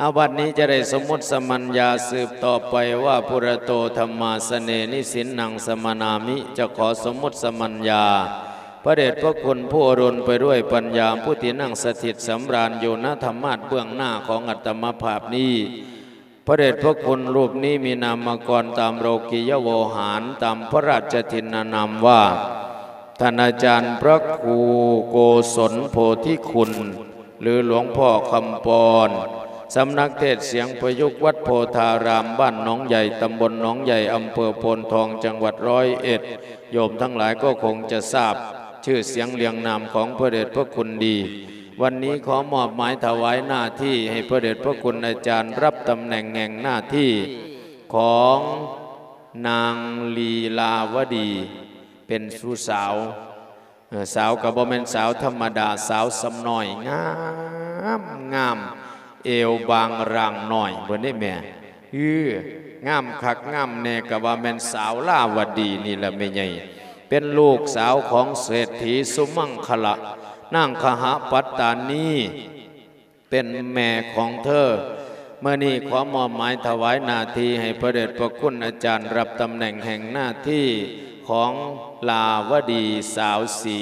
ເອົາ ບັດນີ້ຈະໄດ້ສົມມຸດສະມັນຍາສືບຕໍ່ໄປວ່າ ປຸຣະໂຕ ທຳມາສະເນ ນິສິນນັງ ສະມະນາມິ ຈະຂໍສົມມຸດສະມັນຍາ ພະເດດພະຄຸນຜູ້ອຸດົມໄປດ້ວຍປັນຍາ ຜູ້ທີ່ນັ່ງສະຖິດສຳລານຢູ່ ນະທຳມາດເບື້ອງໜ້າຂອງອາດຕະມະພາບນີ້. ພະເດດພະຄຸນຮູບນີ້ມີນາມະກອນຕາມໂລກິຍະໂວຫານ ຕາມພະລາຊະທິນນານາມວ່າ ທ່ານອາຈານພະຄູໂກສົນໂພທິຄຸນ ຫຼື ຫຼວງພໍ່ຄຳປອນ ສຳນັກເທດສຽງປະຍຸກວັດໂພທາລາມ ບ້ານໜອງໃຫຍ່ ຕຳບົນໜອງໃຫຍ່ ອຳເພີໂພນທອງ ຈັງຫວັດຮ້ອຍເອັດ. ໂຍມທັງຫຼາຍກໍຄົງຈະຊາບຊື່ສຽງລຽງນາມຂອງພະເດດພະຄຸນດີ. ວັນນີ້ຂໍມອບໝາຍຖວາຍໜ້າທີ່ໃຫ້ພະເດດພະຄຸນອາຈານ ຮັບຕຳແໜ່ງແຫ່ງໜ້າທີ່ຂອງນາງລີລາວະດີ ເປັນສູ່ສາວ. ເອີ ສາວກໍບໍ່ແມ່ນສາວທຳມະດາ, ສາວສ່ຳນ້ອຍ ງາມ ງາມ ເອວບາງຮ່າງນ້ອຍເພິ່ນເດ້ແມ່. ເອີ ງາມຄັກງາມແນ່ ກໍວ່າແມ່ນສາວລາວະດີນີ້ລະແມ່ໃຫຍ່. ເປັນລູກສາວຂອງເສດຖີສຸມັງຄະລະ ນາງຄະຫະປັດຕານີ ເປັນແມ່ຂອງເທີ. ມື້ນີ້ຂໍມອບໝາຍຖວາຍໜ້າທີ່ໃຫ້ພະເດດພະຄຸນອາຈານ ຮັບຕຳແໜ່ງແຫ່ງໜ້າທີ່ຂອງລາວະດີສາວສີ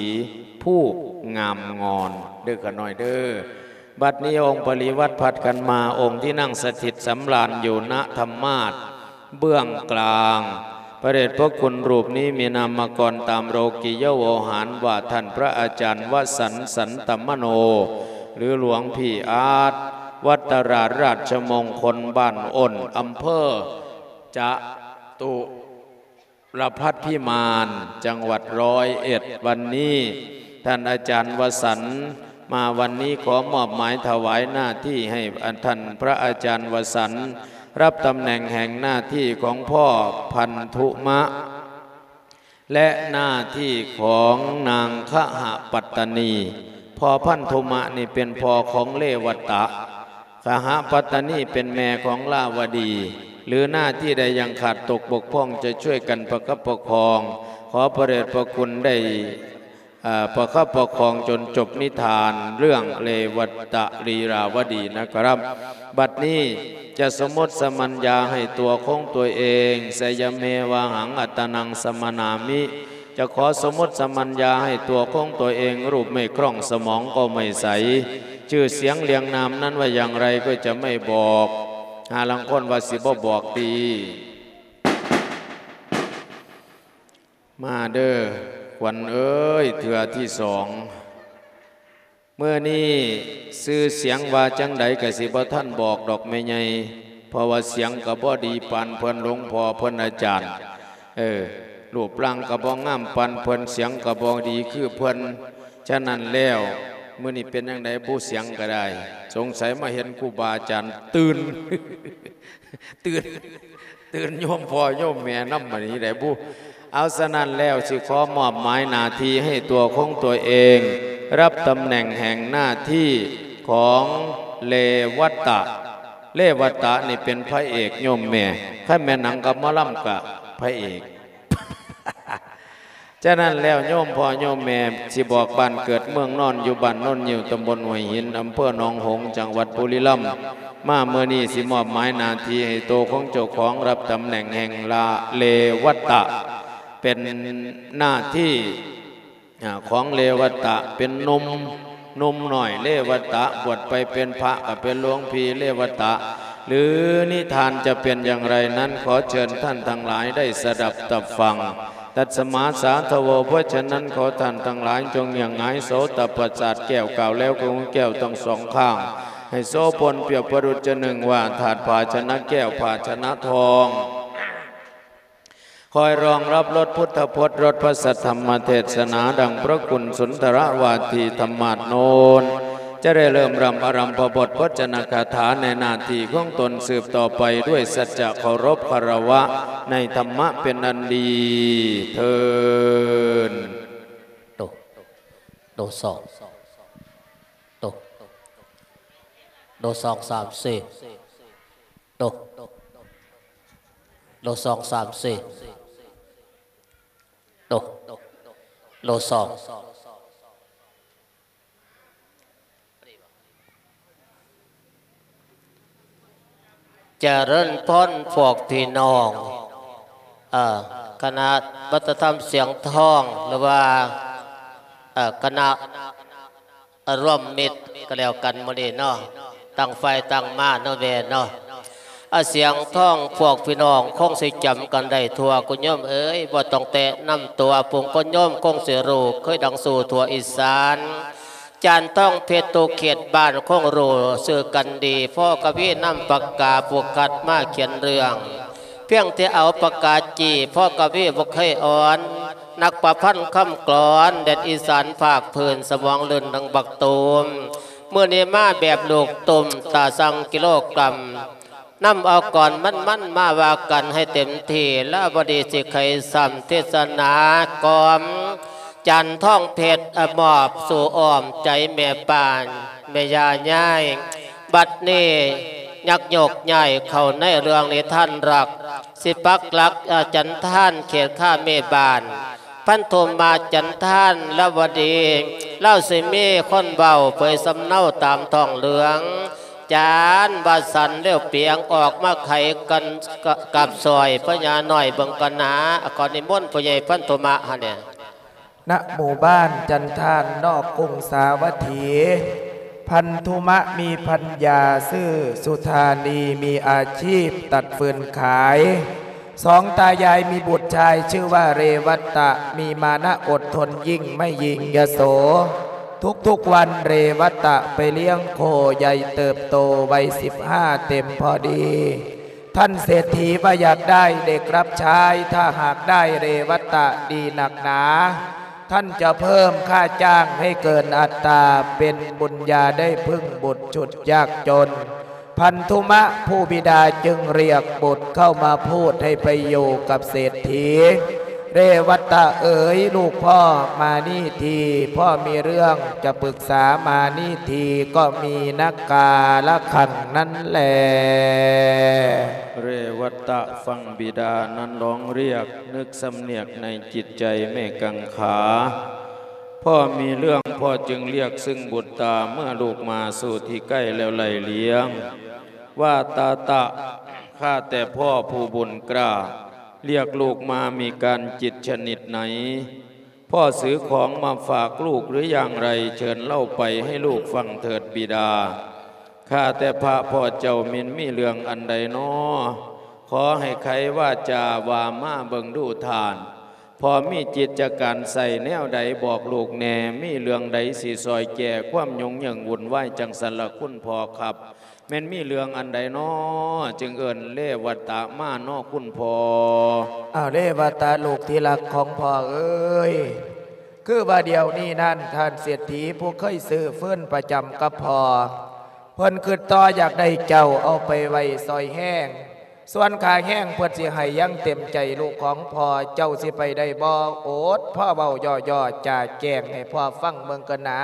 ຜູ້ງາມງອນເດີ້ຂະນ້ອຍເດີ້. ບັດນີ້ອົງປະລິວາດຜັດກັນມາ, ອົງທີ່ນັ່ງສະຖິດສຳລານຢູ່ ນະທຳມາດ ເບື້ອງກລາງ. ພະເດດພະຄຸນຮູບນີ້ມີນາມະກອນຕາມໂລກິຍະໂວຫານວ່າ ທ່ານພະອາຈານວະສັນ ສັນຕະມະໂນ ຫຼື ຫຼວງພີ່ອາດ ວັດຕະລາດລາດຊະມົງຄົນ ບ້ານອົນ ອຳເພີຈະຕຸລະພັດພິມານ ຈັງຫວັດຮ້ອຍເອັດ. ວັນນີ້ທ່ານອາຈານວະສັນ ມາວັນນີ້ ຂໍມອບໝາຍຖວາຍໜ້າທີ່ໃຫ້ທ່ານພະອາຈານວະສັນ ຮັບຕຳແໜ່ງແຫ່ງໜ້າທີ່ຂອງພໍ່ພັນທຸມະ ແລະ ໜ້າທີ່ຂອງນາງຄະຫະປັດຕານີ. ພໍ່ພັນທຸມະນີ້ເປັນພໍ່ຂອງເລວະຕະ, ຄະຫະປັດຕານີເປັນແມ່ຂອງລາວະດີ. ຫຼື ໜ້າທີ່ໃດຍັງຂາດຕົກບົກຜ່ອງ ຈະຊ່ວຍກັນປະຄັບປະຄອງ. ຂໍພະເດດພະຄຸນໄດ້ ເອີ ປະຄັບປະຄອງຈົນຈົບນິທານເລື່ອງເລວະຕະລີລາວະດີນະຄັບ. ບັດນີ້ຈະສົມມຸດສະມັນຍາໃຫ້ຕົວຂອງຕົວເອງ, ໄຊຍະເມວະຫັງ ອັດຕະນັງ ສະມະນາມິ, ຈະຂໍສົມມຸດສະມັນຍາໃຫ້ຕົວຂອງຕົວເອງ, ຮູບໄມ່ຄ່ອງ ສະໝອງກໍໄມ່ໃສ, ຊື່ສຽງລຽງນາມນັ້ນວ່າຢ່າງໃດກໍຈະໄມ່ບອກ. ຫາລາງຄົນວ່າຊິບໍ່ບອກຕິ. ມາເດີ້ ຂວັນເອີຍ ເທື່ອທີສອງ. ມື້ນີ້ຊື່ສຽງວ່າຈັ່ງໃດກະຊິບໍ່ທັນບອກດອກແມ່ໃຫຍ່, ເພາະວ່າສຽງກະບໍ່ດີປານເພິ່ນ ຫຼວງພໍ່ເພິ່ນ ອາຈານ. ເອີ ຮູບຮ່າງກະບໍ່ງາມປານເພິ່ນ, ສຽງກະບໍ່ດີຄືເພິ່ນ. ສະນັ້ນແລ້ວ ມື້ນີ້ເປັນຈັ່ງໃດບຸ ສຽງກະໄດ້, ສົງໄສມາເຫັນຄູບາອາຈານຕື່ນ ຕື່ນ ຕື່ນໂຍມພໍ່ໂຍມແມ່ນຳບັດນີ້ໄດ໋ບຸ. ເອົາ ສະນັ້ນແລ້ວ ຊິຂໍມອບໝາຍໜ້າທີ່ໃຫ້ຕົວຂອງຕົວເອງ, ຮັບຕຳແໜ່ງແຫ່ງໜ້າທີ່ຂອງເລວະຕະ. ເລວະຕະນີ້ເປັນພະເອກໂຍມແມ່, ຄັນແມ່ນໜັງກັບໝໍລຳກະພະເອກ. ສະນັ້ນແລ້ວ ໂຍມພໍ່ໂຍມແມ່ ຊິບອກບ້ານເກີດເມືອງນອນ ຢູ່ບ້ານໂນນງິ້ວ ຕຳບົນຫ້ວຍຫີນ ອຳເພີໜອງຫົງ ຈັງຫວັດບຸລີລຳ. ມາມື້ນີ້ຊິມອບໝາຍໜ້າທີ່ໃຫ້ໂຕຂອງເຈົ້າຂອງ ຮັບຕຳແໜ່ງແຫ່ງລາ ເລວະຕະ ເປັນໜ້າທີ່ ອາ ຂອງເລວະຕະ ເປັນໜຸ່ມ ໜຸ່ມນ້ອຍເລວະຕະ, ບວດໄປເປັນພະກໍເປັນຫຼວງພີ່ເລວະຕະ ຫຼື ນິທານຈະເປັນຢ່າງໃດນັ້ນ ຂໍເຊີນທ່ານທັງຫຼາຍໄດ້ສະດັບຕັບຟັງ. ຕັດສະມາສາທະໂວ, ເພາະສະນັ້ນ ຂໍທ່ານທັງຫຼາຍຈົ່ງຫຍັງຫງາຍໂສຕະປະສາດແກ້ວ, ກ່າວແລ້ວກໍຫູແກ້ວທັງສອງຂ້າງ ໃຫ້ໂສພົນປຽບປະດຸດຈະໜຶ່ງວ່າທາດພາຊະນະແກ້ວ ພາຊະນະທອງ. ຄອຍຮອງຮັບລົດພຸດທະພົດ ລົດພະສັດທຳມະເທດສະໜາ ດັ່ງພະຄຸນສຸນທະລະວາທີທຳມາດໂນນ ຈະໄດ້ເລີ່ມລຳອາລຳພະບົດ ພະຈັນນະຄາຖາໃນໜ້າທີ່ຂອງຕົນສືບຕໍ່ໄປ ດ້ວຍສັດຈະເຄົາລົບຄາລະວະໃນທຳມະເປັນອັນດີເທີ້ນ. ໂຕ ໂຕສອງ ໂຕ ໂຕສອງ ສາມ ສີ່ ໂຕ ໂຕສອງ ສາມ ສີ່ ໂຕ ໂຕສອງ. ຈະເລີນພອນພວກພີ່ນ້ອງ ເອີ ຄະນະວັດທະນະທຳສຽງທອງ ຫຼືວ່າ ເອີ ຄະນະ ເອີ ລວມມິດກໍແລ້ວກັນມື້ນີ້ເນາະ ຕ່າງຝ່າຍຕ່າງມາເນາະແວ່ເນາະ. ອາ ສຽງທອງພວກພີ່ນ້ອງຄົງຊິຈຳກັນໄດ້ທົ່ວ ຄຸນໂຍມເອີຍ ບໍ່ຕ້ອງແຕະນຳຕົວ ຜູ້ຄົນໂຍມຄົງຊິຮູ້ ເຄີຍດັງສູ່ທົ່ວອີສານ. ຈານທອງເພັດທຸກເຂດບ້ານຄົງຮູ້ຊື່ກັນດີ ພໍ່ກະວີນຳປາກກາຜູ້ຄັດມາຂຽນເລື່ອງ ພຽງແຕ່ເອົາປາກກາຈີ້ ພໍ່ກະວີບໍ່ເຄີຍອ່ອນ ນັກປະພັນຄຳກລອນ ແດນອີສານພາກພື້ນ ສະໝອງລື່ນດັ່ງບັກຕູມ ມື້ນີ້ມາແບບລູກຕຸ້ມ ຕາຊັ່ງກິໂລກຣາມ ນຳເອົາກ່ອນມັນໆ ມາວ່າກັນໃຫ້ເຕັມທີ່ ລາວະດີຊິໄຂຊ້ຳເທດສະໜາກ່ອມ ຈັນທອງເພັດ ອະ ມອບສູ່ອ້ອມໃຈແມ່ປ້ານ ແມ່ຍ່າຍາຍ. ບັດນີ້ຍັກຍົກຍ້າຍເຂົ້າໃນເລື່ອງນິທານລັກ ຊິປັກຫຼັກ ອາ ຈັນທານເຂດຄາເມບ້ານ ພັນທຸມາຈັນທານລາວະດີ ລາວຊິມີຄົນເວົ້າເຜີຍສຳເນົາຕາມທ້ອງເລື່ອງ ຈານວ່າສັນລຽວປຽງອອກມາໄຂກັນ ກະ ກັບຊ່ອຍພະຍານ້ອຍເບິ່ງກ່ອນນາ ຂໍນິມົນຜູ້ໃຫຍ່ພັນທຸມາຫັ້ນແຫຼະ. ນະໝູ່ບ້ານຈັນທານ ນອກກຸງສາວັດຖີ ພັນທຸມະມີພັນຍາຊື່ສຸທານີ ມີອາຊີບຕັດຟືນຂາຍ. ສອງຕາຍາຍມີບຸດຊາຍຊື່ວ່າເຣວັດຕະ ມີມານະອົດທົນຍິ່ງ ໄມ່ຍິງຍະໂສ. ທຸກໆວັນເຣວັດຕະໄປລ້ຽງໂຄໃຫຍ່ເຕີບໂຕ ໄວສິບຫ້າເຕັມພໍດີ. ທ່ານເສດຖີວ່າຢາກໄດ້ເດັກຮັບໃຊ້ ຖ້າຫາກໄດ້ເຣວັດຕະດີນັກໜາ ທ່ານຈະເພີ່ມຄ່າຈ້າງໃຫ້ເກີນອັດຕາ ເປັນບຸນຍາໄດ້ເພິ່ງບຸດຊຸດຍາກຈົນ. ພັນທຸມະຜູ້ບິດາຈຶ່ງລຽກບຸດເຂົ້າມາພູດໃຫ້ໄປຢູ່ກັບເສດຖີ. ເຣວັດຕະເອີຍ ລູກພໍ່ມານີ້ທີ ພໍ່ມີເລື່ອງຈະປຶກສາມານີ້ທີ ກໍມີນະກາລະຄັງນັ້ນແລ. ເຣວັດຕະຟັງບິດານັ້ນຮ້ອງລຽກ ນຶກສຳນຽກໃນຈິດໃຈແມ່ກັງຂາ ພໍ່ມີເລື່ອງ ພໍ່ຈຶ່ງລຽກຊຶ່ງບຸດຕາ ເມື່ອລູກມາສູ່ທີ່ໃກ້ແລ້ວໄລ່ລ້ຽງ ວ່າຕາຕະ ຂ້າແຕ່ພໍ່ຜູ້ບຸນກ້າ ລຽກລູກມາມີການຈິດຊະນິດໃນ? ພໍ່ຊື້ຂອງມາຝາກລູກຫຼືຢ່າງໃດ? ເຊີນເລົ່າໄປໃຫ້ລູກຟັງເຖີດບິດາ. ຂ້າແຕ່ພະພໍ່ເຈົ້າ ແມ່ນມີເລື່ອງອັນໃດນໍ? ຂໍໃຫ້ໄຂວາຈາວ່າມາເບິ່ງດູທ່ານ. ພໍ່ມີຈິດຈະການໃສ່ແນວໃດບອກລູກແດ່, ມີເລື່ອງໃດຊິຊ່ອຍແກ້ຄວາມຫຍຸ້ງເຫຍີງວຸ່ນວາຍຈັ່ງຊັ້ນລະຄຸນພໍ່ຄັບ? ແມ່ນມີເລື່ອງອັນໃດນໍ ຈຶ່ງເອີ້ນເລວັດຕະມານໍຄຸນພໍ່? ອ້າວ ເລວັດຕະ ລູກທີ່ຮັກຂອງພໍ່ເອີຍ, ຄືວ່າດຽວນີ້ນັ້ນ ທ່ານເສດຖີຜູ້ເຄີຍຊື້ຟືນປະຈຳກັບພໍ່ ເພິ່ນຄຶດຕໍ່ຢາກໄດ້ເຈົ້າເອົາໄປໄວ້ຊ່ອຍແຮງ. ສ່ວນຄ່າແຮງເພິ່ນຊິໃຫ້ຢ່າງເຕັມໃຈ ລູກຂອງພໍ່ເຈົ້າຊິໄປໄດ້ບໍ່? ໂອດ ພໍ່ເວົ້າຍໍ້ໆຈາແກ້ງໃຫ້ພໍ່ຟັງເບິ່ງກ່ອນນາ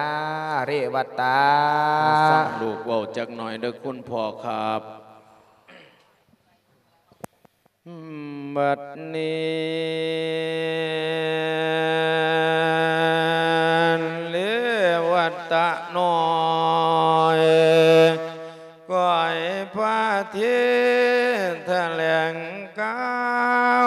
ເລວັດຕາ. ມາຟັງລູກເວົ້າຈັກໜ້ອຍເດີຄຸນພໍ່ຄັບ. ບັດນີ້ ເລວັດຕະນ້ອຍ ກ້ອຍພະເທດຖະແຫຼງກ່າ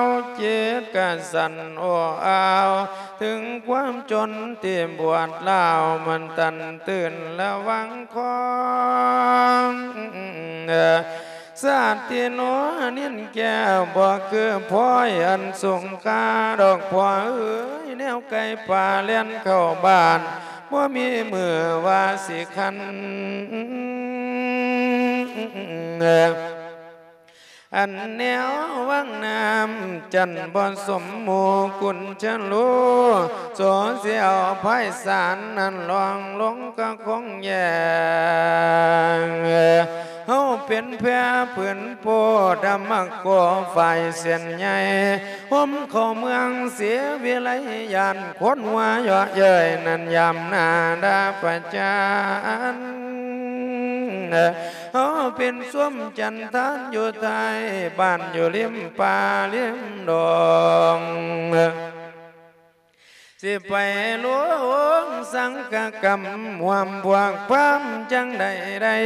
ວ ຈິດກະສັ່ນໂອ້ອາວ ເຖິງຄວາມຈົນທີ່ບວດລາວ ມັນຕັນຕື່ນລະວັງຄອງ ຊາດທີ່ໜໍນິນແກ້ວ ບໍ່ຄືພອຍອັນສູງຄ່າດອກພໍ່ເອີຍ ແນວໄກ່ປ່າແລ່ນເຂົ້າບ້ານ ບໍ່ມີມື້ວ່າຊິຄັນ. ອັນແນວວັງນ້ຳຈັນບໍ່ສົມໝູ່ກຸນຈະຮູ້ ໂສເຊຍພາຍສານນັ້ນລ່ອງລົງກະຄົງແຍງ ເຮົາເປັນແພຜືນໂພດຳມະໂກ ຝ່າຍເສັ້ນໃຫຍ່ ຫົມເຂົ້າເມືອງເສວິໄລ ຢ້ານຄົນຫົວເຍາະເຍີ້ຍນັ້ນ ຍາມໜ້າດາປະຈານ ເຮົາເປັນຊົມຈັນທານຢູ່ທ້າຍບ້ານ ຢູ່ລິມປ່າລິມດອງ ຊິໄປລວງສັງຄະກຳ ຮ່ວມພວກພາມຈັ່ງໃດໄດ້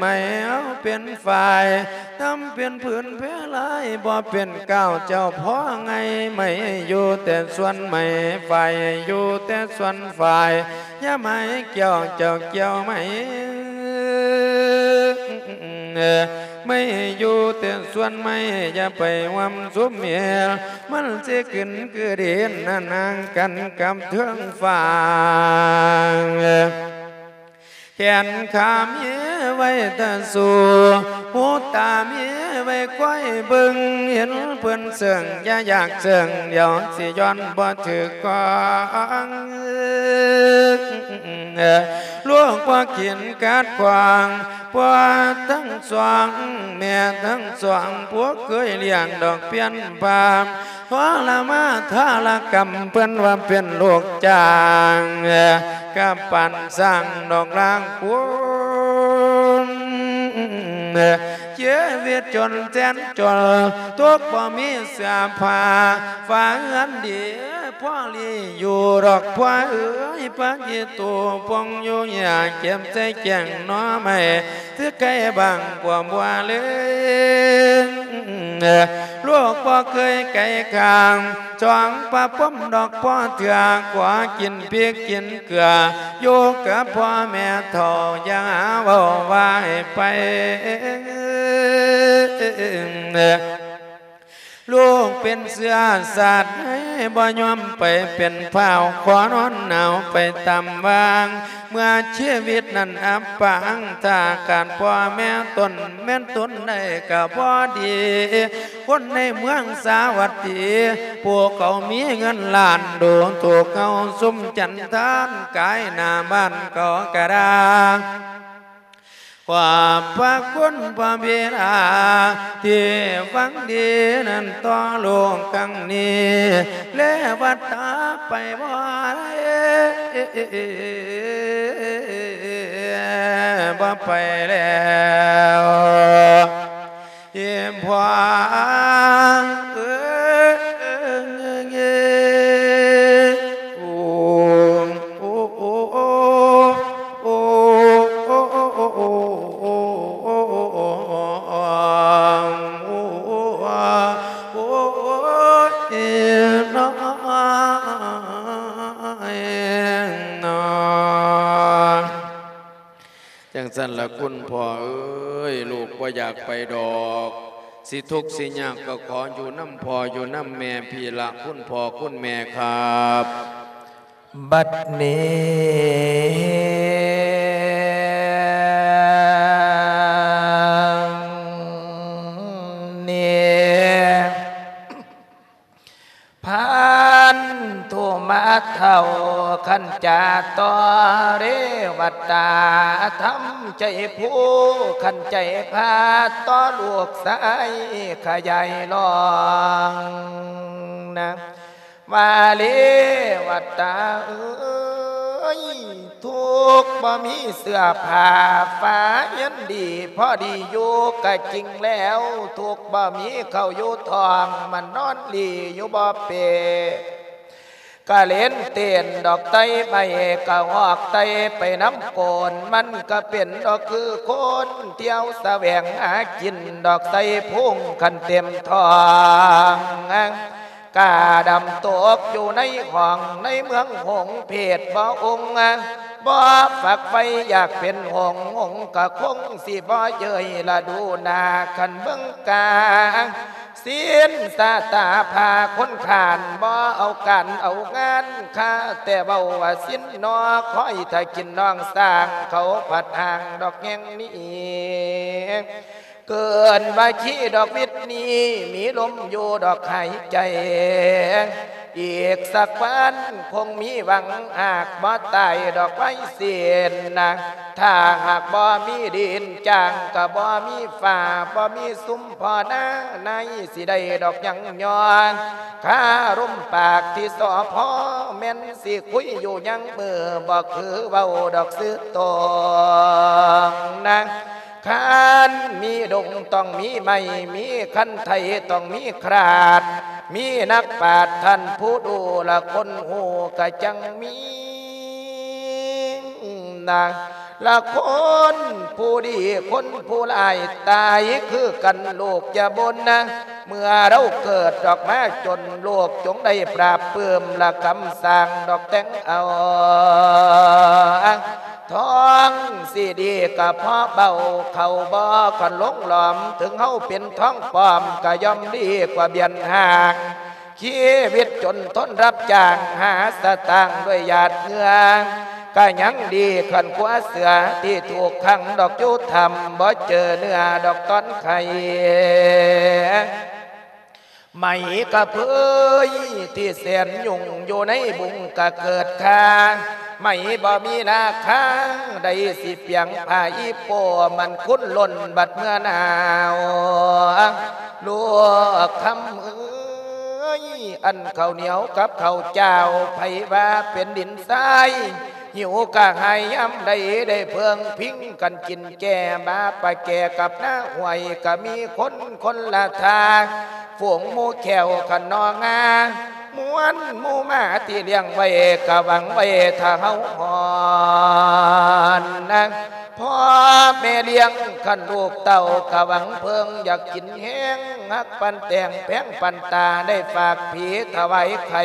ໄມ້ເຮົາເປັນຝ່າຍ ນຳເປັນຜືນແພລາຍ ບໍ່ເປັນກ້າວເຈົ້າພໍ່ໄງ ໄມ້ຢູ່ແຕ່ສ່ວນໄມ້ ຝ່າຍຢູ່ແຕ່ສ່ວນຝ່າຍ ຢ່າໄມ້ແກ້ວເຈົ້າແກ້ວໄມ້ ໄມ້ຢູ່ແຕ່ສ່ວນໄມ້ ຢ່າໄປຮ່ວມຊຸມເຫວ ມັນຊິຂຶ້ນຄືດິນ ນະນາງກັນກັບເທິງຟ້າ. ແຂນຂາມີໄວ້ຕາສູ່ ຫູຕາມີໄວ້ຄອຍເບິ່ງ ເຫັນເພິ່ນເຊິ່ງ ຢ່າຢາກເຊິ່ງ ດຽວຊິຍ້ອນບໍ່ຖືກກອງ. ລູກບໍ່ຂຽນກາດຂວາງ ພໍ່ທັງສອງ ແມ່ທັງສອງ ຜູ້ເຄີຍລ້ຽງດອກພຽນພາມ ທໍລະມາທາລະກຳ ເພິ່ນວ່າເປັນລູກຈ້າງ ກະປານຊ້າງດອກລາງຄຸນ ຊີວິດຈົນແສນຈົນ ຕົກບໍ່ມີເສື້ອຜ້າ ຝາເຮືອນດີພໍລີຢູ່ດອກ ພໍ່ເອີຍ ພະອີໂຕປົງຢູ່ຫຍ້າ ເກັບໃສ່ແກ້ງໜໍ່ໄມ້ ຄືໄກ່ບາງກວ່າບົວເລີຍ ລູກບໍ່ເຄີຍໄກຂ້າງ ສອງປະພົມດອກພໍ່ເທື່ອ ຂໍກິນພິກກິນເກືອ ຢູ່ກັບພໍ່ແມ່ເຖົ້າ ຢ່າຫາເວົ້າວ່າໃຫ້ໄປ ລູກເປັນເຊື້ອຊາດໃດ ບໍ່ຍອມໄປເປັນພ້າວ ຂໍນອນໜາວໄປຕາມວ່າງ ເມື່ອຊີວິດນັ້ນອັບປາງ ຖ້າຂາດພໍ່ແມ່ຕົນແມ່ນຕົນໄດ້ກໍບໍ່ດີ ຄົນໃນເມືອງສາວັດຕີ ຜູ້ເຂົາມີເງິນລ້ານ ດູຖືກເຮົາຊຸມຈັນທານ ກາຍໜ້າບ້ານເຂົາກະດາ ຂອບພະຄຸນພະບິດາ ທີ່ຫວັງດີນັ້ນຕໍ່ລູກຄັ້ງນີ້ ແລວັດຕາໄປບໍ່ໄດ້ ບໍ່ໄປແລ້ວ ອີ່ພໍ່ເອີຍ ໂອ້ ໂອ້ ໂອ້ ຈັ່ງຊັ້ນລະຄຸນພໍ່ເອີຍ ລູກບໍ່ຢາກໄປດອກ ຊິທຸກຊິຍາກກໍຂໍຢູ່ນຳພໍ່ຢູ່ນຳແມ່ພີ້ລະ ຄຸນພໍ່ຄຸນແມ່ຄັບ. ບັດນີ້ ນີ້ ພັນທຸມາເຖົ້າ ຂັນຈາຕໍ່ເລວັດຕາ ທຳໃຈພູ ຂັນໃຈພາ ຕໍ່ລູກຊາຍຂະຫຍາຍລອງນະ ວ່າເລວັດຕາເອີຍ ທຸກບໍ່ມີເສື້ອຜ້າ ຝາເຮືອນດີພໍດີຢູ່ກະຈິງແລ້ວ ທຸກບໍ່ມີເຂົ້າຢູ່ທ້ອງ ມານອນຫຼີ່ຢູ່ບໍ່ເປ ກະເຫຼັນເຕັ້ນດອກໄຕໄມ້ ກະຮອກໄຕໄປນຳໂກນ ມັນກະເປັນດອກຄືຄົນທ່ຽວສະແຫວງຫາກິນ ດອກໄຕພຸງຄັນເຕັມທ້ອງ ກາດຳຕົກຢູ່ໃນຫ້ອງໃນເມືອງຫົງ ເພດບໍ່ອົງ ບໍ່ຝັກໃຝ່ຢາກເປັນຫົງ ຫົງກະຄົງຊິບໍ່ເຍີ້ຍລະດູໜ້າ ຄັນເບິ່ງກາ ສິນສາຕາພາຄົນຂ້ານ ບໍ່ເອົາການເອົາງານ ຂ້າແຕ່ເວົ້າວ່າສິນໜໍ ຄອຍຖ້າກິນນ້ອງຊ້າງ ເຂົາພັດຫ້າງດອກແຫ່ງນີ້ ເກີນວ່າຂີ້ດອກວິດນີ້ ມີລົມຢູ່ດອກຫາຍໃຈ ອີກສັກວັນຄົງມີຫວັງ ຫາກບໍ່ຕາຍດອກໄວເສນນະ ຖ້າຫາກບໍ່ມີດິນຈ້າງ ກະບໍ່ມີຟ້າ ບໍ່ມີຊຸມພໍ່ນາໃນ ຊິໄດ້ດອກຍັງຍອງ ຄາລົມປາກທີ່ສອພ ແມ່ນຊິຄຸຍຢູ່ຍັງມື້ ບໍ່ຄືເວົ້າດອກຊື່ໂຕງນະ ຄັນມີດົງຕ້ອງມີໄມ້ ມີຄັນໄຖຕ້ອງມີຄາດ ມີນັກປາດທ່ານຜູ້ຮູ້ລະຄົນຮູ້ກະຈັ່ງມີນະ ລະຄົນຜູ້ດີຄົນຜູ້ຮ້າຍຕາຍຄືກັນລູກຢ່າບົ່ນນະ ເມື່ອເຮົາເກີດອອກມາຈົນລູກຈົ່ງໄດ້ປາບປຶ້ມລະຄຳສ້າງດອກແຕ່ງເອົາ ທ້ອງຊິດີກະພໍເບົາ ເຂົ້າບໍ່ຄັນລົງຫຼອມ ເຖິງເຮົາເປັນທ້ອງປອມກະຍ່ອມດີກວ່າບຽນຫາງ ຊີວິດຈົນທົນຮັບຈ້າງຫາສະຕາງດ້ວຍຫຍາດເຫື່ອ ກະຍັງດີຄັນກວ່າເສືອທີ່ຖືກຂັງດອກຢູ່ຖ້ຳ ບໍ່ເຈີເໜືອດອກຕອນໄຂ້ ໄໝກະເພີຍທີ່ແສນຫຍຸ້ງຢູ່ໃນບຸງກະເກີດຄ່າ ໄໝບໍ່ມີລາຄາ ໃດຊິປຽງຜ້າອີໂປ້ ມັນຄຸນລົ້ນບັດເມື່ອໜາວ ລູກຄຳເອີຍ ອັນເຂົ້າໜຽວກັບເຂົ້າຈ້າວ ໃຜວ່າເປັນດິນຊາຍ ຫິວກະຫາຍຍາມໃດ ໄດ້ເພິ່ງພິງກັນກິນແກ່ ມາປະແກ່ກັບໜ້າຫ້ວຍ ກະມີຄົນຄົນລະທ່າ ຝູງໝູ່ແຂ້ວຂະໜໍ່ງາ ມ່ວນໝູ່ໝາທີ່ລ້ຽງໄວ້ ກະຫວັງໄວ້ຖ້າເຮົາຮອດນະ ພໍ່ແມ່ລ້ຽງຄັນລູກເຕົ້າ ກະຫວັງເພິ່ງຢາກກິນແຮງ ຮັກປານແຕງແພງປານຕາ ໄດ້ຝາກຜີຖວາຍໄຂ່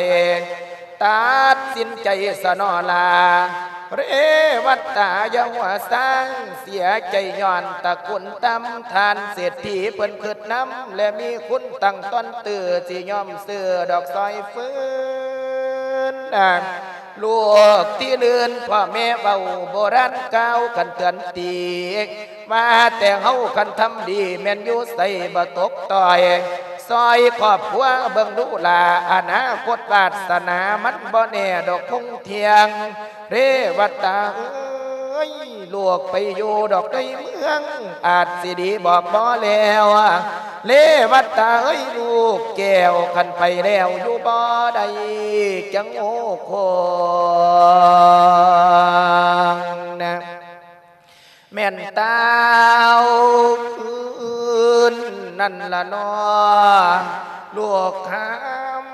ຕັດສິນໃຈສະໜໍ່ຫຼ້າ ເລວັດຕາຢ່າຫົວຊາ ເສຍໃຈຍ້ອນຕະກຸນຕ່ຳ ທ່ານເສດຖີເພິ່ນຄຶດນຳ ແລະມີຄຸນຕັ້ງຕ້ອນຕື້ ຊິຍອມຊື້ດອກຊອຍຟື້ນ ລູກທີ່ລື່ນພໍ່ແມ່ເວົ້າ ໂບລານກ່າວກັນເຕືອນຕິ ວ່າແຕ່ເຮົາຄັນທຳດີ ແມ່ນຢູ່ໃສບໍ່ຕົກຕ້ອຍ ຊ່ອຍຄອບຄົວເບິ່ງດູຫຼ້າ ອະນາຄົດວາດສະໜາ ມັນບໍ່ແນ່ດອກຄົງທ່ຽງ ເລວັດຕາເອີຍ ລູກໄປຢູ່ດອກໃນເມືອງ ອາດຊິດີບອກບໍ່ແລ້ວ ເລວັດຕາເອີຍ ລູກແກ້ວ ຄັນໄປແລ້ວຢູ່ບໍ່ໄດ້ ຈະໂງ່ໂຄ້ງນະ ແມ່ນຕາວຄືນນັ້ນລະເນາະ ລູກຄຳ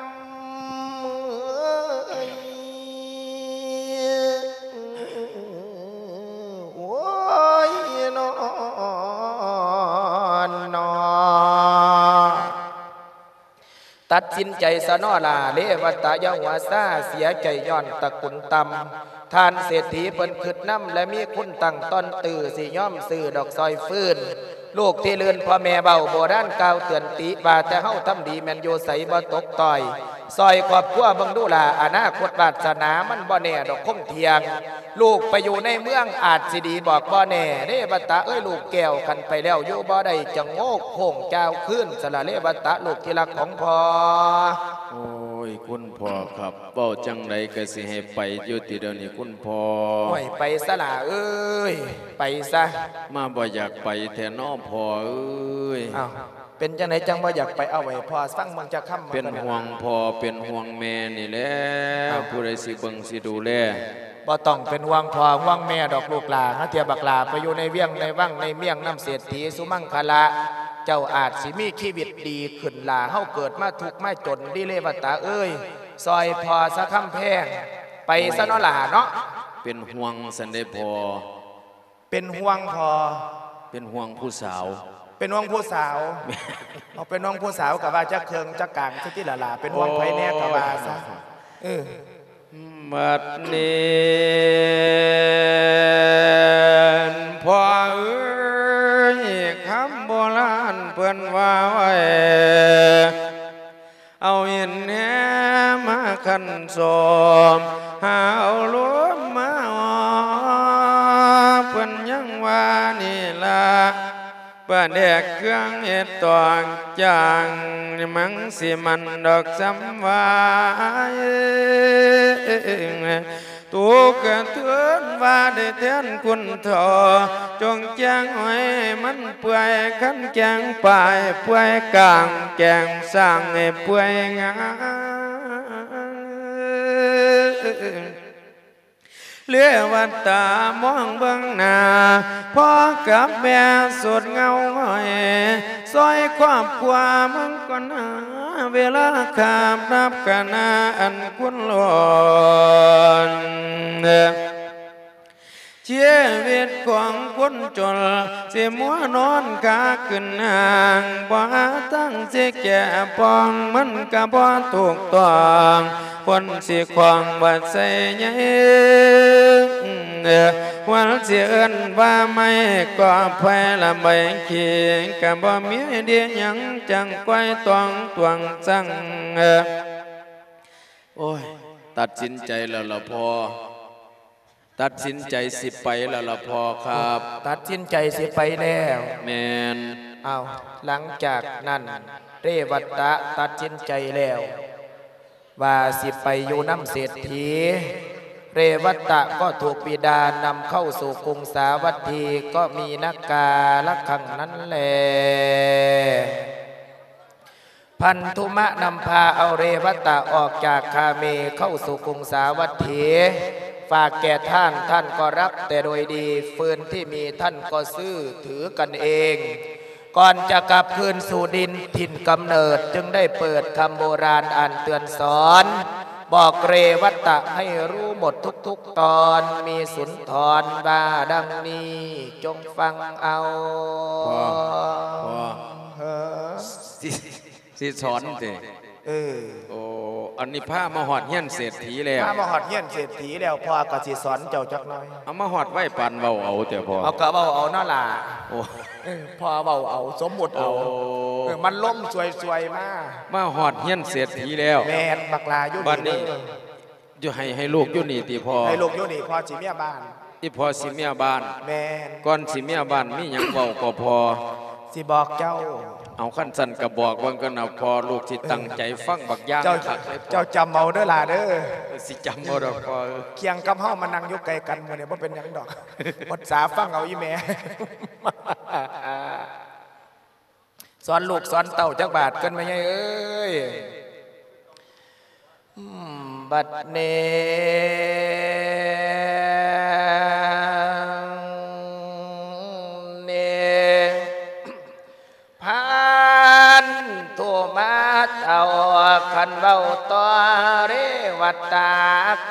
ເອີຍ ໂອ້ຍ ນອນ ນອນ. ຕັດສິນໃຈສະເນາະຫຼ້າ ເລວັດຕະຢ່າຫົວຊາ ເສຍໃຈຍ້ອນຕະກຸນຕ່ຳ ທ່ານເສດຖີເພິ່ນຄຶດນຳ ແລະມີຄຸນຕັ້ງຕ້ອນຕື້ ຊິຍອມຊື້ດອກຊອຍຟື້ນ ລູກທີ່ລື່ນພໍ່ແມ່ເວົ້າ ໂບລານກ່າວເຕືອນຕິ ວ່າແຕ່ເຮົາທຳດີ ແມ່ນຢູ່ໃສບໍ່ຕົກຕ້ອຍ ຊ່ອຍຄອບຄົວເບິ່ງດູຫຼ້າ ອະນາຄົດວາດສະໜາ ມັນບໍ່ແນ່ດອກຄົງທ່ຽງ ລູກໄປຢູ່ໃນເມືອງອາດຊິດີບອກບໍ່ແນ່ ເລວັດຕະເອີຍ ລູກແກ້ວ ຄັນໄປແລ້ວຢູ່ບໍ່ໄດ້ ຈະໂງ່ໂຄ້ງຈາວຄືນສະລະ ເລວັດຕະ ລູກທີ່ຮັກຂອງພໍ່. ໂອ້ຍ ຄຸນພໍ່ຄັບ ເວົ້າຈັ່ງໃດກະຊິໃຫ້ໄປຢູ່ຕິດຽວນີ້ຄຸນພໍ່. ໂອ້ຍ ໄປຊະຫຼ້າເອີຍ ໄປຊະ. ມາບໍ່ຢາກໄປແທ້ເນາະພໍ່ເອີຍ. ອ້າວ ເປັນຈັ່ງໃດຈັ່ງບໍ່ຢາກໄປ? ເອົາໃຫ້ພໍ່ຟັງເບິ່ງຈັກຄຳ. ເປັນຫ່ວງພໍ່ເປັນຫ່ວງແມ່ນີ້ແຫຼະ. ອ້າວ ຜູ້ໃດຊິເບິ່ງຊິດູແລ? ບໍ່ຕ້ອງເປັນຫ່ວງພໍ່ຫ່ວງແມ່ດອກລູກຫຼ້າ ຫາເທື່ອບັກຫຼ້າໄປຢູ່ໃນວຽງໃນວັງໃນເມືອງນຳເສດຖີສຸມັງຄະລະ ເຈົ້າອາດຊິມີຊີວິດດີຂຶ້ນຫຼ້າ ເຮົາເກີດມາທຸກມາຈົນເດ ເລວັດຕະເອີຍ ຊ່ອຍພໍ່ຊະຄຳແພງ ໄປຊະເນາະຫຼ້າເນາະ. ເປັນຫ່ວງຊັ້ນເດພໍ່. ເປັນຫ່ວງພໍ່. ເປັນຫ່ວງຜູ້ສາວ. ເປັນຫ່ວງຜູ້ສາວ. ເອົາ ເປັນຫ່ວງຜູ້ສາວກະວ່າຈັກເຄິ່ງຈັກກາງຊະຕິຫຼະຫຼ້າ ເປັນຫ່ວງໃຜແດ່ກະວ່າຊະ. ເອີ ບັດນີ້ພໍ່ເອີຍ ຄຳໂບລານເພິ່ນວ່າໄວ້ ເອົາຫີນແຫມາຂັນສົມ ຫາເອົາລົມມາອອ ເພິ່ນຍັງວ່ານີ້ລະ ປາແດກເຄື່ອງເຮັດຕອງຈາງ ມັງຊິມັນດອກສ່ຳວ່າ ທຸກກະເທີນວ່າໄດ້ແທນຄຸນເຖົ້າ ຈົ່ງແຈງໃຫ້ມັນເປື່ອຍ ຄັນແຈງປາຍເປື່ອຍກາງ ແຈງສ້າງໃຫ້ເປື່ອຍງາມ. ເລວັດຕາມອງເບິ່ງໜ້າ ພໍ່ກັບແມ່ສົດເງົາຫງອຍ ຊ່ອຍຄອບຄົວເບິ່ງກ່ອນໜ້າ ເວລາຄາບຮັບກະນາອັນຄຸນລ້ອນ ຊີວິດຂອງຄົນຈົນ ຊິມົວນອນຂາຂຶ້ນຫ້າງ ບໍ່ຫາທາງຊິແກ້ປ່ອງ ມັນກະບໍ່ຖືກຕ້ອງ ຄົນຊິຂອງບໍ່ໃສ່ໃຍ ຄວນຊິເອີ້ນວ່າໄມ້ກໍໄຜ່ລະໃບຂີ້ ກະບໍ່ມີດີຫຍັງ ຈັ່ງກວາຍຕ້ອງຕວງສັງ. ໂອ້ຍ ຕັດສິນໃຈແລ້ວລະພໍ່. ຕັດສິນໃຈຊິໄປແລ້ວລະພໍ່ຄັບ. ຕັດສິນໃຈຊິໄປແລ້ວ. ແມ່ນ. ອ້າວ ຫຼັງຈາກນັ້ນ ເຣວັດຕະຕັດສິນໃຈແລ້ວ ວ່າຊິໄປຢູ່ນຳເສດຖີ. ເຣວັດຕະກໍຖືກບິດານຳເຂົ້າສູ່ກຸງສາວັດຖີ ກໍມີນາກາລະຄັ້ງນັ້ນແລະ ພັນທຸມະນຳພາເອົາເຣວັດຕະອອກຈາກຄາເມເຂົ້າສູ່ກຸງສາວັດຖີ ຝາກແກ່ທ່ານ, ທ່ານກໍຮັບແຕ່ໂດຍດີ, ຟືນທີ່ມີທ່ານກໍຊື້ຖືກັນເອງ. ກ່ອນຈະກັບຄືນສູ່ດິນຖິ່ນກຳເນີດ ຈຶ່ງໄດ້ເປີດຄຳໂບລານອ່ານເຕືອນສອນ ບອກເຣວັດຕະໃຫ້ຮູ້ໝົດທຸກໆຕອນ, ມີສຸນທອນວ່າດັ່ງນີ້ ຈົ່ງຟັງເອົາ. ພໍ່ ພໍ່ ເອີ ຊິ ຊິສອນຕິ? ເອີ ໂອ້ ອັນນີ້ພາມາຮອດເຮືອນເສດຖີແລ້ວ. ພາມາຮອດເຮືອນເສດຖີແລ້ວ ພໍ່ກໍຊິສອນເຈົ້າຈັກໜ້ອຍ. ເອົາມາຮອດໄວປານເວົ້າເອົາແຕ່ພໍ່. ເອົາ ກໍເວົ້າເອົາເນາະຫຼ້າ. ໂອ້ ເອີ ພໍ່ເວົ້າເອົາ ສົມມຸດເອົາ. ໂອ້ ເອີ ມັນລົມສວຍໆມາ. ມາຮອດເຮືອນເສດຖີແລ້ວ. ແມ່ນ ບັກຫຼ້າຢູ່ ບັດນີ້ ນີ້ເດີ ຢູ່ ໃຫ້ ໃຫ້ລູກຢູ່ນີ້ຕິພໍ່? ໃຫ້ລູກຢູ່ນີ້ ພໍ່ຊິເມຍບ້ານ. ອີ່ພໍ່ຊິເມຍບ້ານ. ແມ່ນ. ກ່ອນຊິເມຍບ້ານ ມີຫຍັງເວົ້າກໍພໍ່? ຊິບອກເຈົ້າ. ເອົາ ຄັນຊັ້ນກໍບອກເບິ່ງກັນນະພໍ່, ລູກຊິຕັ້ງໃຈຟັງບັກຢ່າງ ເຈົ້າ ຄັກເລີຍ. ເຈົ້າຈຳເອົາເດີຫຼ້າເດີ. ເອີ ຊິຈຳເອົາດອກພໍ່. ຄຽງກັບເຮົາມານັ່ງຢູ່ໃກ້ກັນມື້ນີ້ ບໍ່ເປັນຫຍັງດອກ. ອົດສາຟັງເອົາອີ່ແມ່. ສອນລູກສອນເຕົ້າຈັກບາດກ່ອນ ແມ່ໃຫຍ່ເອີຍ. ອືມ ບັດນີ້ ນີ້ ພັນທຸມະເຖົ້າ ຄັນເວົ້າຕໍ່ເຣວັດຕະ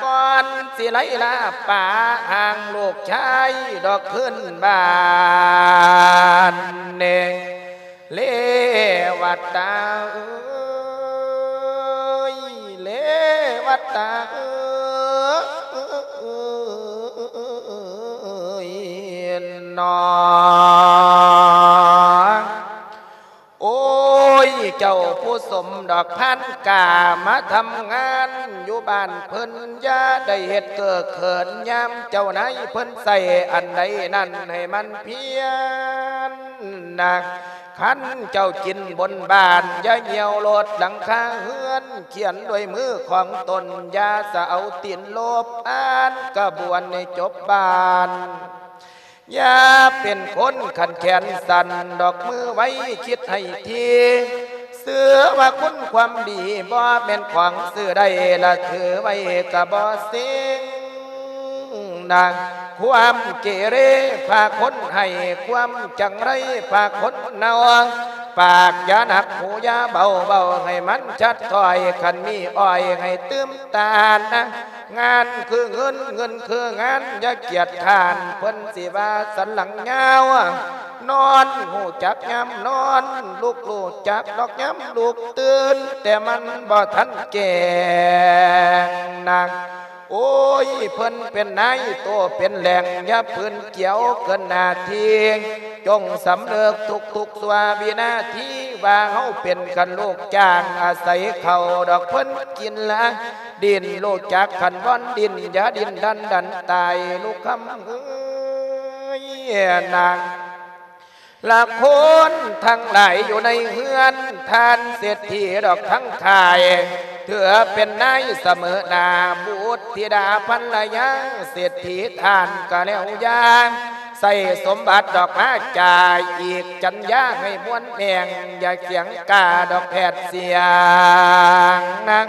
ກ່ອນຊິໄລ່ລາປາຮ່າງລູກຊາຍດອກຄືນບ້ານ ນີ້ ເຣວັດຕະເອີຍ ເຣວັດຕະເອີຍ ນ້ອງ ໂອ້ຍ ເຈົ້າຜູ້ສົມດອກພານກາ ມາທຳງານຢູ່ບ້ານເພິ່ນ ຢ່າໄດ້ເຮັດເກີກເຂີນ ຍາມເຈົ້ານາຍເພິ່ນໃສ່ອັນໃດນັ້ນ ໃຫ້ມັນພຽນນະ. ຄັນເຈົ້າກິນບົນບ້ານ ຢ່າຍ່ຽວໂລດຫຼັງຄາເຮືອນ ຂຽນດ້ວຍມືຂອງຕົນ ຢ່າສະເອົາຕີນໂລບ ອ່ານກະບວນໃຫ້ຈົບບ້ານ. ຢ່າເປັນຄົນຂັນແຂນສັ້ນດອກ ມືໄວຄິດໃຫ້ຖີ່ ເຊື່ອວ່າຄຸນຄວາມດີ ບໍ່ແມ່ນຂອງຊື້ໄດ້ ລະຖືໄວ້ກະບໍ່ເສັງນະ. ຄວາມເກເຣພາຄົນໃຫ້ ຄວາມຈັງໄລພາຄົນເນົ່າ. ປາກຢ່າໜັກ ຫູຢ່າເບົາ ເວົ້າໃຫ້ມັນຊັດຖ້ອຍ ຄັນມີອ້ອຍໃຫ້ຕື່ມຕານນະ. ງານຄືເງິນ ເງິນຄືງານ ຢ່າກຽດຄ້ານ ເພິ່ນຊິວ່າສັນຫຼັງຍາວ. ນອນຮູ້ຈັກຍາມນອນ ລຸກຮູ້ຈັກດອກຍາມລຸກ ຕື່ນແຕ່ມັນບໍ່ທັນແຈ້ງນະ. ໂອ້ຍ ເພິ່ນເປັນນາຍໂຕເປັນແຫຼງ ຢ່າຝືນກ່ຽວເກີນໜ້າທີ່. ຈົ່ງສຳນຶກທຸກໆຊົ່ວວິນາທີ ວ່າເຮົາເປັນຄັນລູກຈ້າງ ອາໄສເຂົ້າດອກເພິ່ນກິນລະ ດິນ ຮູ້ຈັກຂັນວອນດິນ ຢ່າດິນດັນດັນຕາຍ ລູກຄຳເອີຍນາງ. ລະຄົນທັງຫຼາຍຢູ່ໃນເຮືອນ ທ່ານເສດຖີດອກທັງຂາຍ ຖືເປັນນາຍສະເໝີໜ້າ ບຸດທິດາພັນລະຍາ ເສດຖີທ່ານກະແລ້ວຢ່າ ໃຊ້ສົມບັດດອກມາຈ່າຍ ອີກຈັນຍາໃຫ້ມ່ວນແມງ ຢ່າສຽງກາດອກແຜດສຽງນາງ.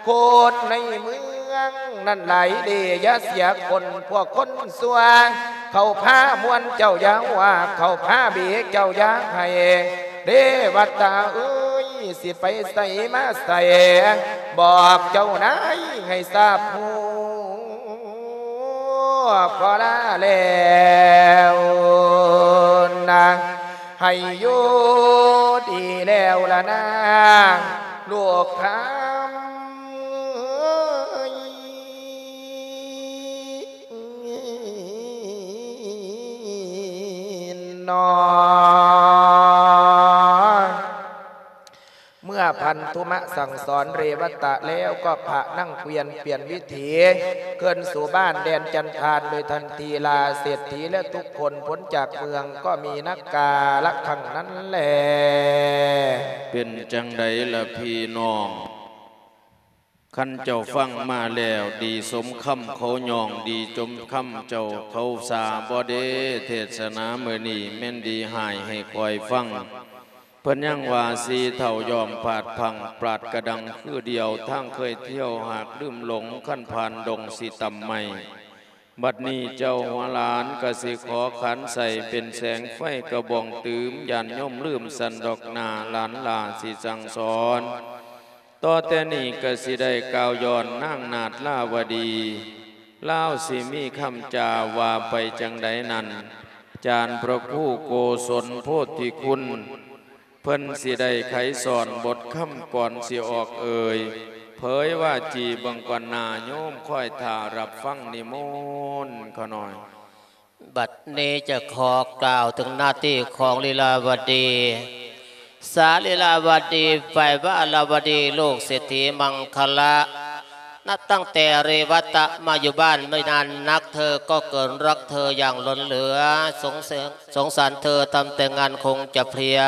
ຄົນໃນເມືອງນັ້ນຫຼາຍເດ ຢ່າເສຍຄົນພວກຄົນຊົ່ວ ເຂົາພາມ່ວນເຈົ້າຢ່າວ່າ ເຂົາພາເບເຈົ້າຢ່າໃຫ້ ເດວັດຕາເອີຍ ຊິໄປໃສມາໃສ ບອກເຈົ້ານາຍໃຫ້ຊາບຮູ້. ຂໍລາແລ້ວນາ ໃຫ້ຢູ່ດີແລ້ວລະນາ ລູກຄຳເອີຍ ນອ ເມື່ອພັນທຸມະສັ່ງສອນເຣວະຕະແລ້ວ ກໍພະນັ່ງກວຽນປ່ຽນວິຖີ ຄືນສູ່ບ້ານແດນຈັນທານໂດຍທັນທີລາ. ເສດຖີ ແລະ ທຸກຄົນພົ້ນຈາກເມືອງ ກໍມີນັກກາລະຄັ້ງນັ້ນແລ. ເປັນຈັ່ງໃດລະພີ່ນ້ອງ? ຄັນເຈົ້າຟັງມາແລ້ວ ດີສົມຄຳເຂົາຍ້ອງ ດີສົມຄຳເຈົ້າເຂົາສາບໍເດ? ເທດສະນາມື້ນີ້ແມ່ນດີຮ້າຍໃຫ້ຂ້ອຍຟັງ. ເພິ່ນຍັງວ່າ ສີເທົາຍ້ອມພາດພັງ ປາດກະດັງຄືດຽວ ທາງເຄີຍທ່ຽວຫາກລືມຫຼົງ ຄັນຜ່ານດົງຊິຕຳໄມ້. ບັດນີ້ເຈົ້າຫົວຫຼານກະຊິຂໍຂັນໃສ່ເປັນແສງໄຟກະບອງຕື່ມ ຢ້ານໂຍມລືມຊັ້ນດອກໜ້າ ຫຼານຫຼ້າຊິສັ່ງສອນ. ຕໍ່ແຕ່ນີ້ກະຊິໄດ້ກ່າວຍ້ອນນາງນາດລາວະດີ ລາວຊິມີຄຳຈາວ່າໄປຈັ່ງໃດນັ້ນ ຈານພະຄູໂກສົນໂພທິຄຸນ ເພິ່ນຊິໄດ້ໄຂສອນບົດຄຳກ່ອນຊິອອກເອີ່ຍ ເຜີຍວາຈີເບິ່ງກ່ອນໜ້າ ໂຍມຄອຍຖ້າຮັບຟັງນິມົນຂະໜ້ອຍ. ບັດນີ້ຈະຂໍກ່າວເຖິງໜ້າທີ່ຂອງລີລາວະດີ ສາລີລາວະດີ ຝ່າຍວາລາວະດີ ລູກເສດຖີມັງຄະລະ. ນັບຕັ້ງແຕ່ເຣວະຕະມາຢູ່ບ້ານໄມ່ນານນັກ ເທີກໍເກີນຮັກເທີຢ່າງລົ້ນເຫຼືອ ສົງ ສົງສານເທີ ທຳແຕ່ງານຄົງຈະເພຍ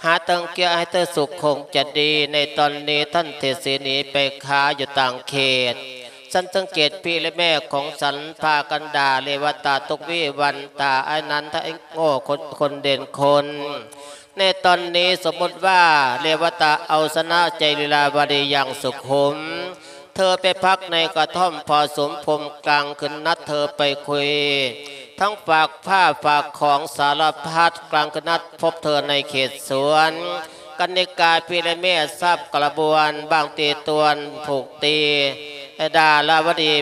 ຫາຕັງເກຍໃຫ້ເທີສຸກຄົງຈະດີ. ໃນຕອນນີ້ທ່ານເສດຖີໜີໄປຄ້າຢູ່ຕ່າງເຂດ ສັນສັງເກດພີ່ແລະແມ່ຂອງສັນພາກັນດ່າເຣວະຕະທຸກວີວັນຕາ ອ້າຍນັ້ນທະໄອ້ໂງ່ຄົນ ຄົນເດັ່ນຄົນ. ໃນຕອນນີ້ສົມມຸດວ່າເຣວະຕະເອົາຊະນະໃຈລີລາວະດີຢ່າງສຸຂຸມ. ເທີໄປພັກໃນກະທ່ອມພໍສົມພົມ ກາງຄືນນັດເທີໄປຄຸຍ ທັງຝາກຜ້າຝາກຂອງສາລະພັດ ກາງຄືນນັດພົບເທີໃນເຂດສວນ. ກັນນິກາພີ່ແລະແມ່ຊາບກະລະບວນ ບາງຕີຕວນຜູກຕີ ດາລາວະດີ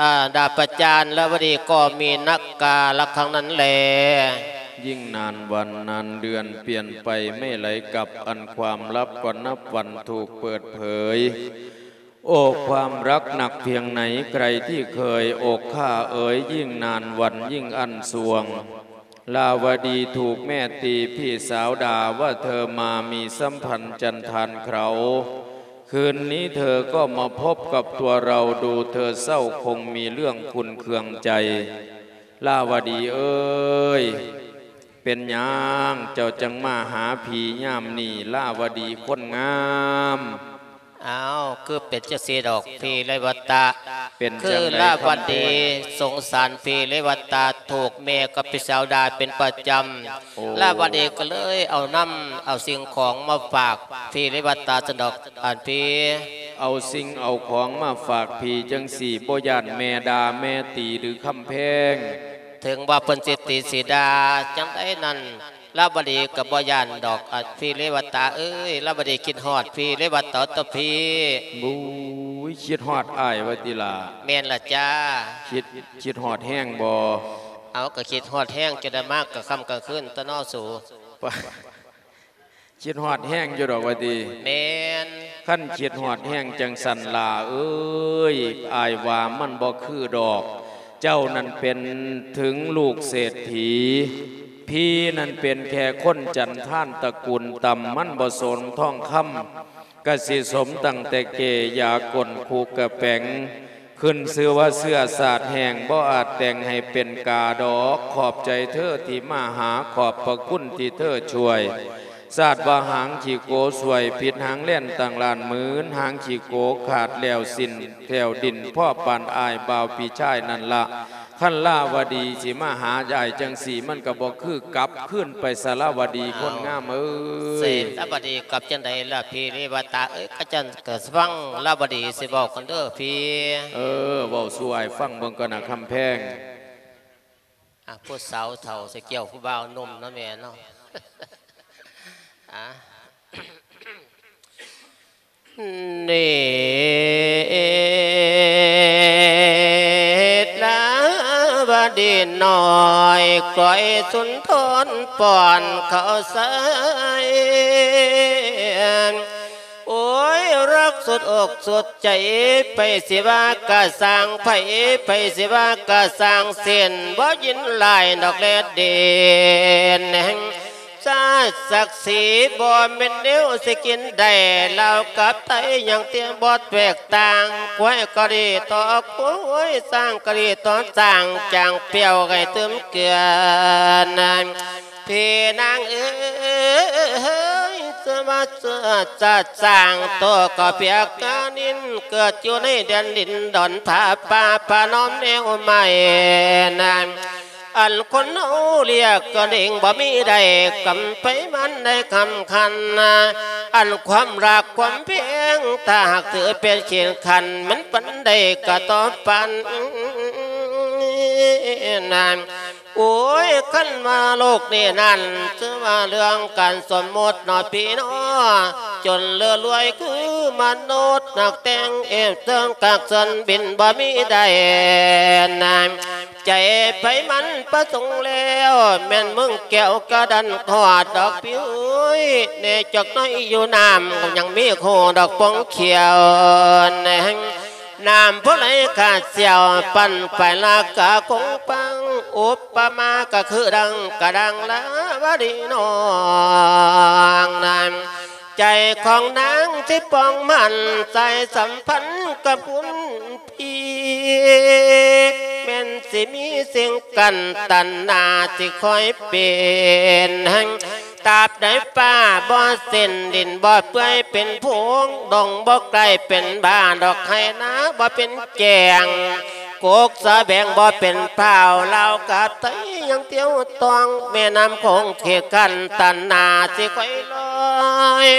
ອາ ດາປະຈານລາວະດີກໍມີນັກກາລະຄັ້ງນັ້ນແລ. ຍິ່ງນານວັນນານເດືອນປ່ຽນໄປໄມ່ໄຫຼກັບ ອັນຄວາມລັບກໍນັບວັນຖືກເປີດເຜີຍ. ໂອ້ ຄວາມຮັກໜັກພຽງໃນ ໃກທີ່ເຄີຍ ໂອ້ ຂ້າເອີຍ ຍິ່ງນານວັນຍິ່ງອັນຊ່ວງ. ລາວະດີຖືກແມ່ຕີ ພີ່ສາວດ່າວ່າເທີມາມີສຳພັນຈັນທານເຂົາ. ຄືນນີ້ເທີກໍມາພົບກັບຕົວເຮົາ ດູເທີເສົ້າຄົງມີເລື່ອງຂຸ້ນເຄືອງໃຈ. ລາວະດີເອີຍ ເປັນຫຍັງເຈົ້າຈັ່ງມາຫາພີ່ຍາມນີ້ ລາວະດີຄົນງາມ? ອ້າວ ຄືເປັນຈັ່ງຊີ້ດອກພີ່ເລວະຕະ? ເປັນ ຄື ຈັ່ງໃດ ລາວະດີ ຄຳແພງ ສົງສານພີ່ເລວະຕະ ຖືກແມ່ກັບພີ່ສາວດ່າເປັນປະຈຳ. ໂອ້ ລາວະດີກໍເລີຍເອົານຳ ເອົາສິ່ງຂອງມາຝາກພີ່ເລວະຕະຊັ້ນດອກ ອັນພີ່ ເອົາສິ່ງເອົາຂອງມາຝາກພີ່ຈັ່ງຊີ້ ບໍ່ຢ້ານແມ່ດ່າແມ່ຕີຫຼືຄຳແພງ? ເຖິງວ່າເພິ່ນຊິຕີຊິດ່າຈັ່ງໃດນັ້ນ ລາວະດີກໍບໍ່ຢ້ານດອກ ອາ ພີ່ເລວະຕະເອີຍ. ລາວະດີຄິດຮອດພີ່ເລວະຕະຕົວະພີ່. ໂອ້ຍ ຄິດຮອດອ້າຍວ່າຕິລະ? ແມ່ນລະຈ້າ. ຄິດ ຄິດຮອດແຮງບໍ່? ເອົາ ກໍຄິດຮອດແຮງ ຈະໄດ້ມາກະຄ່ຳກະຄືນຕົວະນໍສູ. ຄິດຮອດແຮງຢູ່ດອກວ່າຕິ? ແມ່ນ. ຄັນຄິດຮອດແຮງຈັ່ງຊັ້ນ ຫຼ້າເອີຍ ອ້າຍວ່າມັນບໍ່ຄືດອກ. ເຈົ້ານັ້ນເປັນເຖິງລູກເສດຖີ ພີ່ນັ້ນເປັນແຄ່ຄົນຈັນທານຕະກູນຕ່ຳ ມັນບໍ່ສົມທອງຄຳ ກະຊິສົມຕັ້ງແຕ່ເກ ຢາກົ້ນ ຄູກະແປງ. ຂຶ້ນຊື່ວ່າເຊື້ອຊາດແຫ້ງ ບໍ່ອາດແຕ່ງໃຫ້ເປັນກາດອກ. ຂອບໃຈເທີທີ່ມາຫາ ຂອບພະຄຸນທີ່ເທີຊ່ວຍ. ຊາດວ່າຫາງຂີ້ໂກສວຍ ຜິດຫາງແລ່ນຕັ້ງລ້ານໝືນ ຫາງຂີ້ໂກຂາດແລ້ວສິ້ນແຖວດິນ ພໍປານອ້າຍບ່າວພີ່ຊາຍນັ້ນລະ. ຄັນລາວະດີຊິມາຫາອ້າຍຈັ່ງຊີ້ ມັນກໍບໍ່ຄືກັບຄືນໄປສະລາວະດີ ອ້າວ ຄົນງາມເອີຍ. ເສດລາວະດີກັບຈັ່ງໃດລະພີ່ເລວະຕະເອີຍ? ກະຈັ່ງກະຟັງລາວະດີຊິເວົ້າກັນເດີພີ່. ເອີ ເວົ້າສູ່ອ້າຍຟັງເບິ່ງກ່ອນນະຄຳແພງ. ອ່າ ຜູ້ສາວເຖົ້າຊິກ່ຽວຜູ້ບ່າວໜຸ່ມເນາະແມ່ເນາະ. ອ່າ ເນດນາ ອ້ອຍກ້ອຍສຸນທອນປ້ອນເຂົ້າໃສ່. ໂອ້ຍ ຮັກສຸດອົກສຸດໃຈ ໃຜຊິວ່າກະຊ່າງ ໃຜ ໃຜຊິວ່າກະຊ່າງ ເສັ້ນບໍ່ຍິນຫຼາຍດອກແລດເດນ ຊາດສັກສີບໍ່ແມ່ນແນວຊິກິນໄດ້ ລາວກັບໄທຍັງຕຽມບໍ່ແຕກຕ່າງ ຄວາຍກໍດີຕໍ່ຄວາຍ ຊ້າງກໍດີຕໍ່ຊ້າງ ຈ້າງປ່ຽວໃຫ້ຕື່ມເກືອນ ພີ່ນາງເອີຍ ສະມາຊາດຊ້າງໂຕກໍປຽກການິນ ເກີດຢູ່ໃນແດນດິນດອນຜາປ່າ ປະນອມແນວໃໝ່ນາງ ອັນຄົນເຮົາລຽກກໍເດ້ງບໍ່ມີໄດ້ ກຳໄປມັນໄດ້ຄຳຄັນນາ ອັນຄວາມຮັກຄວາມແພງ ຖ້າຫາກຖືເປັນເຂດຂັນ ມັນປັນໄດ້ກະຕໍ່ປັນນາງ. ໂອ້ຍ ຄັນວ່າໂລກນີ້ນັ້ນ ຊື່ວ່າເລື່ອງການສົມມຸດເນາະພີ່ນ້ອງ ຈົນເລີລວຍຄືມະນຸດ ນັກແຕ່ງເອບເຊິ່ງກັກເຊີນບິນບໍ່ມີໄດ້ນາງ ໃຈໃຜມັນປະສົງແລ້ວ ແມ່ນເມືອງແກ້ວກະດັນຮອດດອກພີ່ເອີຍ ແນ່ຈັກໜ້ອຍຢູ່ນ້ຳ ຍັງມີໂຄດອກປອງຂຽວແນງ ນ້ຳຜູ້ໃດຂາດສ່ຽວ ປັ່ນໄປລາກາຄົງປັງ ອຸປະມາກະຄືດັ່ງກະດັງລາວະດີນ້ອງນາງ ໃຈຂອງນາງທີ່ປອງໝັ້ນ ສາຍສຳພັນກັບຄຸນ ອີກ ແມ່ນຊິມີສິ່ງກັ້ນຕັນໜ້າ ຊິຄອຍເປັນ ຕາບໃດຟ້າບໍ່ເສັ້ນ ດິນບໍ່ເປື່ອຍເປັນຜົງ ດົງບໍ່ກາຍເປັນບ້າ ດອກໄຮ່ນາບໍ່ເປັນແຈ້ງ ກົກສະແບງບໍ່ເປັນພ້າວ ລາວກະໄທຍັງຕຽວຕອງ ແມ່ນ້ຳໂຂງເຂດຂັ້ນຕັນໜ້າ ຊິຄ່ອຍລອຍ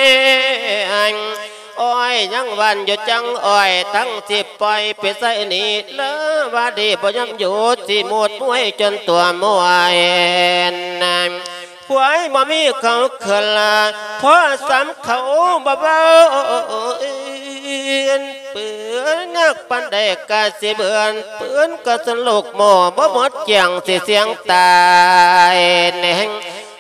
ອ້ອຍຍັງຫວ່ານຢູ່ຈັງອ້ອຍ ທັງຊິປ່ອຍໄປໃສ່ໜີ ລາວະດີບໍ່ຍອມຢຸດ ຊິໝູດມວຍຈົນຕົວມວຍ ຄວາຍບໍ່ມີເຂົາເຂີນ ພໍສຳເຂົາບໍ່ເວົ້າ ປືນຍາກປານໃດກະຊິເບືອນ ປືນກະສະລຸກໝໍ ບໍ່ໝົດກຽງຊິສ່ຽງຕາຍແນງ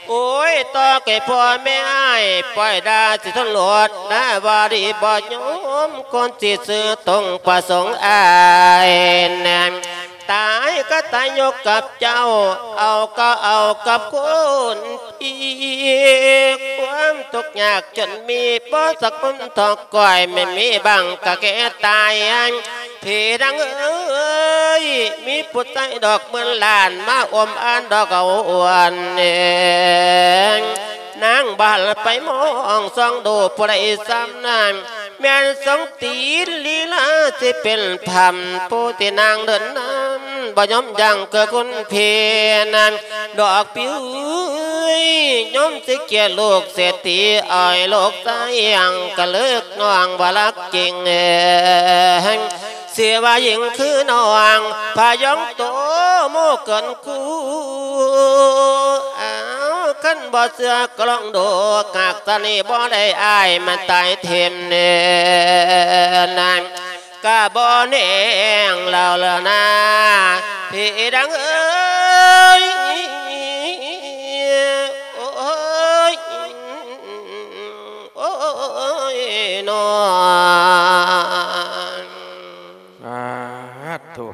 ໂອ້ຍ ຕໍ່ແກ່ພໍ່ແມ່ອ້າຍ ປ່ອຍດ່າຊິທົນໂລດ ນາວາລີບໍ່ຍອມ ຄົນຊິຊື່ຕົງປະສົງອ້າຍແນງ ຕາຍກໍຕາຍຢູ່ກັບເຈົ້າ ເອົາກໍເອົາກັບຄົນອີກ ຄວາມທຸກຍາກຈົນມີ ບໍ່ສັກຄົນທອກກ້ອຍ ແມ່ນມີບາງກະແກ່ຕາຍ ພີ່ນາງເອີຍ ມີຜູ້ຊາຍດອກໝື່ນລ້ານ ມາອົມອານດອກເອົາອວນເອງ ນາງບໍ່ຫັນໄປມອງສ່ອງດູຜູ້ໃດຊ້ຳນາງ ແມ່ນສົງຕີນລີລາຊິເປັນພຳ ຜູ້ທີ່ນາງເດີນນຳ ບໍ່ຍອມຢັ້ງຄືຄຸນພີ່ນາງ ດອກປິວເອີຍ ຍອມຊິກຽດລູກເສດຖີອ້ອຍລູກຊາຍ ຍັງກະເລີກນ້ອງວ່າລັກຈິງເອງ ຊິວ່າຍິງຄືນ້ອງ ພະຍອງໂຕໂມເກີນຄູ່ ອ້າວ ຄັນບໍ່ເຊື່ອກໍລອງດູ ຫາກຊາດນີ້ບໍ່ໄດ້ອ້າຍມັນຕາຍຖິ້ມເນີນນາງ ກະບໍ່ແນງລາວລະນາ ພີ່ດັງເອີຍ ໂອ້ຍ ໂອ້ຍ ນ້ອງ ສາທຸ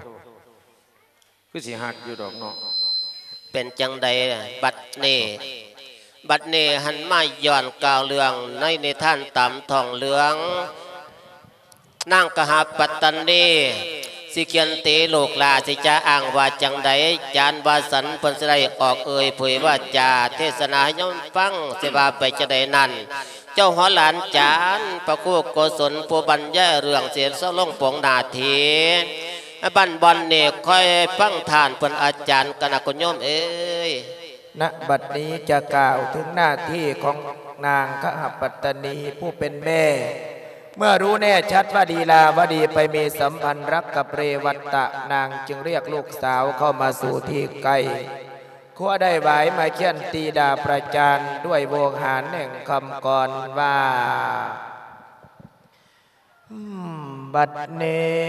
ຄືຊິຮັກຢູ່ດອກເນາະ. ເປັນຈັ່ງໃດບັດນີ້? ບັດນີ້ຫັ້ນມາຍ້ອນກ່າວເລື່ອງໃນນິທານຕາມທ້ອງເລື່ອງ ນາງກະຫະປັດຕະນີ ຊິຂຽນຕີລູກຫຼ້າ ຊິຈະອ້າງວ່າຈັ່ງໃດ? ຈານວາສັນເພິ່ນຊິໄດ້ອອກເອີ່ຍເຜີຍວາຈາເທດສະໜາໃຫ້ໂຍມຟັງ ຊິວ່າໄປຈັ່ງໃດນັ້ນ ເຈົ້າຫົວຫຼານຈານ ພະຄູໂກສົນ ຜູ້ບັນຍາຍເລື່ອງ ເສດສະລົງປົງໜ້າທີ່ ບັ້ນບ່ອນນີ້ ຄອຍຟັງທ່ານເພິ່ນອາຈານກັນນະຄຸນໂຍມເອີຍ. ນະບັດນີ້ຈະກ່າວເຖິງໜ້າທີ່ຂອງນາງຄະຫະປັດຕະນີຜູ້ເປັນແມ່ ເມື່ອຮູ້ແນ່ຊັດວ່າລີລາວະດີໄປມີສຳພັນລັກກັບເຣວັດຕະ ນາງຈຶ່ງລຽກລູກສາວເຂົ້າມາສູ່ທີ່ໃກ້ ຂົວໄດ້ຫວາຍມາຂຽນຕີດາປະຈານດ້ວຍໂວຫານແຫ່ງຄຳກອນວ່າ ອືມ ບັດນີ້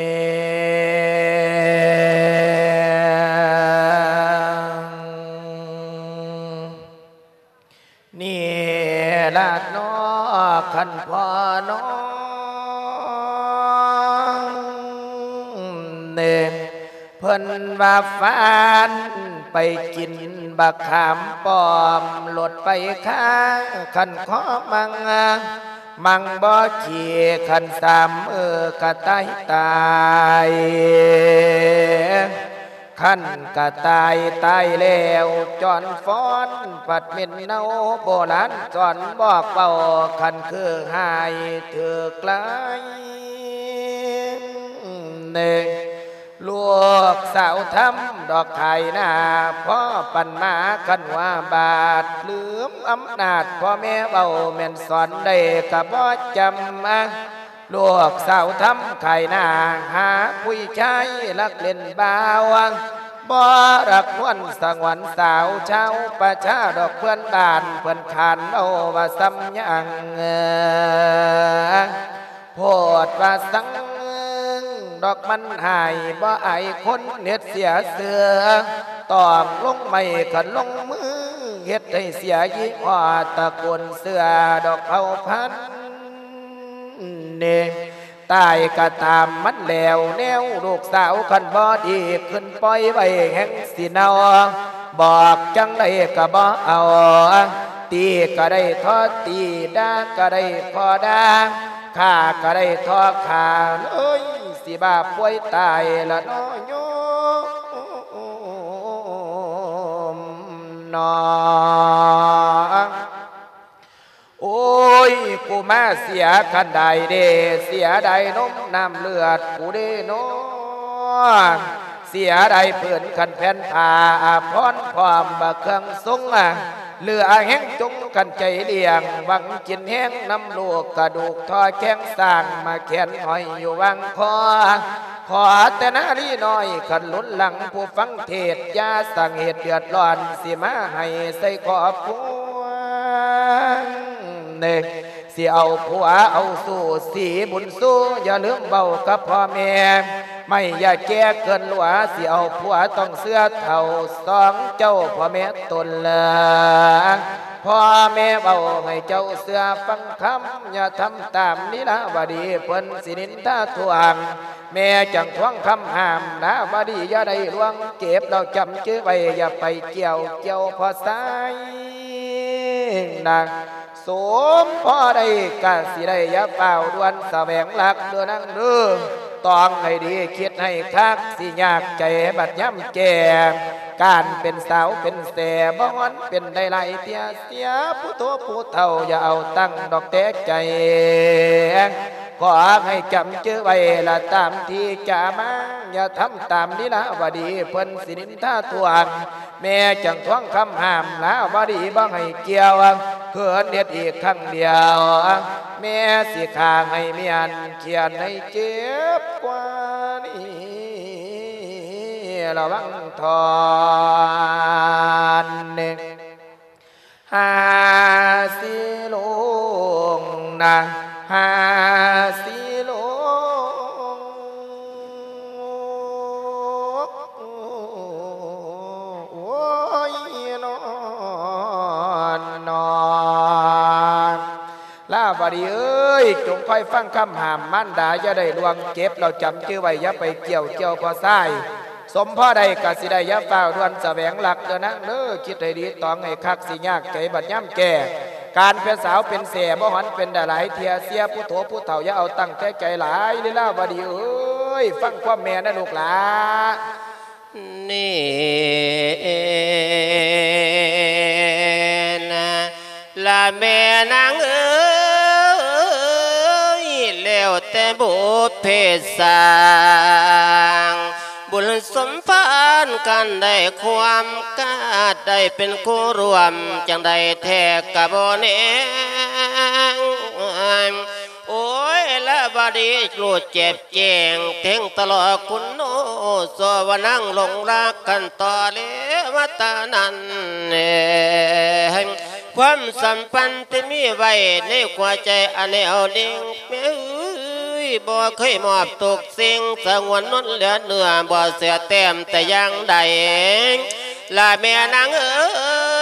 ລາດນໍ ຄັນພໍ່ນ້ອງເນ ເພິ່ນວ່າຟານໄປກິນບັກຂາມປ້ອມ ລົດໄປຄາ ຄັນຂໍມັ່ງ ມັ່ງບໍ່ຂີ້ ຄັນສາມມື້ກະຕາຍຕາຍ ຄັນກະຕາຍຕາຍແລ້ວ ຈອນຟ້ອນພັດເໝັນເນົ່າ ໂບລານສອນບອກເວົ້າ ຄັນຄືຫາຍຖືກລາຍ ເນ ລູກສາວທຳດອກຂາຍໜ້າ ພໍປັນມາຄັນວ່າບາດ ລືມອຳນາດພໍ່ແມ່ເວົ້າ ແມ່ນສອນໄດ້ກະບໍ່ຈຳ ລູກສາວທຳຂາຍໜ້າ ຫາຜູ້ຊາຍລັກຫຼິ້ນບ່າວ ບໍ່ລັກນວນສະຫງວນສາວ ຊາວປະຊາດອກເພື່ອນບ້ານ ເພິ່ນຂານເວົ້າວ່າສ່ຳຫຍັງ ໂພດວ່າສັງ ດອກມັນຫາຍ ບໍ່ອາຍຄົນເຮັດເສຍຊື່ ຕ້ອງລົງໄມ້ຄັນລົງມື ເຮັດໃຫ້ເສຍຍີ່ຫໍ້ຕະໂກນເສື້ອດອກເຜົ່າພັນ ເນ ຕາຍກະຕາມມັນແລ້ວແນວ ລູກສາວຄັນບໍ່ດີ ຂຶ້ນປ່ອຍໄວ້ແຮ່ງຊິເນົ່າ ບອກຈັ່ງໃດກະບໍ່ເອົາ ຕີກະໄດ້ທໍ່ຕີ ດ່າກະໄດ້ພໍດ່າ ຂ້າກະໄດ້ທໍ່ຂ້າ ເອີຍ ຊິບ້າປ່ວຍຕາຍລະນໍໂຍມນໍ. ໂອ້ຍ ກູມາເສຍຄັນດາຍເດ ເສຍດາຍນົມນ້ຳເລືອດກູເດນໍ ເສຍດາຍຜືນຄັນແຜ່ນຜ້າອາພອນ ພ້ອມບັກເຄື່ອງຊົງ ເຫຼືອແຮງຈົງຄັນໃຈລ້ຽງ ຫວັງກິນແຮງນຳລູກ ກະດູກທໍ່ແຂ້ງສ້າງ ມາແຂນຫ້ອຍຢູ່ຫວ່າງຄໍ ຂໍແຕ່ນາລີນ້ອຍ ຄັນລຸນຫຼັງຜູ້ຟັງເທດ ຢ່າສ້າງເຫດເດືອດຮ້ອນ ຊິມາໃຫ້ໃສ່ຄອບຄົວ ເນ ຊິເອົາຜົວເອົາຊູ່ ສີບຸນຊູ ຢ່າລືມເວົ້າກັບພໍ່ແມ່ ໄມ້ຢ່າແກ່ເກີນຫຼວ ຊິເອົາຜົວຕ້ອງເຊື່ອເຖົ້າ ສອງເຈົ້າພໍ່ແມ່ຕົນລະ ພໍ່ແມ່ເວົ້າໃຫ້ເຈົ້າເຊື່ອຟັງຄຳ ຢ່າທຳຕາມລີລາວະດີ ເພິ່ນຊິນິນທາທວງ ແມ່ຈັ່ງທວງຄຳຫ້າມ ລາວະດີຢ່າໄດ້ລ່ວງ ເກັບແລ້ວຈຳຈື່ໄວ້ ຢ່າໄປກ່ຽວກ່ຽວພໍ່ຊາຍນາ ສົມພໍໄດ້ກະຊິໄດ້ ຢ່າຟ້າວດ່ວນສະແຫວງລັກເດີນາງເດີ ຕ້ອງໃຫ້ດີຄິດໃຫ້ຄັກ ຊິຍາກໃຈບັດຍາມແກ່ ການເປັນສາວເປັນແສ ບໍ່ຮອນເປັນໄດ້ຫຼາຍເທື່ອ ເສຍຜູ້ໂຕຜູ້ເຖົ້າ ຢ່າເອົາຕັ້ງດອກແຕ່ໃຈ ຂໍໃຫ້ຈຳຈື່ໄວ້ລະຕາມທີ່ຈະມາ ຢ່າທຳຕາມລີລາວະດີ ເພິ່ນຊິນິນທາທວງ ແມ່ຈັ່ງທວງຄຳຫ້າມ ລາວະດີບໍ່ໃຫ້ກ່ຽວ ຄືເຮັດອີກຄັ້ງດຽວ ແມ່ຊິຂ້າໃຫ້ມ້ຽນ ຂຽນໃຫ້ເຈັບກວ່ານີ້ ລະວັງທອນ ຫາສີຫຼົງນະ ຫາສີຫຼົງ ໂອ້ຍ ນອນ ນອນ ລາວະດີເອີຍ ຈົ່ງຄອຍຟັງຄຳຫ້າມມານດາ ຢ່າໄດ້ລ່ວງ ເກັບແລ້ວຈຳຈື່ໄວ້ ຢ່າໄປກ່ຽວກ່ຽວພໍ່ຊາຍ ສົມພໍໄດ້ກະຊິໄດ້ ຢ່າຟ້າວດ່ວນສະແຫວງລັກເດີນາງເດີ ຄິດໃຫ້ດີຕອງໃຫ້ຄັກ ຊິຍາກໃຈບັດຍາມແກ່ ການເປັນສາວເປັນແສ້ ບໍ່ຮອນເປັນດາຫຼາຍເທື່ອ ເສຍຜູ້ໂຕຜູ້ເຖົ້າ ຢ່າເອົາຕັ້ງແຕ່ໃຈຫຼາຍ ລີລາວະດີເອີຍ ຟັງຄວາມແມ່ນະລູກຫຼາ ນີ້ນະ ລະແມ່ນາງເອີຍ ແລ້ວແຕ່ບຸບເພສ້າງ ບຸນສົມພານກັນໄດ້ຄວາມກາດ ໄດ້ເປັນຄູ່ຮ່ວມ ຈັ່ງໃດແທ້ກະບໍ່ແນ່ ໂອ້ຍ ລະບາດນີ້ຮູ້ແຈບແຈ້ງ ແທງຕະຫຼອກຄຸນໂນ ສວນາງຫຼົງລັກກັນຕໍ່ແລວມາແຕ່ນັ້ນ ຄວາມສຳພັນທີ່ມີໄວ້ໃນຫົວໃຈອັນແໜ້ວໜິ່ງ ແມ່ເອີຍ ບໍ່ເຄີຍມອບທຸກສິ່ງ ສະຫງວນນົນເຫຼືອເນື້ອ ບໍ່ເຊື່ອແຕ້ມແຕ່ຢ່າງໃດ ລະແມ່ນາງເອີ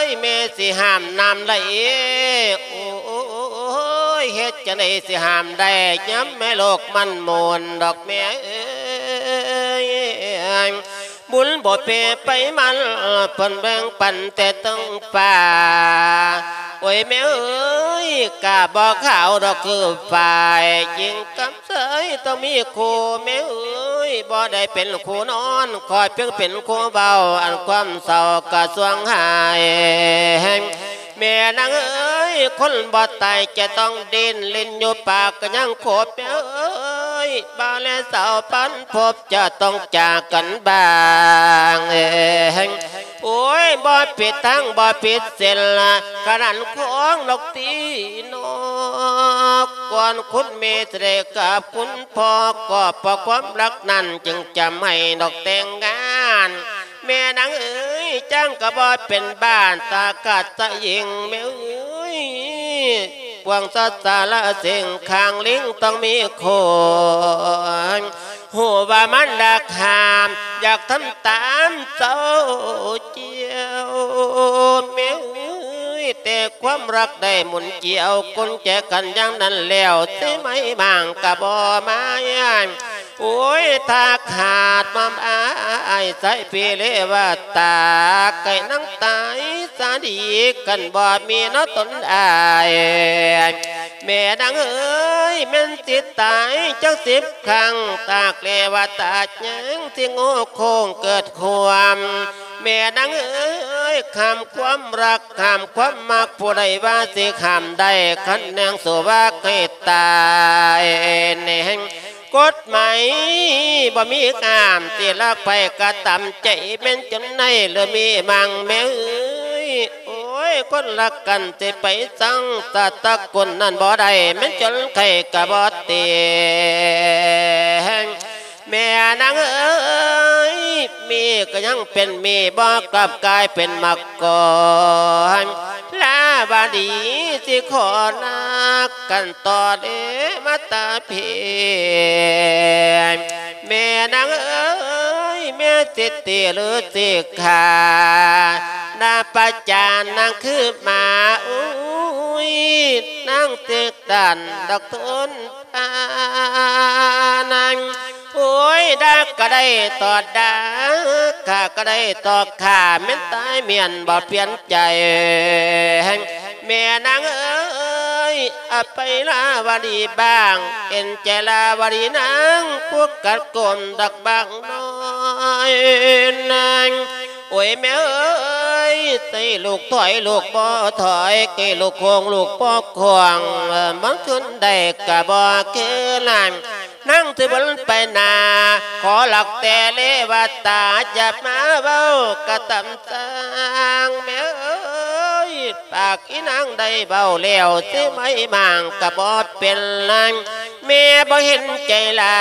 ຍ ແມ່ຊິຫ້າມນ້ຳໄຫຼ ໂອ ຈັ່ງໃດຊິຫ້າມໄດ້ ຍາມແມ່ໂລກມັນໝູນດອກແມ່ເອີຍ. ບຸນບໍ່ເປໄປມັນ ເພິ່ນແບ່ງປັນແຕ່ເທິງຟ້າ. ໂອ້ຍແມ່ເອີຍ ກາບໍ່ຂາວດອກຄືຝ້າຍ ຍິງກັບຊາຍຕ້ອງມີຄູ່ແມ່ເອີຍ. ບໍ່ໄດ້ເປັນຄູ່ນອນ ຂໍພຽງເປັນຄູ່ເວົ້າ ອັນຄວາມເສົ້າກະຊ່ວງຫາຍ. ແມ່ນາງເອີຍ ຄົນບໍ່ຕາຍຈະຕ້ອງດີ້ນ ຫຼິ້ນຢູ່ປາກກະຍັງຄົບແມ່ເອີຍ. ບ່າວແລະສາວພັນພົບຈະຕ້ອງຈາກກັນບາງ. ໂອ້ຍ ບໍ່ຜິດທາງ ບໍ່ຜິດເສັ້ນລະ ຂະໜາດຂອງນກຕີນອກ ກ່ອນຄຸນແມ່ຈະໄດ້ກັບຄຸນພໍ່ ກໍເພາະຄວາມຮັກນັ້ນຈຶ່ງຈຳໃຫ້ນກແຕ່ງງານ. ແມ່ນາງເອີຍ ຈ້າງກໍບໍ່ເປັນບ້ານ ຕາກາດຕະຍິງແມ່ເອີຍ ພວງສັດສາລະເສັງ ຂ້າງລິງຕ້ອງມີຄົນ ຮູ້ວ່າມັນລັກຫ້າມ ຢາກທຳຕາມເຈົ້າເຈົ້າແມ່ເອີຍ. ແຕ່ຄວາມຮັກໄດ້ໝູນກ່ຽວ ກຸນແຈກັນຢ່າງນັ້ນແລ້ວ ຊິໄໝ້ມ້າງກະບໍ່ມາ. ໂອ້ຍ ຖ້າຂາດມອມອ້າຍ ໃສ່ເປເລວະຕາ ໄກ່ນາງຕາຍສາດີ ຄັນບໍ່ມີເນາະຕົນອ້າຍ. ແມ່ນາງເອີຍ ແມ່ນຊິຕາຍຈັກສິບຄັ້ງ ຕາກເລວະຕາຍັງຊິໂງ່ໂຄ້ງເກີດຄວາມ. ແມ່ນາງເອີຍ ຫ້າມຄວາມຮັກ ຫ້າມຄວາມມັກ ຜູ້ໃດວ່າຊິຫ້າມໄດ້ ຄັນແນງສູ້ວ່າໃຫ້ຕາຍແນງ ກົດໝາຍບໍ່ມີຫ້າມ ຊິລັກໃຜກໍຕາມໃຈ ແມ່ນຈົນໃນຫຼືມີມັງແມ່ເອີຍ. ໂອ້ຍ ຄົນລັກກັນຊິໄປຊັງ ສາດຕະກຸນນັ້ນບໍ່ໄດ້ ແມ່ນຈົນໃຄກໍບໍ່ແຕງ. ແມ່ນາງເອີຍ ມີກໍຍັງເປັນມີ ບໍ່ກັບກາຍເປັນໝາກກອນ. ລາວະດີຊິຂໍນາກັນຕໍ່ເດມາຕາເພ. ແມ່ນາງເອີຍ ແມ່ຊິຕີຫຼືຊິຂ້າ ໜ້າປະຈານນາງຄືໝາ ອຸ້ຍ ນາງຊິດັນດອກທົນ ອານາງ ໂອ້ຍ ດາກະໄດ້ຕອດດາ ຂ້າກະໄດ້ຕອກຂ້າ ແມ່ນຕາຍແມ່ນບໍ່ປ່ຽນໃຈ. ແມ່ນາງເອີຍ ອະໄປລາວະດີບ້າງ ເຫັນໃຈລາວະດີນາງ ຜູ້ກັດກົມດອກບາງນ້ອຍນາງ. ໂອ້ຍແມ່ເອີຍ ໃສ່ລູກຖອຍລູກບໍ່ຖອຍ ໃຫ້ລູກໂຄ້ງລູກບໍ່ໂຄ້ງ ມັນຂຶ້ນໄດ້ກະບໍ່ຄືນາງ ນາງຊິບໍ່ໄປໜ້າ ຂໍລັກແຕ່ເລວະຕາ ຢ່າມາເວົ້າກະຕຳສ້າງແມ່ເອີຍ ປາກອີນາງໄດ້ເວົ້າແລ້ວ ຊິໄໝ້ມ້າງກະບໍ່ເປັນນາງ ແມ່ບໍ່ເຫັນໃຈລາ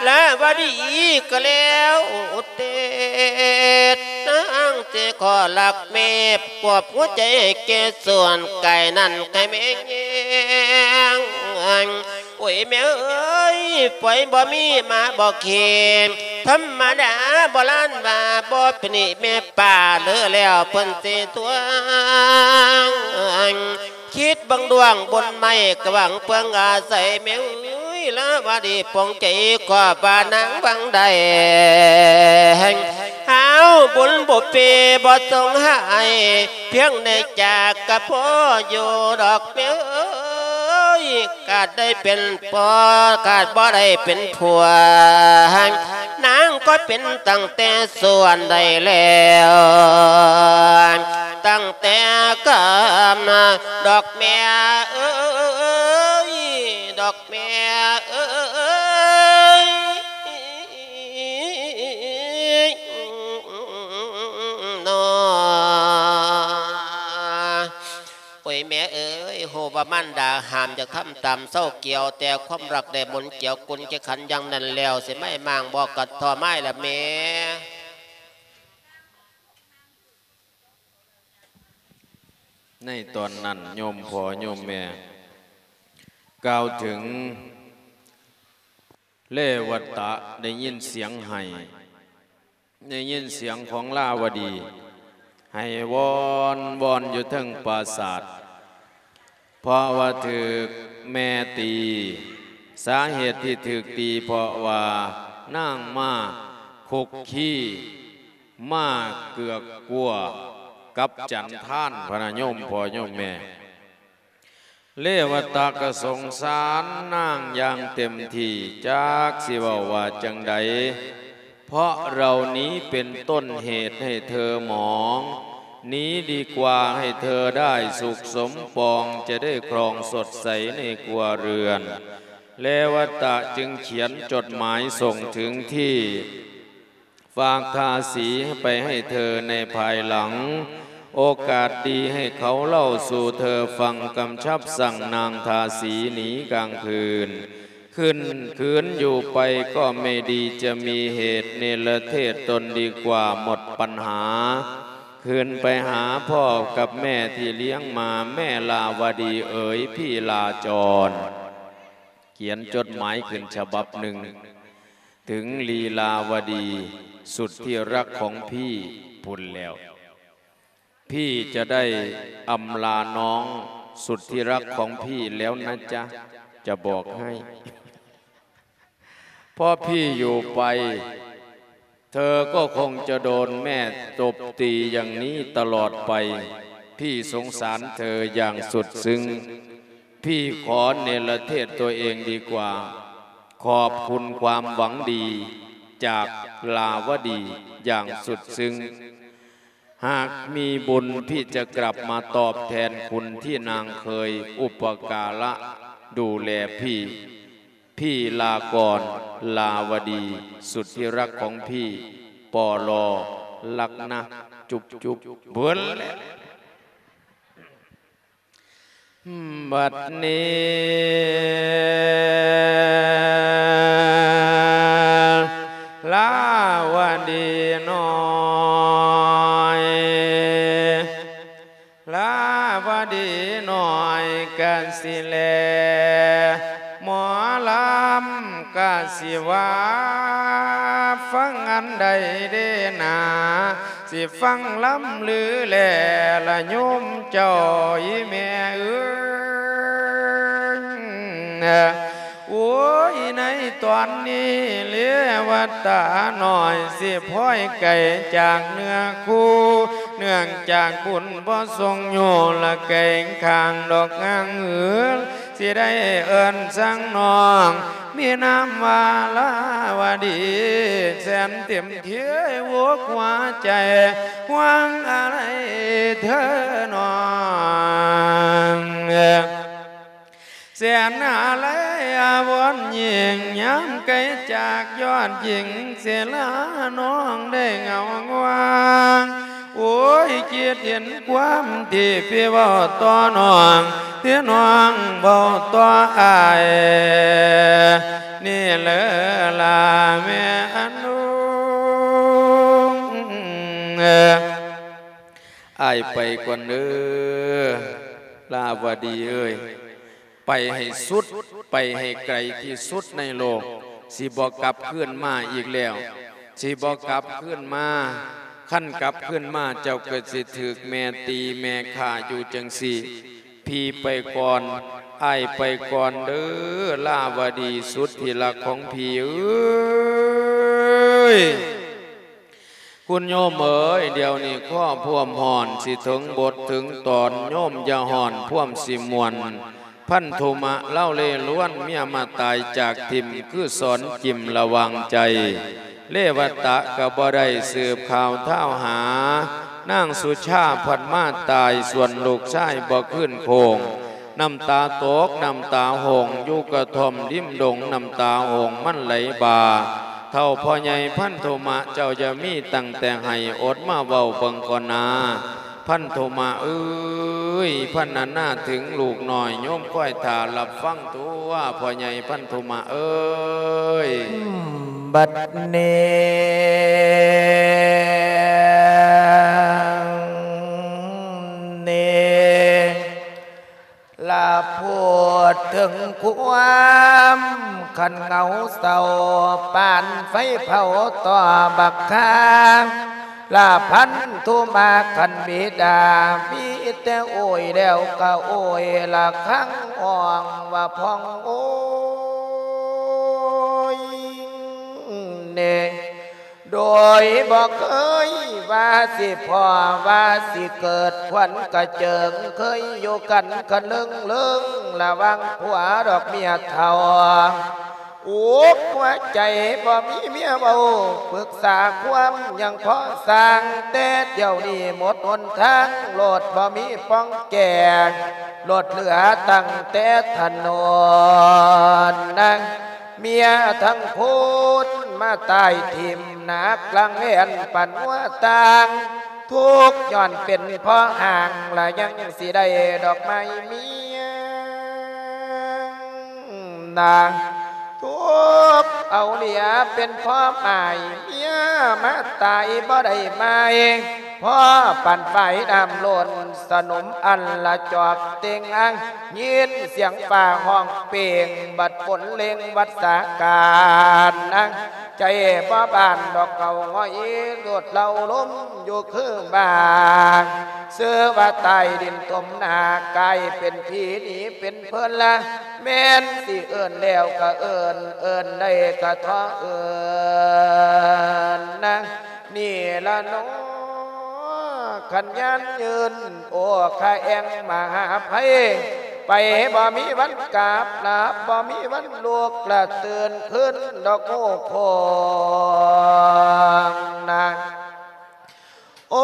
ລາວະດີກໍແລ້ວແຕ່ ນາງຊິຂໍລັກແມ່ ປອບຫົວໃຈໃຫ້ແກ່ສ່ວນກາຍນັ້ນໃຫ້ແມ່ແຍງ. ໂອ້ຍແມ່ເອີຍ ໄຟບໍ່ມີມາບໍ່ເຄ ທຳມະດາໂບລານວ່າ ບໍ່ເປັນນີ້ແມ່ປ້າເລີແລ້ວເພິ່ນຊິທວງ. ຄິດເບິ່ງດວງບຸນໄມ້ກະຫວັງເພິ່ງອາໄສ ແມ່ເອີຍ ລາວະດີປົງໃຈ ຂອບວ່ານາງຫວັງໄດ້ ຫາວບຸນບຸເປບໍ່ສົ່ງໃຫ້ ພຽງໄດ້ຈາກກະພໍຢູ່ດອກແມ່ເອີຍ ກາດໄດ້ເປັນພໍ່ ກາດບໍ່ໄດ້ເປັນຜົວ ນາງກໍເປັນຕັ້ງແຕ່ສ່ວນໃດແລ້ວ ຕັ້ງແຕ່ກຳດອກແມ່ເອີຍ ດອກແມ່ເອີຍ ນອ. ໂອ້ຍແມ່ເອີຍ ຮູ້ວ່າມານດາຫ້າມຢາກທຳຕາມເສົ້າກ່ຽວ ແຕ່ຄວາມຮັກໄດ້ໝູນກ່ຽວກຸນແຈກັນຢ່າງນັ້ນແລ້ວ ຊິໄໝ້ມ້າງບໍ່ກັດທໍ້ໄມ້ລະແມ່. ໃນຕອນນັ້ນໂຍມພໍ່ໂຍມແມ່ກ່າວເຖິງເລວັດຕະ ໄດ້ຍິນສຽງໄຫ້ ໄດ້ຍິນສຽງຂອງລາວະດີໄຫ້ວອນວອນຢູ່ເທິງປາສາດ ເພາະວ່າຖືກແມ່ຕີ. ສາເຫດທີ່ຖືກຕີເພາະວ່ານາງມາຄຸກຄີ ມາເກືອກກົວກັບຈັນທານ ພະນະໂຍມພໍ່ໂຍມແມ່. ເລວະຕະກໍສົງສານນາງຢ່າງເຕັມທີ່ ຈັກຊິເວົ້າວ່າຈັ່ງໃດ เพราะเรานี้เป็นต้นเหตุให้เธอหมอง หนีดีกว่าให้เธอได้สุขสมปอง จะได้ครองสดใสในครัวเรือน เรวตะจึงเขียนจดหมายส่งถึงที่ ฝากทาสีไปให้เธอในภายหลัง โอกาสดีให้เขาเล่าสู่เธอฟัง กำชับสั่งนางทาสีหนีกลางคืน คืน คืนอยู่ไปก็ไม่ดี จะมีเหตุเนรเทศตนดีกว่าหมดปัญหา คืนไปหาพ่อกับแม่ที่เลี้ยงมา แม่ลาวดีเอ๋ย พี่ลาจร เขียนจดหมายขึ้นฉบับหนึ่ง ถึงลีลาวดีสุดที่รักของพี่พุ้นแล้ว พี่จะได้อำลาน้องสุดที่รักของพี่แล้วนะจ๊ะ จะบอกให้ เพราะพี่อยู่ไป เธอก็คงจะโดนแม่ตบตีอย่างนี้ตลอดไป พี่สงสารเธออย่างสุดซึ้ง พี่ขอเนรเทศตัวเองดีกว่า ขอบคุณความหวังดีจากลาวดีอย่างสุดซึ้ง หากมีบุญพี่จะกลับมาตอบแทนคุณที่นางเคยอุปการะดูแลพี่ พี่ลาก่อน ลาวดี สุดที่รักของพี่ ปอลอ รักนะ จุ๊บจุ๊บ เบิ่นแหละ บัดนี้ ลาวดีน้อย ลาวดีน้อยกะสิแล หมอลำกะสิว่า ฟังอันใดเด้นา สิฟังลำลือแลละโยมเจ้าอีแม่เอ๋ย โอ้ย ในตอนนี้เลวตาน้อยสิพ้อยไกลจากเนื้อคู่ เนื่องจากบุญบ่ทรงอยู่ละไกลข้างดอกงางหือ สิได้เอิ้นสั่งน้อง มีนามว่าลาวดี แสนเต็มที่อกหัวใจ หวังอะไรเธอน้อง แสนอาลัยอาวรณ์ยิ่ง ยามไกลจากยอดหญิง สิลาน้องได้เหงาง่วง โอ้ย คิดเห็นความที่พี่เว้าต่อน้อง ที่น้องเว้าต่ออ้าย นี่แหละล่ะแม่อนุ อ้ายไปก่อนเด้อ ลาวดีเอ้ย ไปให้สุด ไปให้ไกลที่สุดในโลก สิบ่กลับคืนมาอีกแล้ว สิบ่กลับคืนมา คันกลับคืนมาเจ้าก็สิถูกแม่ตีแม่ฆ่าอยู่จั่งซี้ พี่ไปก่อน อ้ายไปก่อนเด้อ ลาวดีสุดที่รักของพี่เอ้ย คุณโยมเอ๋ย เดี๋ยวนี้คอพวมฮ้อน สิถึงบทถึงตอน โยมอย่าฮ้อนพวมสิม่วน พันธุมะลาวเลล้วน เมียมาตายจากถิ่ม คือสอนกิ่มระวังใจ เลวตะก็บ่ได้สืบข่าวท้าวหา นางสุชาพัดมาตาย ส่วนลูกชายบ่คืนโค้ง น้ำตาตก น้ำตาห้อง อยู่กระท่อมริมดง น้ำตาห้องมันไหลบ่า เฒ่าพ่อใหญ่พันธุมะ เจ้าอย่ามีตั้งแต่ให้ อดมาเว้าเบิ่งก่อนนา พันธุมะเอ้ย พันนานาถึงลูกน้อย โยมคอยท่ารับฟังตัว พ่อใหญ่พันธุมะเอ้ย บัดนี้ นี้ ละพูดถึงความคันเหงาเศร้า ปานไฟเผาต่อบักคา ละพันธุมะคันบิดามี ແຕ່ໂອຍແລ້ວກໍໂອຍລະຄັງຮ້ອງວ່າພອງໂອຍເນ. ໂດຍບໍ່ເຄີຍວ່າຊິພໍ້ວ່າຊິເກີດ ຂວັນກະເຈິງເຄີຍຢູ່ກັນຄະເລິງເລີງ ລະຫວ່າງຜົວດອກເມຍເຖົ້າ. ອຸກຫົວໃຈບໍ່ມີເມຍເວົ້າ ປຶກສາຄວາມຫຍັງພໍສ້າງ ແຕ່ດຽວນີ້ໝົດຫົນທາງໂລດ ບໍ່ມີປ່ອງແກ້ ໂລດເຫຼືອຕັ້ງແຕ່ຖະໜົນນະ. ເມຍທັງຄົນມາຕາຍຖິ້ມໜັກຫຼັງແລ່ນປານງົວຕ່າງ ທຸກຍ້ອນເປັນເພາະຮ່າງ ລະຍັງຊິໄດ້ດອກໄມ້ເມຍນາ ທຸບເອົາເຫຼືອເປັນເພາະໝາຍ ເມຍມາຕາຍບໍ່ໄດ້ໝາຍ ພໍປານຝາຍນ້ຳລົ້ນ ສະໜົມອັນລະຈອກເຕັງອັງ ຍິນສຽງຟ້າຮ້ອງເປັ່ງ ບັດຝົນເລັ່ງວັດສາການນາ ໃຈບໍ່ບານດອກເຂົາ ງອຍໂລດເລົ່າລົມຢູ່ຄືບາງ ຊື່ວ່າຕາຍດິນຖົມໜ້າ ກາຍເປັນຜີໜີເປັນເພິ່ນລະ ແມ່ນຊິເອີ້ນແລ້ວກະເອີ້ນ ເອີ້ນໄດ້ກະທໍ່ເອີ້ນນາ ນີ້ລະເນາະ ຂັນຍານຢືນ ໂອຄາແອງມະຫາໄພ ໄປບໍ່ມີວັນກັບ ຫຼັບບໍ່ມີວັນລຸກ ລະຕື່ນຄືນດອກໂອໂຄງນາ. ໂອ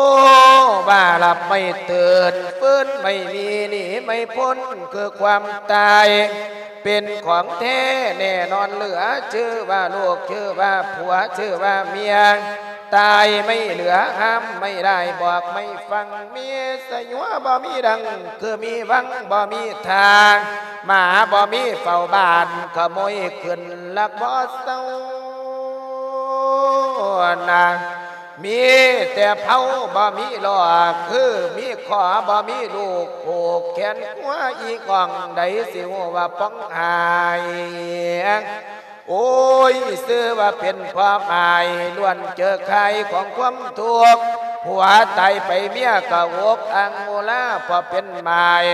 ວ່າຫຼັບໄມ່ຕື່ນ ຟື້ນໄມ່ມີ ໜີໄມ່ພົ້ນ ຄືຄວາມຕາຍ ເປັນຂອງແທ້ແນ່ນອນເຫຼືອ ຊື່ວ່າລູກ ຊື່ວ່າຜົວ ຊື່ວ່າເມຍ ຕາຍໄມ່ເຫຼືອ ຫ້າມໄມ່ໄດ້ ບອກໄມ່ຟັງ ມີສະຍົວບໍ່ມີດັງ ຄືມີວັງບໍ່ມີທ່າ ໝາບໍ່ມີເຝົ້າບ້ານ ຂະໂມຍຂຶ້ນລັກບໍ່ເຊົານາ ມີແຕ່ເພົາບໍ່ມີລໍ້ ຄືມີຂໍບໍ່ມີລູກ ຜູກແຂນຂົວອີກອ່ອງ ໃດຊິຮູ້ວ່າປ່ອງຫາຍ. ໂອ້ຍ ຊື່ວ່າເປັນຄວາມອາຍ ລ້ວນເຈີຄາຍຂອງຄວາມທຸກ ຜົວຕາຍໄປເມຍກໍອົກອັ່ງໂອລາ ເພາະເປັນໝາຍ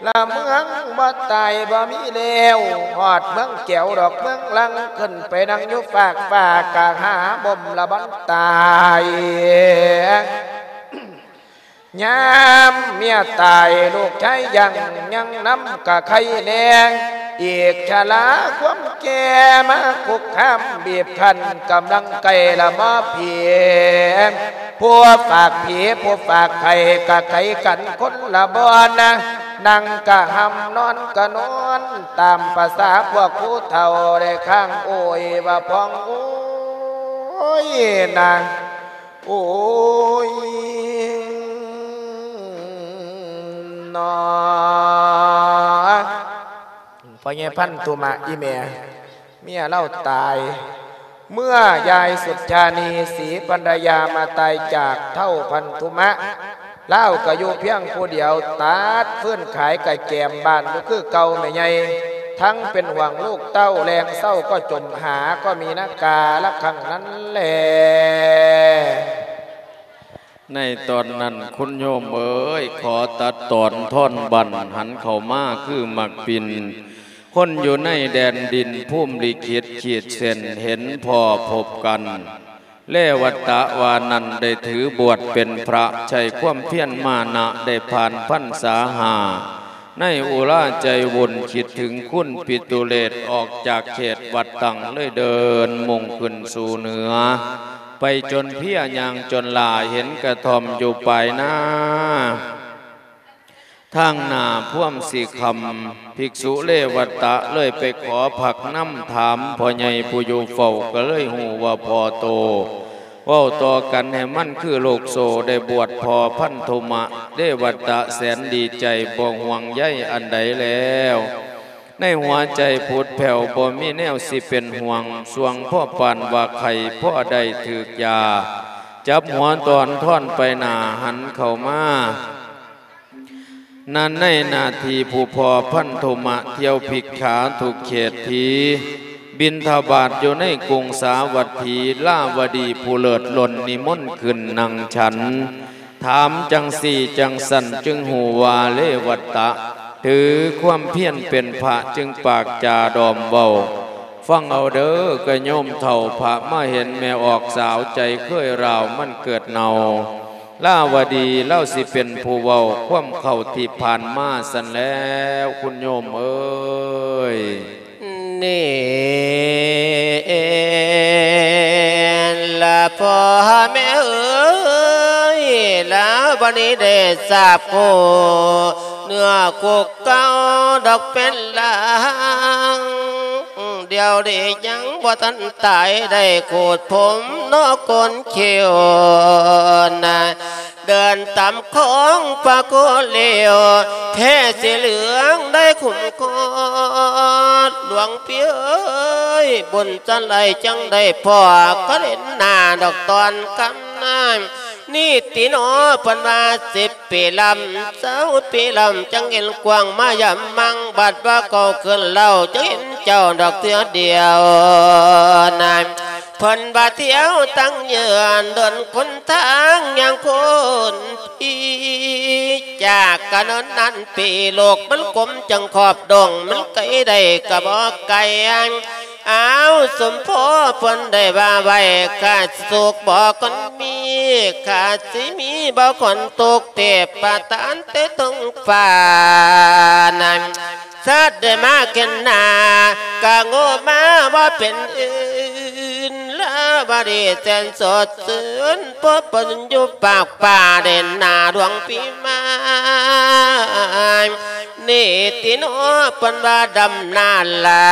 ລະເມືອງບໍ່ຕາຍບໍ່ມີແລ້ວ ຮອດເມືອງແກ້ວດອກເມືອງລັງ ຂຶ້ນໄປນັ່ງຢູ່ຟາກຟ້າ ກະຫາບົ່ມລະບ່ອນຕາຍ. ຍາມເມຍຕາຍ ລູກຊາຍຍັງ ຍັງນຳກະໄຄແດ່ ອີກຊະລາຄວາມແກ່ມາຄຸກຄາມ ບີບຄັ້ນກຳລັງໃກ້ລະໝໍຜີ ຜູ້ຝາກຜີ ຜູ້ຝາກໄຂ້ ກະໄກກັນຄົນລະບ່ອນນະ ນັ່ງກະຫຳ ນອນກະນອນ ຕາມປະສາພວກຜູ້ເຖົ້າ ໄດ້ຄ້າງໂອຍວ່າພອງໂອຍນາ ໂອຍ ນອ ພໍ່ໃຫຍ່ພັນທຸມະ ອີ່ແມ່ ເມຍລາວຕາຍ ເມື່ອຍາຍສຸດທານີ ສີພັນລະຍາ ມາຕາຍຈາກເຖົ້າພັນທຸມະ ລາວກໍຢູ່ພຽງຜູ້ດຽວ ຕັດຟືນຂາຍກະແກມບ້ານຢູ່ຄືເກົ່າແມ່ໃຫຍ່ ທັງເປັນຫ່ວງລູກເຕົ້າ ແລງເຊົ້າກໍຈົມຫາ ກໍມີນາກາລະຄັ້ງນັ້ນແລ. ໃນຕອນນັ້ນ ຄຸນໂຍມເອີຍ ຂໍຕັດຕອນທອນບັ້ນ ຫັນເຂົ້າມາຄືໝາກປິ່ນ ຄົນຢູ່ໃນແດນດິນພູມລິຂິດຂີດເສັ້ນ ເຫັນພໍ້ພົບກັນ ເລວັດຕະວ່ານັ້ນ ໄດ້ຖືບວດເປັນພະ ໃຊ້ຄວາມພຽນມານະ ໄດ້ຜ່ານພັນສາຫ້າ ໃນອຸລາໃຈວຸ່ນ ຄິດເຖິງຄຸນປິຕຸເລດ ອອກຈາກເຂດວັດຕັ້ງ ເລີຍເດີນມຸ່ງຂຶ້ນສູ່ເໜືອ ໄປຈົນເພຍຍ່າງຈົນຫຼ້າ ເຫັນກະທ່ອມຢູ່ປາຍນາ ທາງໜ້າພວມສີຄຳ ພິກສຸເລວັດຕະເລີຍໄປຂໍພັກນຳ ຖາມພໍ່ໃຫຍ່ຜູ້ຢູ່ເຝົ້າ ກໍເລີຍຮູ້ວ່າພໍ່ໂຕ ເວົ້າຕໍ່ກັນໃຫ້ມັນຄືລູກໂສ້ ໄດ້ບວດພໍ່ພັນທຸມະ ເລວັດຕະແສນດີໃຈ ບໍ່ຫ່ວງໃຍອັນໃດແລ້ວ ໃນຫົວໃຈຜຸດແຜ່ວ ບໍ່ມີແນວຊິເປັນຫ່ວງ ຊ່ວງພໍປານວ່າໄຂ້ ພໍໄດ້ຖືກຢາ ຈັບຫົວຕອນທອນໄປໜ້າ ຫັນເຂົ້າມາ ນັ້ນໃນໜ້າທີ່ຜູ້ພໍ່ພັນທຸມະ ທ່ຽວພິກຂາທຸກເຂດທີ ບິນທະບາດຢູ່ໃນກຸງສາວັດຖີ ລາວະດີຜູ້ເລີດລົ້ນ ນິມົນຂຶ້ນນັ່ງສັນ ຖາມຈັ່ງຊີ້ຈັ່ງຊັ້ນຈຶ່ງຮູ້ວ່າເລວັດຕະ ຖືຄວາມພຽນເປັນພະຈຶ່ງປາກຈາດອມເວົ້າ. ຟັງເອົາເດີກະໂຍມເຖົ້າ ພະມາເຫັນແມ່ອອກສາວໃຈເຄີຍລາວມັນເກີດເນົ່າ. ລາວະດີລາວຊິເປັນຜູ້ເວົ້າຄວາມເຂົ້າທີ່ຜ່ານມາຊັ້ນແລ້ວຄຸນໂຍມເອີຍ. ນີ້ລະພໍ່ແມ່ເອີຍ ລາວະດີໄດ້ຊາບຮູ້ເນື້ອຄຸກເກົ່າດອກເປັນລາງ ດຽວນີ້ຍັງບໍ່ທັນຕາຍ ໄດ້ຂູດຜົມເນາະໂກນຄິ້ວນະ ເດີນຕາມຂອງພະໂຄເລວ ແທ້ຊິເຫຼືອງໄດ້ຄຸ້ມຄອງ ຫຼວງພີ່ເອີຍ ບຸນຈັນໄລຈັ່ງໄດ້ພໍ້ ກໍເຫັນໜ້າດອກຕອນຄ່ຳນາ ນີ້ຕິເນາະ ເພິ່ນວ່າສິບປີລຳ ຊາວປີລຳ ຈັ່ງເຫັນກວ້າງມາຢາມມັງ ບັດວ່າເຂົາຂຶ້ນເລົ່າ ຈັ່ງເຫັນເຈົ້າດອກເທື່ອດຽວນະ ເພິ່ນວ່າທ່ຽວຕັ້ງເຍືອນ ເດີນຄົນທາງຍ່າງຄົນ ຈາກກະນັ້ນນັ້ນປີ ໂລກມັນກົມຈັ່ງຂອບດົງ ມັນໄກໄດ້ກະບໍ່ໄກ ອ້າວ ສົມພໍເພິ່ນໄດ້ວ່າໄວ້ ຂ້າສຸກບໍ່ຄົນມີ ຂ້າຊິມີບໍ່ຄົນທຸກ ເທບປະທານແຕ່ເທິງຟ້ານັ້ນ ສັດໄດ້ມາເຫັນໜ້າ ກະໂງ່ມາບໍ່ເປັນອື່ນ ລາວະດີແສນສົດຊື່ນ ພໍເພິ່ນຢູ່ປາກປ່າ ໄດ້ເຫັນໜ້າຫຼວງພີ່ມາ ນີ້ຕິເນາະ ເພິ່ນວ່າດຳນາລາ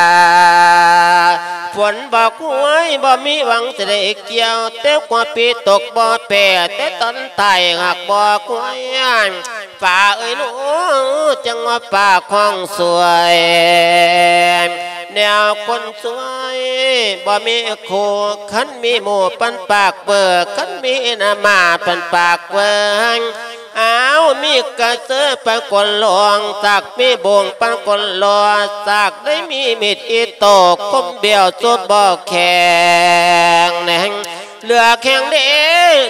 ຝົນບໍ່ຄວຍ ບໍ່ມີຫວັງຊິໄດ້ກ່ຽວ ແຕ່ກວ່າປີຕົກບໍ່ແປ ແຕ່ຕອນທ້າຍຫາກບໍ່ຄວຍ ຟ້າເອີຍເນາະ ຈັ່ງວ່າຟ້າຄອງສວຍ ແນວຄົນສວຍບໍ່ມີຄູ່ ຄັນມີໝູ່ປັນປາກເບີ ຄັນມີໜ້າມ້າປັນປາກເບີ ອ້າວ ມີກະເຊີປານຄົນຫຼວງ ສັກມີບົງປານຄົນຫຼໍ່ ສັກໄດ້ມີມີດອີໂຕ້ ຄົມບຽວສຸດບໍ່ແຂງແນງ ເຫຼືອແຂງເດ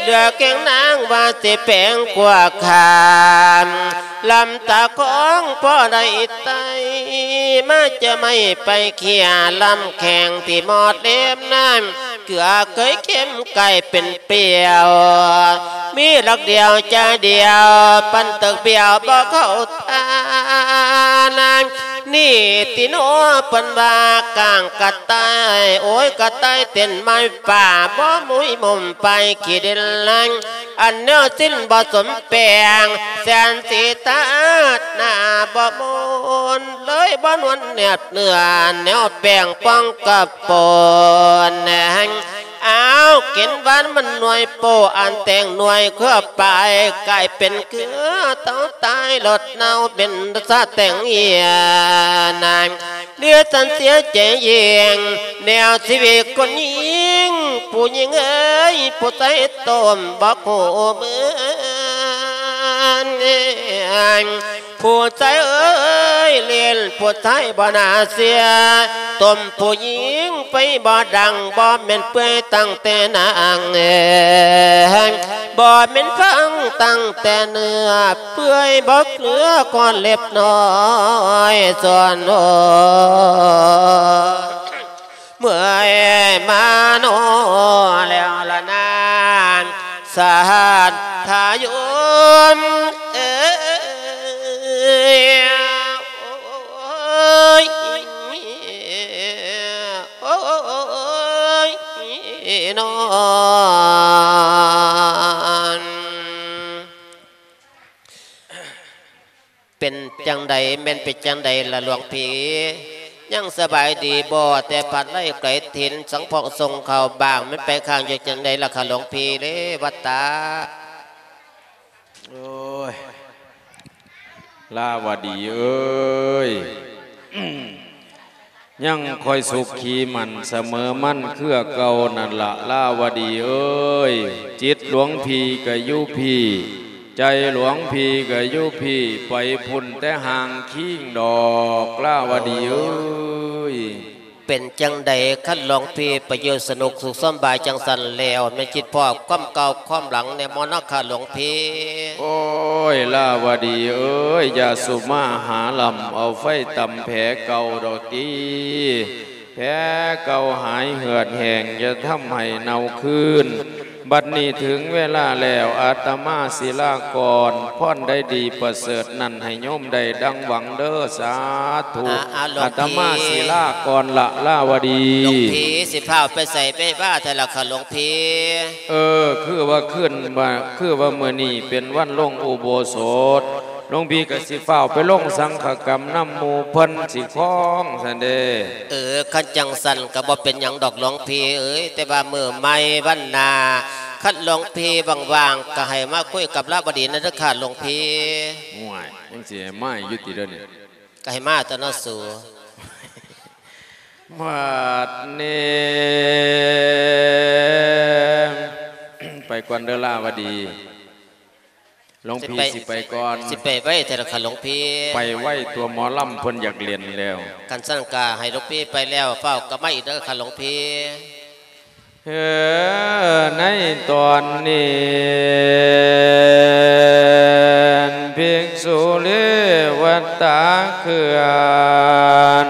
ເຫຼືອແຂງນາງ ວ່າຊິແປງກວ່າຂ້າມ ລຳຕາຂອງພໍໄດ້ໄຕ່ ມາຈະໄມ້ໄປເຄຍ ລຳແຂງທີ່ໝອດເຫຼັ້ມນັ້ນ ເກືອເຄີຍເຄັມກາຍເປັນປ່ຽວ ມີຫຼັກດຽວໃຈດຽວ ປັນຕຶກບຽວບໍ່ເຂົ້າທ່ານາ ນີ້ຕິເນາະ ເພິ່ນວ່າກ້າງກະຕ່າຍ ໂອ້ຍ ກະຕ່າຍເຕັ້ນໄມ້ປ່າ ບໍ່ມຸ້ຍມຸມໄປຂີ້ດິນແລງ ອັນແນວສິ້ນບໍ່ສົມແປງ ແສນສີຕາດໜ້າບໍ່ມົນ ເລີຍບໍ່ນວນແນບເນື້ອ ແນວແປງປ່ອງກະປົນແຮງ ອ້າວ ກິນຫວານມັນໜ່ວຍໂປ້ ອັນແຕງໜ່ວຍເຄືອປາຍ ກາຍເປັນເຄືອເຕົາຕາຍ ລົດເນົ່າເປັນສາແຕງເຫື່ອນາຍ ເຫຼືອສັນເສຍໃຈຍິ່ງ ແນວຊີວິດຄົນຍິງ ຜູ້ຍິງເອີຍ ຜູ້ຊາຍຕົ້ມບໍ່ຮູ້ເມືອນ ຜູ້ຊາຍເອີຍ ຫຼິ້ນຜູ້ຊາຍບໍ່ໜ້າເຊື່ອ ຕົ້ມຜູ້ຍິງໄຟບໍ່ດັງ ບໍ່ແມ່ນເປື່ອຍຕັ້ງແຕ່ໜັງ ບໍ່ແມ່ນພັງຕັ້ງແຕ່ເນື້ອ ເປື່ອຍບໍ່ເຫຼືອກ່ອນເລັບນ້ອຍສ່ວນໂອ ເມື່ອຍມາໂນແລ້ວລະນາ ສະຫາດທາໂຍມເອີຍ ໂອ້ຍ ເປັນຈັ່ງໃດ ແມ່ນເປັນຈັ່ງໃດລະຫຼວງພີ່? ຍັງສະບາຍດີບໍ່? ແຕ່ພັດໄລ່ໄກຖິ່ນ ສັງເພາະສົ່ງເຂົ້າບ້າງ ແມ່ນໄປຄ້າງຢູ່ຈັ່ງໃດລະຄະຫຼວງພີ່ເລວັດຕະ? ໂອ້ຍ ລາວະດີເອີຍ ຍັງຄ່ອຍສຸຂີໝັ້ນສະເໝີໝັ້ນເຄືອເກົ່ານັ້ນລະ ລາວະດີເອີຍ ຈິດຫຼວງພີ່ກະຢູ່ພີ້ ໃຈຫຼວງພີ່ກະຢູ່ພີ້ ໄປພຸ້ນແຕ່ຫ່າງຄີງດອກ ລາວະດີເອີຍ. ເປັນຈັ່ງໃດຄັນຫຼວງພີ່ໄປຢູ່ສະໜຸກສຸກສຳບາຍຈັ່ງຊັ້ນແລ້ວ ແມ່ນຄິດພໍ້ຄວາມເກົ່າຄວາມຫຼັງແດ່ບໍ່ເນາະຄະຫຼວງພີ່? ໂອ້ຍ ລາວະດີເອີຍ ຢ່າສຸມາຫາລຳເອົາໄຟຕຳແຜເກົ່າດອກຕິ ແຜເກົ່າຫາຍເຫືອດແຫ້ງ ຢ່າທຳໃຫ້ເນົ່າຄືນ. ບັດນີ້ເຖິງເວລາແລ້ວ ອາດຕະມາສິລາກ່ອນ ພອນໃດດີປະເສີດນັ້ນໃຫ້ໂຍມໄດ້ດັ່ງຫວັງເດີ ສາທຸ. ອາ ອາ ຫຼວງພີ່ ອາດຕະມາສິລາກ່ອນລະ ລາວະດີ. ຫຼວງພີ່ ຊິຟ້າວໄປໃສໄປວ່າແທ້ລະຄະຫຼວງພີ່? ເອີ ຄືວ່າຄືນວ່າ ຄືວ່າມື້ນີ້ເປັນວັນລົງອຸໂບສົດ ຫຼວງພີ່ກໍຊິຟ້າວໄປລົງສັງຄະກຳນຳໝູ່ເພິ່ນຊິຄອງຊັ້ນເດ້. ເອີ ຄັນຈັ່ງຊັ້ນກໍບໍ່ເປັນຫຍັງດອກຫຼວງພີ່ເອີຍ ແຕ່ວ່າມື້ໃໝ່ວັນໜ້າ ຄັນຫຼວງພີ່ວ່າງໆ ກໍໃຫ້ມາຄຸຍກັບລາວະດີນະເດີຄະຫຼວງພີ່. ໂອ້ຍ ຍັງຊິໃຫ້ມາຢູ່ຕິດຽວນີ້? ກໍໃຫ້ມາຕົວະເນາະສູ. ບັດນີ້ ໄປກ່ອນເດີລາວະດີ. ຫຼວງພີ່ ຊິໄປ ຊິໄປກ່ອນ. ຊິໄປໄວແທ້ລະຄະຫຼວງພີ່? ໄປໄວຕົວະ ໝໍລຳເພິ່ນຢາກຫຼິ້ນແລ້ວ. ຄັນຊັ້ນກະໃຫ້ຫຼວງພີ່ໄປແລ້ວ ຟ້າວກັບມາອີກເດີຄະຫຼວງພີ່. ເອີ ໃນຕອນນີ້ ພິກສຸເລວັດຕາເຄື່ອນ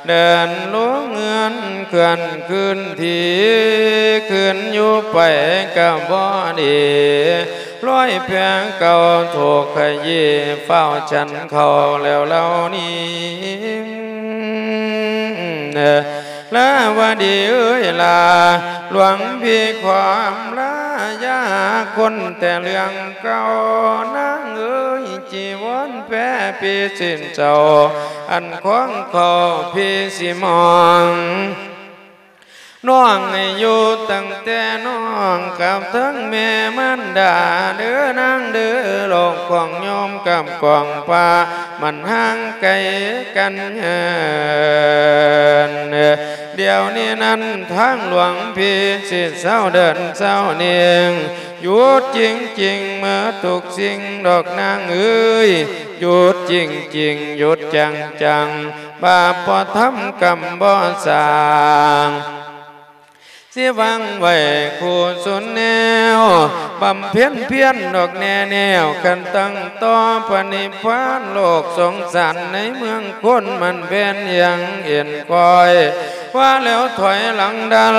ເດີນລົງເຮືອນເຄື່ອນຄືນທີ່ ຄືນຢູ່ໄປກໍບໍ່ດີ ລອຍແພເກົ່າຖືກຂະຢີ້ ຟ້າວສັນເຂົ້າແລ້ວເຫຼົ່ານີ້. ລາວະດີເອີຍລາ ຫຼວງພີ່ຂໍອຳລາຢ່າຄົນແຕ່ເລື່ອງເກົ່າ ນາງເອີຍ ຈີວອນແພພີ້ສິນເຈົ້າ ອັນຂອງເຂົາພີ້ຊິມອງ ນ້ອງໃຫ້ຢູ່ຕັ້ງແຕ່ນ້ອງກັບທັງແມ່ມານດາເດີນາງເດີ ໂລກຂອງໂຍມກັບຂອງພະມັນຫ່າງໄກກັນເຫີນ. ດຽວນີ້ນັ້ນທາງຫຼວງພີ່ຊິເຊົາເດີນເຊົານີ້ ຢຸດຈິງໆ ເໝິດທຸກສິ່ງດອກນາງເອີຍ ຢຸດຈິງໆ ຢຸດຈັງໆ ບາບບໍ່ທຳກຳບໍ່ສ້າງ ຊິວາງໄວ້ຄູ່ສຸນແນວ ບຳເພັນພຽນດອກແນ່ແນວ ຄັນຕັ້ງຕໍ່ພະນິບພານ ໂລກສົງສານໃນເມືອງຄົນ ມັນແມ່ນຢ່າງເອັນຄອຍ ວ່າແລ້ວຖອຍຫຼັງດັນ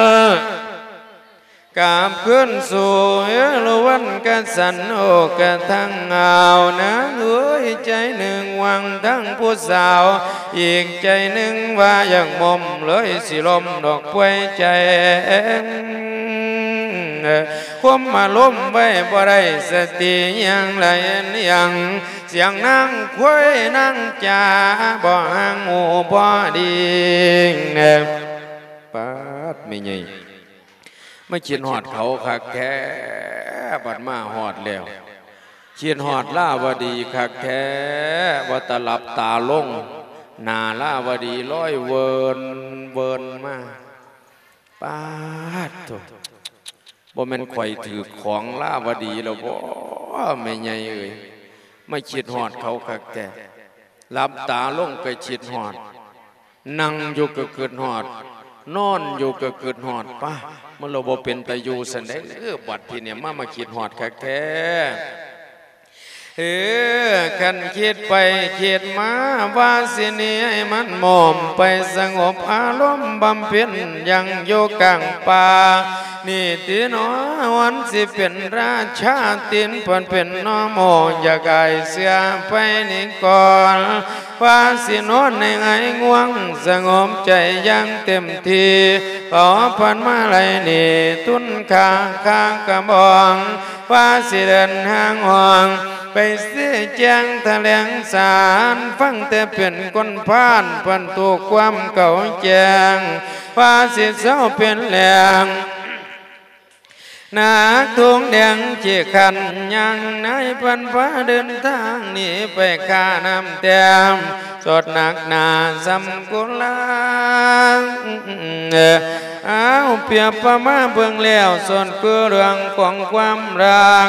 ກັບຄືນສູ່ເອລາວັນກະສັນ ໂອກະທັງອາວນາງເອີຍ ໃຈໜຶ່ງຫວັງທັງຜູ້ສາວ ອີກໃຈໜຶ່ງວ່າຢາກໝົມ ເລີຍຊິລົມດອກປ່ວຍໃຈ ຄຸມອາລົມໄວ້ບໍ່ໄດ້ ສະຕິຍັງໄຫຼຍັງ ສຽງນາງຄວາຍນາງຈາ ບໍ່ຫາງຫູບໍ່ດີ ປາດ ແມ່ໃຫຍ່ ມາຄິດຮອດເຂົາຄັກແທ້ ບັດມາຮອດແລ້ວ ຄິດຮອດລາວະດີຄັກແທ້ ວ່າແຕ່ຫຼັບຕາລົງ ໜ້າລາວະດີລອຍເວີນເວີນມາ ປາດໂທ້ ບໍ່ແມ່ນຂ້ອຍຖືກຂອງລາວະດີແລ້ວບໍ ແມ່ໃຫຍ່ເອີຍ ມາຄິດຮອດເຂົາຄັກແທ້ ຫຼັບຕາລົງກໍຄິດຮອດ ນັ່ງຢູ່ກໍຄິດຮອດ ນອນຢູ່ກໍຄິດຮອດ ປາ ມັນລະບໍ່ເປັນຕາຢູ່ຊັ້ນເດ້ ເອີ ບັດທີນີ້ມາ ມາຄິດຮອດຄັກແທ້ ເອີ ຄັນຄິດໄປຄິດມາ ວ່າຊິໜີໃຫ້ມັນໝົມ ໄປສະຫງົບອາລົມບຳເພັນ ຍັງຢູ່ກາງປ່າ ນີ້ຕິໜໍ ວັນຊິເປັນລາຊາ ຕີນເພິ່ນເປັນໜໍໂມ ຢາກອາຍເສຍໄປນີ້ກ່ອນ ວ່າຊິນອນໃນໄຫງ່ງ່ວງ ສະຫງົບໃຈຢ່າງເຕັມທີ່ ຂໍພັນມາໄລນີ້ ຕຸນຄ່າຄາກະບອງ ວ່າຊິເດີນທາງຫ້ອງ ໄປຊີ້ແຈງຖະແຫຼງສານ ຟັງແຕ່ເປັນຄົນພານ ເພິ່ນຖືກຄວາມເຂົ້າແຈ້ງ ວ່າຊິເຊົາເປັນແຫຼງ ໜາກທຸງແດງຂີ້ຄັນ ຍ່າງນາຍພັນພາເດີນທາງໜີໄປຄ່ານ້ຳແຕ້ມ ສົດໜັກໜາສ່ຳກຸລາ ອ້າວ ປຽບປະມາເບິ່ງແລ້ວ ສົດຄືເລື່ອງຂອງຄວາມຮັກ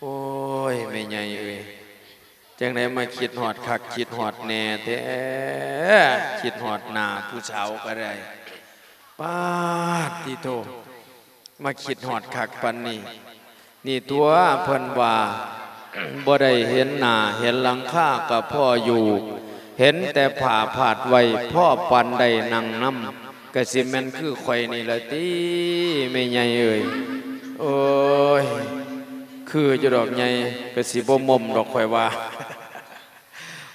ໂອ້ຍ ແມ່ໃຫຍ່ເອີຍ ຈັ່ງໃດມາຄິດຮອດຄັກຄິດຮອດແນ່ແທ້ ຄິດຮອດໜ້າຜູ້ສາວກໍໄດ້. ປາດຕິໂທ ມາຄິດຮອດຄັກປານນີ້. ນີ້ຕົວະ ເພິ່ນວ່າ ບໍ່ໄດ້ເຫັນໜ້າເຫັນຫຼັງຄາກໍພໍຢູ່ ເຫັນແຕ່ຜ້າພາດໄວ້ພໍປານໄດ້ນັ່ງນຳ ກໍຊິແມ່ນຄືຂ້ອຍນີ້ລະຕິ ແມ່ໃຫຍ່ເອີຍ. ໂອ້ຍ ຄືຢູ່ດອກໃຫຍ່ ກໍຊິບໍ່ໝົ່ມດອກຂ້ອຍວ່າ.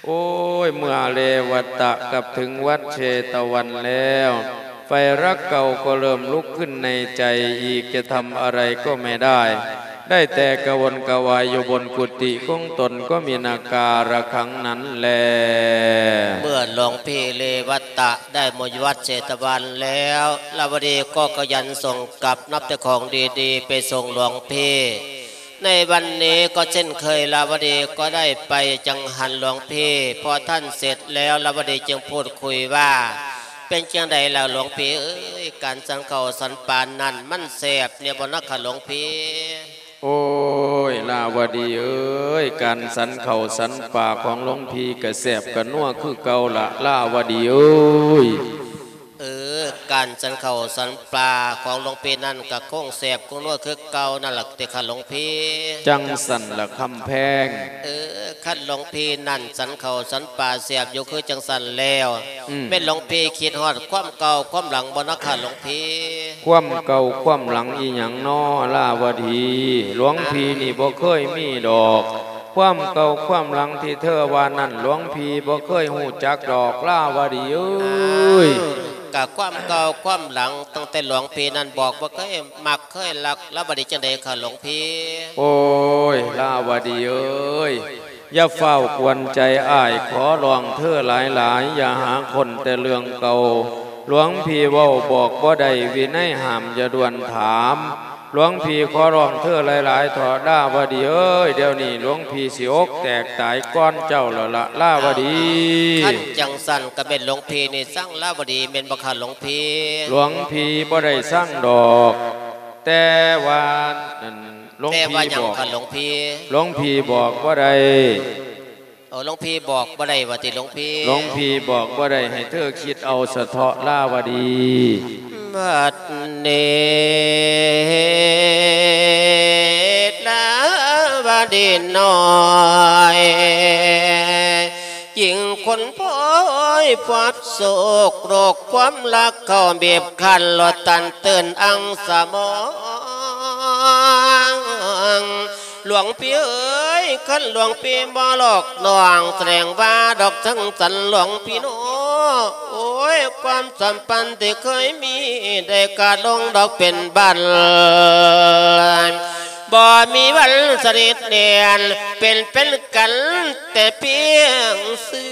ໂອ້ຍ ເມື່ອແລວັດຕະກັບເຖິງວັດເຊຕະວັນແລ້ວ ໄຟລັກເກົ່າກໍເລີ່ມລຸກຂຶ້ນໃນໃຈ ອີກຈະທຳອະໄລກໍໄມ່ໄດ້ ໄດ້ແຕ່ກະວົນກະວາຍຢູ່ບົນກຸຕິຂອງຕົນ ກໍມີນາກາລະຄັງນັ້ນແລ. ເມື່ອຫຼວງພີ່ເລວັດຕະໄດ້ມາຢູ່ວັດເຊຕະວັນແລ້ວ ລາວະດີກໍຂະຫຍັນສົ່ງກັບນຳແຕ່ຂອງດີໆໄປສົ່ງຫຼວງພີ່. ໃນວັນນີ້ກໍເຊັ່ນເຄີຍ ລາວະດີກໍໄດ້ໄປຈັງຫັນຫຼວງພີ່ ພໍທ່ານເສັດແລ້ວ ລາວະດີຈຶ່ງພູດຄຸຍວ່າ ເປັນຈັ່ງໃດລະຫຼວງພີ່ເອີຍ ການສັນເຂົ້າສັນປານັ້ນມັນແຊບແນ່ບໍ່ນະຄະຫຼວງພີ່? ໂອ້ຍ ລາວະດີເອີຍ ການສັນເຂົ້າສັນປາຂອງຫຼວງພີ່ກະແຊບກະນົວຄືເກົ່າລະ ລາວະດີເອີຍ. ເອີ ການສັນເຂົ້າສັນປາຂອງຫຼວງພີ່ນັ້ນກະຄົງແຊບຄົງນົວຄືເກົ່ານັ້ນລະຕິຄະຫຼວງພີ່? ຈັ່ງຊັ້ນລະຄຳແພງ. ເອີ ຄັນຫຼວງພີ່ນັ້ນສັນເຂົ້າສັນປາແຊບຢູ່ຄືຈັ່ງຊັ້ນແລ້ວ ອືມ ແມ່ນຫຼວງພີ່ຄິດຮອດຄວາມເກົ່າຄວາມຫຼັງບໍ່ນະຄະຫຼວງພີ່? ຄວາມເກົ່າຄວາມຫຼັງອີ່ຫຍັງນໍ ລາວະດີ? ຫຼວງພີ່ນີ້ບໍ່ເຄີຍມີດອກ ຄວາມເກົ່າຄວາມຫຼັງທີ່ເທີວ່ານັ້ນ ຫຼວງພີ່ບໍ່ເຄີຍຮູ້ຈັກດອກ ລາວະດີເອີຍ. ອ້າວ ກະຄວາມເກົ່າຄວາມຫຼັງຕັ້ງແຕ່ຫຼວງພີ່ນັ້ນບອກບໍ່ເຄີຍມັກເຄີຍຮັກ ລາວະດີຈັ່ງໃດຄະຫຼວງພີ່? ໂອ້ຍ ລາວະດີເອີຍ ຢ່າຟ້າວກວນໃຈອ້າຍ ຂໍຮ້ອງເທີຫຼາຍໆ ຢ່າຫາຄົ້ນແຕ່ເລື່ອງເກົ່າ ຫຼວງພີ່ເວົ້າບອກບໍ່ໄດ້ ວິໄນຫ້າມຢ່າດ່ວນຖາມ ຫຼວງພີ່ຂໍຮ້ອງເທີຫຼາຍໆເຖາະ ລາວະດີເອີຍ ດຽວນີ້ຫຼວງພີ່ຊິອົກແຕກຕາຍກ່ອນເຈົ້າແລ້ວລະ ລາວະດີ. ຄັນຈັ່ງຊັ້ນກະແມ່ນຫຼວງພີ່ນີ້ຊັງລາວະດີແມ່ນບໍ່ຄະຫຼວງພີ່? ຫຼວງພີ່ບໍ່ໄດ້ຊັງດອກ ແຕ່ວ່ານັ້ນ ຫຼວງ ແຕ່ວ່າຫຍັງຄະຫຼວງພີ່? ຫຼວງພີ່ບອກບໍ່ໄດ້. ໂອ້ ຫຼວງພີ່ບອກບໍ່ໄດ້ວ່າຕິຫຼວງພີ່? ຫຼວງພີ່ບອກບໍ່ໄດ້ ໃຫ້ເທີຄິດເອົາສະເທາະ ລາວະດີ. ບັດນີ້ ລາວະດີນ້ອຍ ຍິ່ງຄົນພອຍພອດໂສກ ໂລກຄວາມລັກເຂົ້າບີບຄັ້ນ ລອດຕັນຕື່ນອັງສະໝອງ ງ ຫຼວງພີ່ເອີຍ ຄັນຫຼວງພີ່ບໍ່ຫຼອກນ້ອງ ສະແດງວ່າດອກຈັງສັນຫຼວງພີ່ນ້ອງ. ໂອ້ຍ ຄວາມສຳພັນທີ່ເຄີຍມີ ໄດ້ຂາດລົງດອກເປັນບັນ ບໍ່ມີວັນສະໜິດແໜ້ນ ເປັນເປັນກັນແຕ່ພຽງຊື່.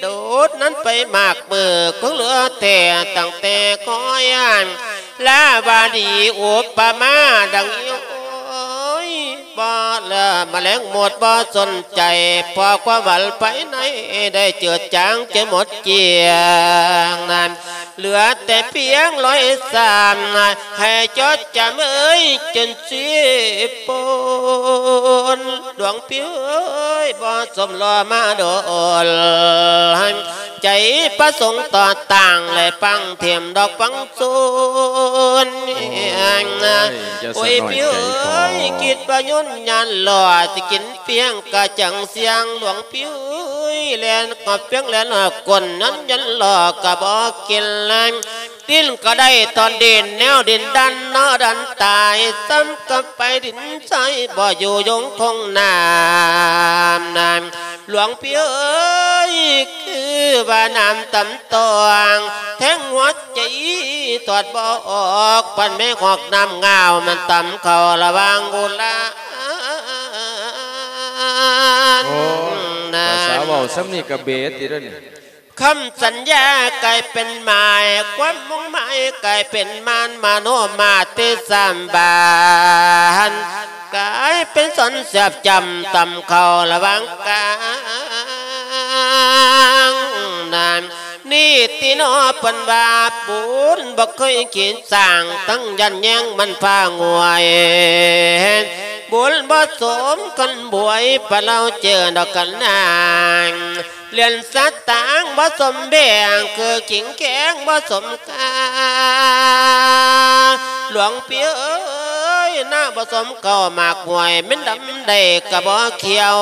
ໂດດນັ້ນໄປມາກມື້ ຄົງເຫຼືອແທ້ຕັ້ງແຕ່ຄອຍ ລາວະດີອຸປະມາດັ່ງໂຍຍ ບໍ່ລະມະແລງໝົດບໍ່ສົນໃຈ ເພາະຄວາມຫວັງພາຍໃນໄດ້ເຈືອດຈາງຈົນໝົດກ້ຽງນັ້ນ ເຫຼືອແຕ່ພຽງລອຍຊ້ຳ ໃຫ້ຈົດຈຳເອີຍຈົນຊິປົນ. ຫຼວງພີ່ເອີຍ ບໍ່ສົມລໍມາດົນ ໃຈປະສົງຕໍ່ຕັ້ງ ແລະຟັງເທມດອກຟັງສູນ. ໂອ້ຍ ຢ່າສະໜ້ອຍໃຈພໍ ໂອ້ຍ ຄິດວ່າຍືນຍານຫຼໍ່ ຊິກິນພຽງກະຈັງສຽງ. ຫຼວງພີ່ເອີຍ ແລ່ນກໍພຽງແລ່ນກໍກົ້ນນັ້ນຍັນຫຼໍ່ກະບໍ່ກິນແລງ ດິນກໍໄດ້ຕອນດິນ ແນວດິນດັນເນາະດັນຕາຍ ຊ້ຳກັບໄປດິນໃສ ບໍ່ຢູ່ຍົງຄົງນ້ຳນານ. ຫຼວງພີ່ເອີຍ ຄືວ່ານ້ຳຕຳຕອງ ແທງຫົວໃຈຖອດບໍ່ອອກ ປັນແມ່ຮອກນ້ຳງາວ ມັນຕຳເຂົ້າລະຫວ່າງອຸລານ. ໂອ້ຍ ນານ ພາສາເວົ້າສ່ຳນີ້ກະເບດຕິເດ້ນີ້. ຄຳສັນຍາກາຍເປັນໝາຍ ຄວາມມຸ່ງໝາຍກາຍເປັນມານ ມະໂນມາຕິສຳບານ ກາຍເປັນສອນແສບຈ້ຳ ຕຳເຂົ້າລະຫວ່າງກາງນັ້ນ. ນີ້ຕິເນາະ ເພິ່ນວ່າບຸນບໍ່ເຄີຍຄິດສ້າງ ທັງຢ້ານແຍງມັນພາງວຍ ບຸນບໍ່ສົມກັນບວຍ ປະເລົ່າເຈີດອກກັນນາງ ຫຼຽນສະຕາງບໍ່ສົມແບ່ງ ຄືກິ່ງແຂງບໍ່ສົມຄ່າ. ຫຼວງພີ່ເອີຍ ໜ້າບໍ່ສົມເຂົ້າໝາກຫ້ວຍ ແມ່ນດຳໄດ້ກະບໍ່ຂຽວ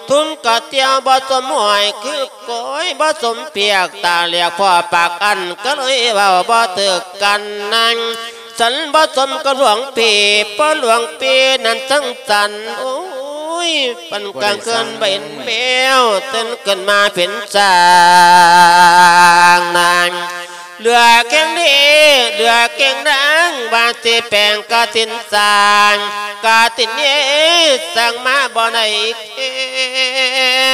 ທຸ່ມກະຕຽວບໍ່ສົມຫ້ວຍ ຄືກ້ອຍບໍ່ສົມປຽກ ຕາຫຼຽກພໍປາກອັນ ກະເລີຍເວົ້າບໍ່ຖືກກັນນັ້ນ. ສັນບໍ່ສົມກັບຫຼວງພີ່ ເພາະຫຼວງພີ່ນັ້ນສັງສັນ ໂອ້ຍ ປັນກາງຄືນເຫັນແມວ ຕື່ນຂຶ້ນມາເປັນຊ້າງນາງ. ເຫຼືອແຂ້ງເດ ເຫຼືອແຂ້ງນາງ ວ່າຊິແປງກະຕິນສ້າງ ກະຕິນເຍ ສ້າງມາບໍ່ໄດ້ເຄ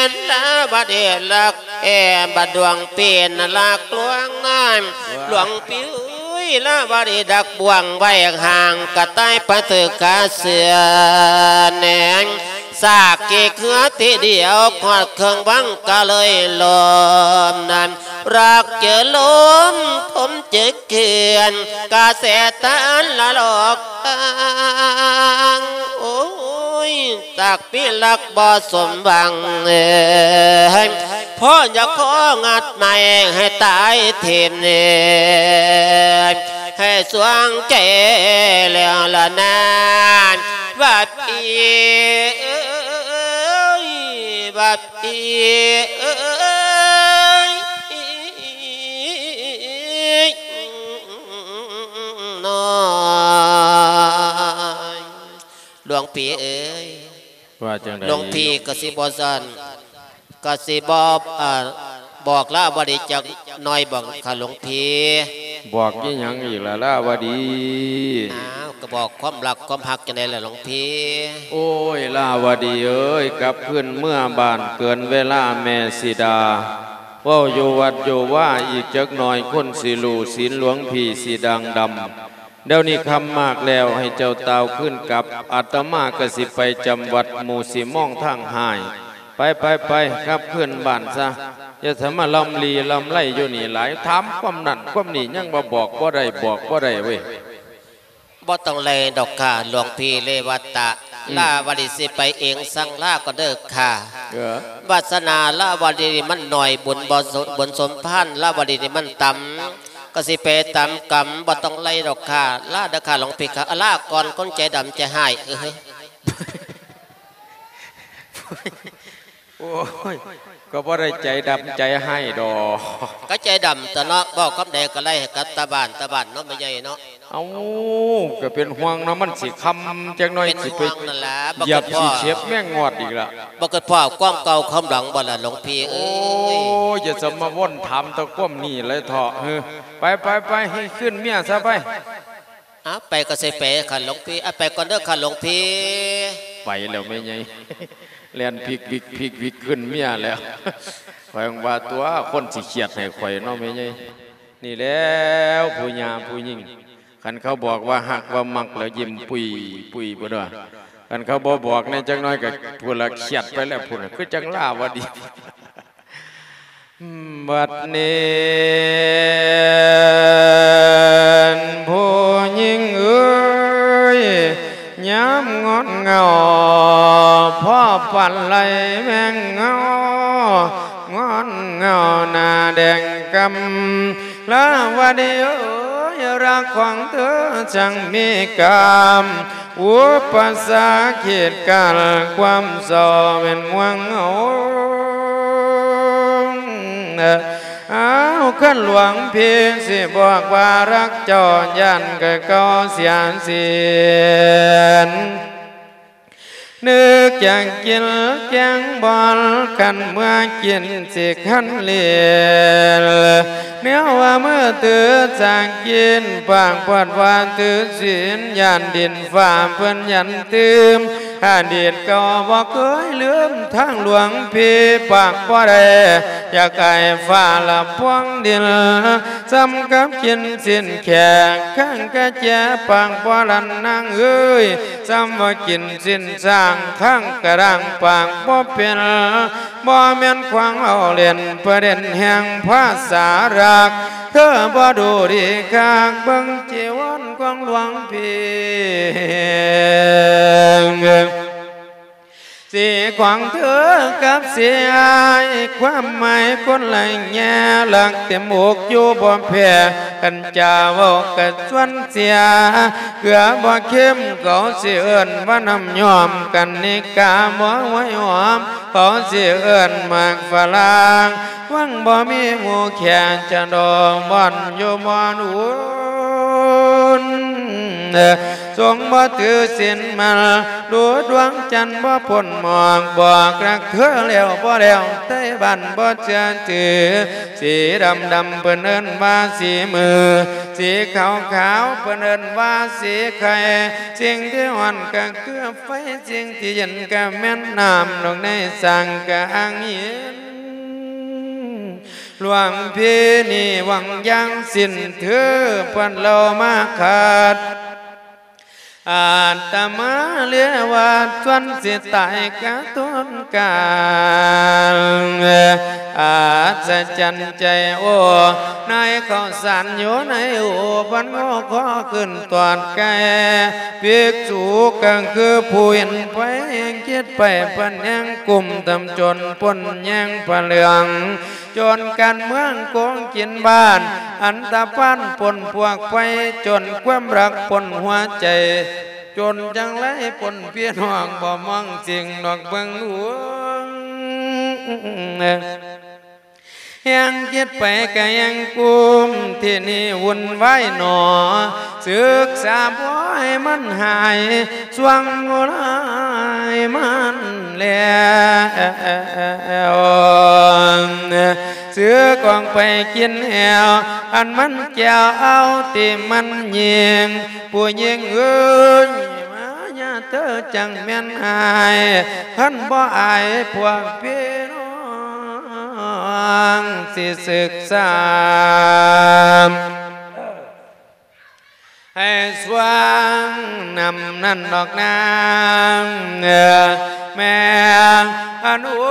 ນ ລາວະດີລັກ ແອ ບັດດວງເປັນລັກລວງນາງ. ຫຼວງພີ່ເອີຍ ລາວະດີດັກບ່ວງໄວ້ຫ່າງ ກະຕາຍໄປຖືກຄາເສືອແນງ ສາກກີເຄືອທີດຽວ ຄອດເຄື່ອງວັງກະເລີຍລົ້ມນັ້ນ ລັກເຈີລົມ ຜົມເຈີເຂື່ອນ ກະແສຕານລະຫຼອກທາງ ໂອ້ຍ ຈັກມີລັກບໍ່ສົມຫວັງເອີຍ ພໍຢາກຂໍງັດໄມ້ໃຫ້ຕາຍເທນເອີຍ ໃຫ້ສວງແກ່ແລ້ວລະນາ ວ່າພີ່ເອີຍ ວ່າພີ່ເອີຍ ນ້ອຍ. ຫຼວງພີ່ເອີຍ ວ່າຈັ່ງໃດ? ຫຼວງພີ່ກະຊິບໍ່ຊັ້ນ ກະຊິບໍ່ ເອີ ບອກລາວະດີຈັກໜ້ອຍບໍ ຄະຫຼວງພີ່? ບອກອີ່ຫຍັງອີກລະລາວະດີ? ອ້າວ ກະບອກຄວາມລັກຄວາມຮັກຈັ່ງໃດລະຫຼວງພີ່? ໂອ້ຍ ລາວະດີເອີຍ ກັບຄືນເມືອບ້ານເກີນເວລາແມ່ຊິດາ ເວົ້າຢູ່ວັດຢູ່ວາອີກຈັກໜ້ອຍ ຄົນຊິຮູ້ ສິນຫຼວງພີ່ຊິດ່າງດຳ. ດຽວນີ້ຄ່ຳມາກແລ້ວ ໃຫ້ເຈົ້າຕ່າວຄືນກັບ ອາດຕະມາກະຊິໄປຈຳວັດ ໝູ່ຊິມອງທາງຮ້າຍ. ໄປ ໄປ ໄປ ກັບຄືນບ້ານຊະ ຢ່າສະມາລຳລີລຳໄລຢູ່ນີ້ຫຼາຍ ຖາມຄວາມນັ້ນຄວາມນີ້ ຍັງວ່າບອກບໍ່ໄດ້ ບອກບໍ່ໄດ້ເວີຍ. ບໍ່ຕ້ອງໄລ່ດອກຄ່າ ຫຼວງພີ່ເລວະຕະ ອືມ ລາວະດີຊິໄປເອງ ສັ່ງລາກ່ອນເດີຄ່າ. ເອີ ວາສະໜາລາວະດີນີ້ມັນໜ້ອຍ ບຸນບໍ່ສົມ ບຸນສົມພານລາວະດີນີ້ມັນຕ່ຳ ກະຊິໄປຕາມກຳ ບໍ່ຕ້ອງໄລ່ດອກຄ່າ ລາເດີຄ່າ ຫຼວງພີ່ຄ່າ ລາກ່ອນຄົນໃຈດຳໃຈຮ້າຍ. ເອີ ໂອ້ຍ ກໍບໍ່ໄດ້ໃຈດຳໃຈຮ້າຍດອກ ກໍໃຈດຳຕົວເນາະ ເວົ້າຄຳໃດກໍໄລ່ໃຫ້ກັບຕາບ້ານ ຕາບ້ານເນາະ ແມ່ໃຫຍ່ເນາະ. ເອົ້າ ກໍເປັນຫ່ວງເນາະ ມັນຊິຄ່ຳຈັກໜ້ອຍ ເປັນຫ່ວງນັ້ນລະ ຊິໄປຢຽບຂີ້ເຂັບແມງງອດອີກລະ ບໍ່ຄິດພໍ້ຄວາມເກົ່າຄວາມຫຼັງບໍ່ລະ ຫຼວງພີ່ເອີຍ? ໂອ້ຍ ຢ່າຈະມາວົນຖາມແຕ່ຄວາມນີ້ເລີຍເທາະ. ເອີ ໄປໆໆ ໃຫ້ຄືນເມຍຊະໄປ. ເອົາ ໄປກໍຊິໄປຄັນຫຼວງພີ່ ເອົາ ໄປກ່ອນເດີຄັນຫຼວງພີ່. ໄປແລ້ວແມ່ໃຫຍ່ ແລ່ນພິກວິກພິກວິກຂຶ້ນເມຍແລ້ວ. ຂ້ອຍວ່າຕົວະ ຄົນຊິຄຽດໃຫ້ຂ້ອຍເນາະແມ່ໃຫຍ່. ນີ້ແຫຼະ ຜູ້ຍ່າຜູ້ຍິງ ຄັນເຂົາບອກວ່າຮັກວ່າມັກແລ້ວຍິ້ມປຸ້ຍໆ ພຸ້ນວ່າ. ຄັນເຂົາບໍ່ບອກແດ່ຈັກໜ້ອຍກໍພຸ້ນລະ ຄຽດໄປແລ້ວພຸ້ນ ຄືຈັ່ງລາວະດີ. ບັດນີ້ຜູ້ຍິງເອີຍ ຍາມງອນເຫງົາ ພໍປານໄລ່ແມງເຫງົາ ງອນເຫງົາໜ້າແດງກຳ ລາວະດີເອີຍ ລັກຂອງເທີຊ່າງມີກາມ ອຸປະສາກິດກັນຄວາມເສົ້າແມ່ນຫ່ວງເຮົາ. ອ້າວ ຄັນຫຼວງພີ່ຊິບອກວ່າຮັກເຈົ້າ ຢ້ານກະເກົ່າເສຍສິ້ນ ນຶກຢາກກິນແກງບອນ ຄັນເມື່ອກິນຊິຄັນເລນ ແນວວ່າມື້ຕື່ນຈາກກິນ ປາກປອດວ່າຖືສິນ ຢ້ານດິນຟ້າເພິ່ນຢັນຕື່ມ ອະດີດເກົ່າບໍ່ເຄີຍລືມ ທາງຫຼວງພີ່ປາກບໍ່ໄດ້ ຢາກອາຍຟ້າລະພວງດິນ ສ່ຳກັບກິນຊີ້ນແຂກ ຄັງກະແຈປາກບໍ່ລັ່ນນາງເອີຍ ສ່ຳວ່າກິນຊີ້ນຊ້າງ ຄັງກະດ້າງປາກບໍ່ເປັນ ບໍ່ແມ່ນຂວາງເວົ້າເລ່ນ ປະເດັນແຫ່ງພາສາລັກ ເທີບໍ່ດູດີຄັກ ເບິ່ງຈີວອນຂອງຫຼວງພີ່ ສີຂອງເທີກັບສີອ້າຍ ຄວາມໝາຍຄົນລະແງ່ ລັກເຕັມອົກຢູ່ບໍ່ແພ້ ຄັນຈະເວົ້າກະຊວນເສຍ ເກືອບໍ່ເຄັມ ເຂົາຊິເອີ້ນວ່ານ້ຳຍອມ ກະນິກາບໍ່ໄຫວຫອມ ເຂົາຊິເອີ້ນໝາກຝຣັ່ງ ຫວັງບໍ່ມີໝູ່ແຂກ ຈະດອກບ່ອນຢູ່ບ່ອນອຸ່ນ ຊົງບໍ່ຖືສິນໝັ້ນ ດູດວງຈັນບໍ່ພົ້ນໝອກ ບອກຮັກເທີແລ້ວບໍ່ແລ້ວ ໄທບ້ານບໍ່ເຊື່ອຖື ສີດຳດຳເພິ່ນເອີ້ນວ່າສີມື ສີຂາວຂາວເພິ່ນເອີ້ນວ່າສີໄຂ່ ສິ່ງທີ່ຮ້ອນກະຄືໄຟ ສິ່ງທີ່ເຢັນກະແມ່ນນ້ຳ ນອກໃນສ້າງກະອ່າງຫີນ ຫຼວງພີ່ນີ້ຫວັງຢ່າງສິ້ນເທີ ເພິ່ນເລົ່າມາຂັດ ອາດຕະມາເລວາດ ສ່ວນຊິຕາຍກະທົນການ ອັດສະຈັນໃຈໂອ ນາຍເຂົ້າສານຢູ່ໃນໂອ ພັນງໍຄໍຂຶ້ນຕອດໄກ່ ພິກສຸກະຄືຜູ້ເຫັນໄພ ແຮງຄິດໄປເພິ່ນແຮງກຸ້ມ ທຳຈົນພົ້ນແຍງພະເຫຼືອງ ຈົນການເມືອງໂກງກິນບ້ານ ອັນຕະພານປົນພວກໄພ ຈົນຄວາມຮັກປົນຫົວໃຈ ຈົນຈັ່ງໄລປົນພີ່ນ້ອງ ບໍ່ມອງສິ່ງນອກເບິ່ງຫຼວງ ແຮງຄິດໄປກະແຮງກຸ້ມ ທີ່ນີ້ວຸ່ນວາຍໜໍ ສຶກສາບໍ່ໃຫ້ມັນຫາຍ ຊ່ວງໂຫດຮ້າຍມັນແລ້ວ ສຶກອອກໄປກິນແອວ ອັນມັນແກ້ວເອົາທີ່ມັນຍິງ ຜູ້ຍິງເອີຍ ມາຍາເທີຈັ່ງແມ່ນອາຍ ຄັນບໍ່ອາຍພວກພີ່ນ້ອງຊິສຶກສາ ໃຫ້ຊ່ວງນຳນັ້ນດອກນາງ ແມ່ນ ໂອ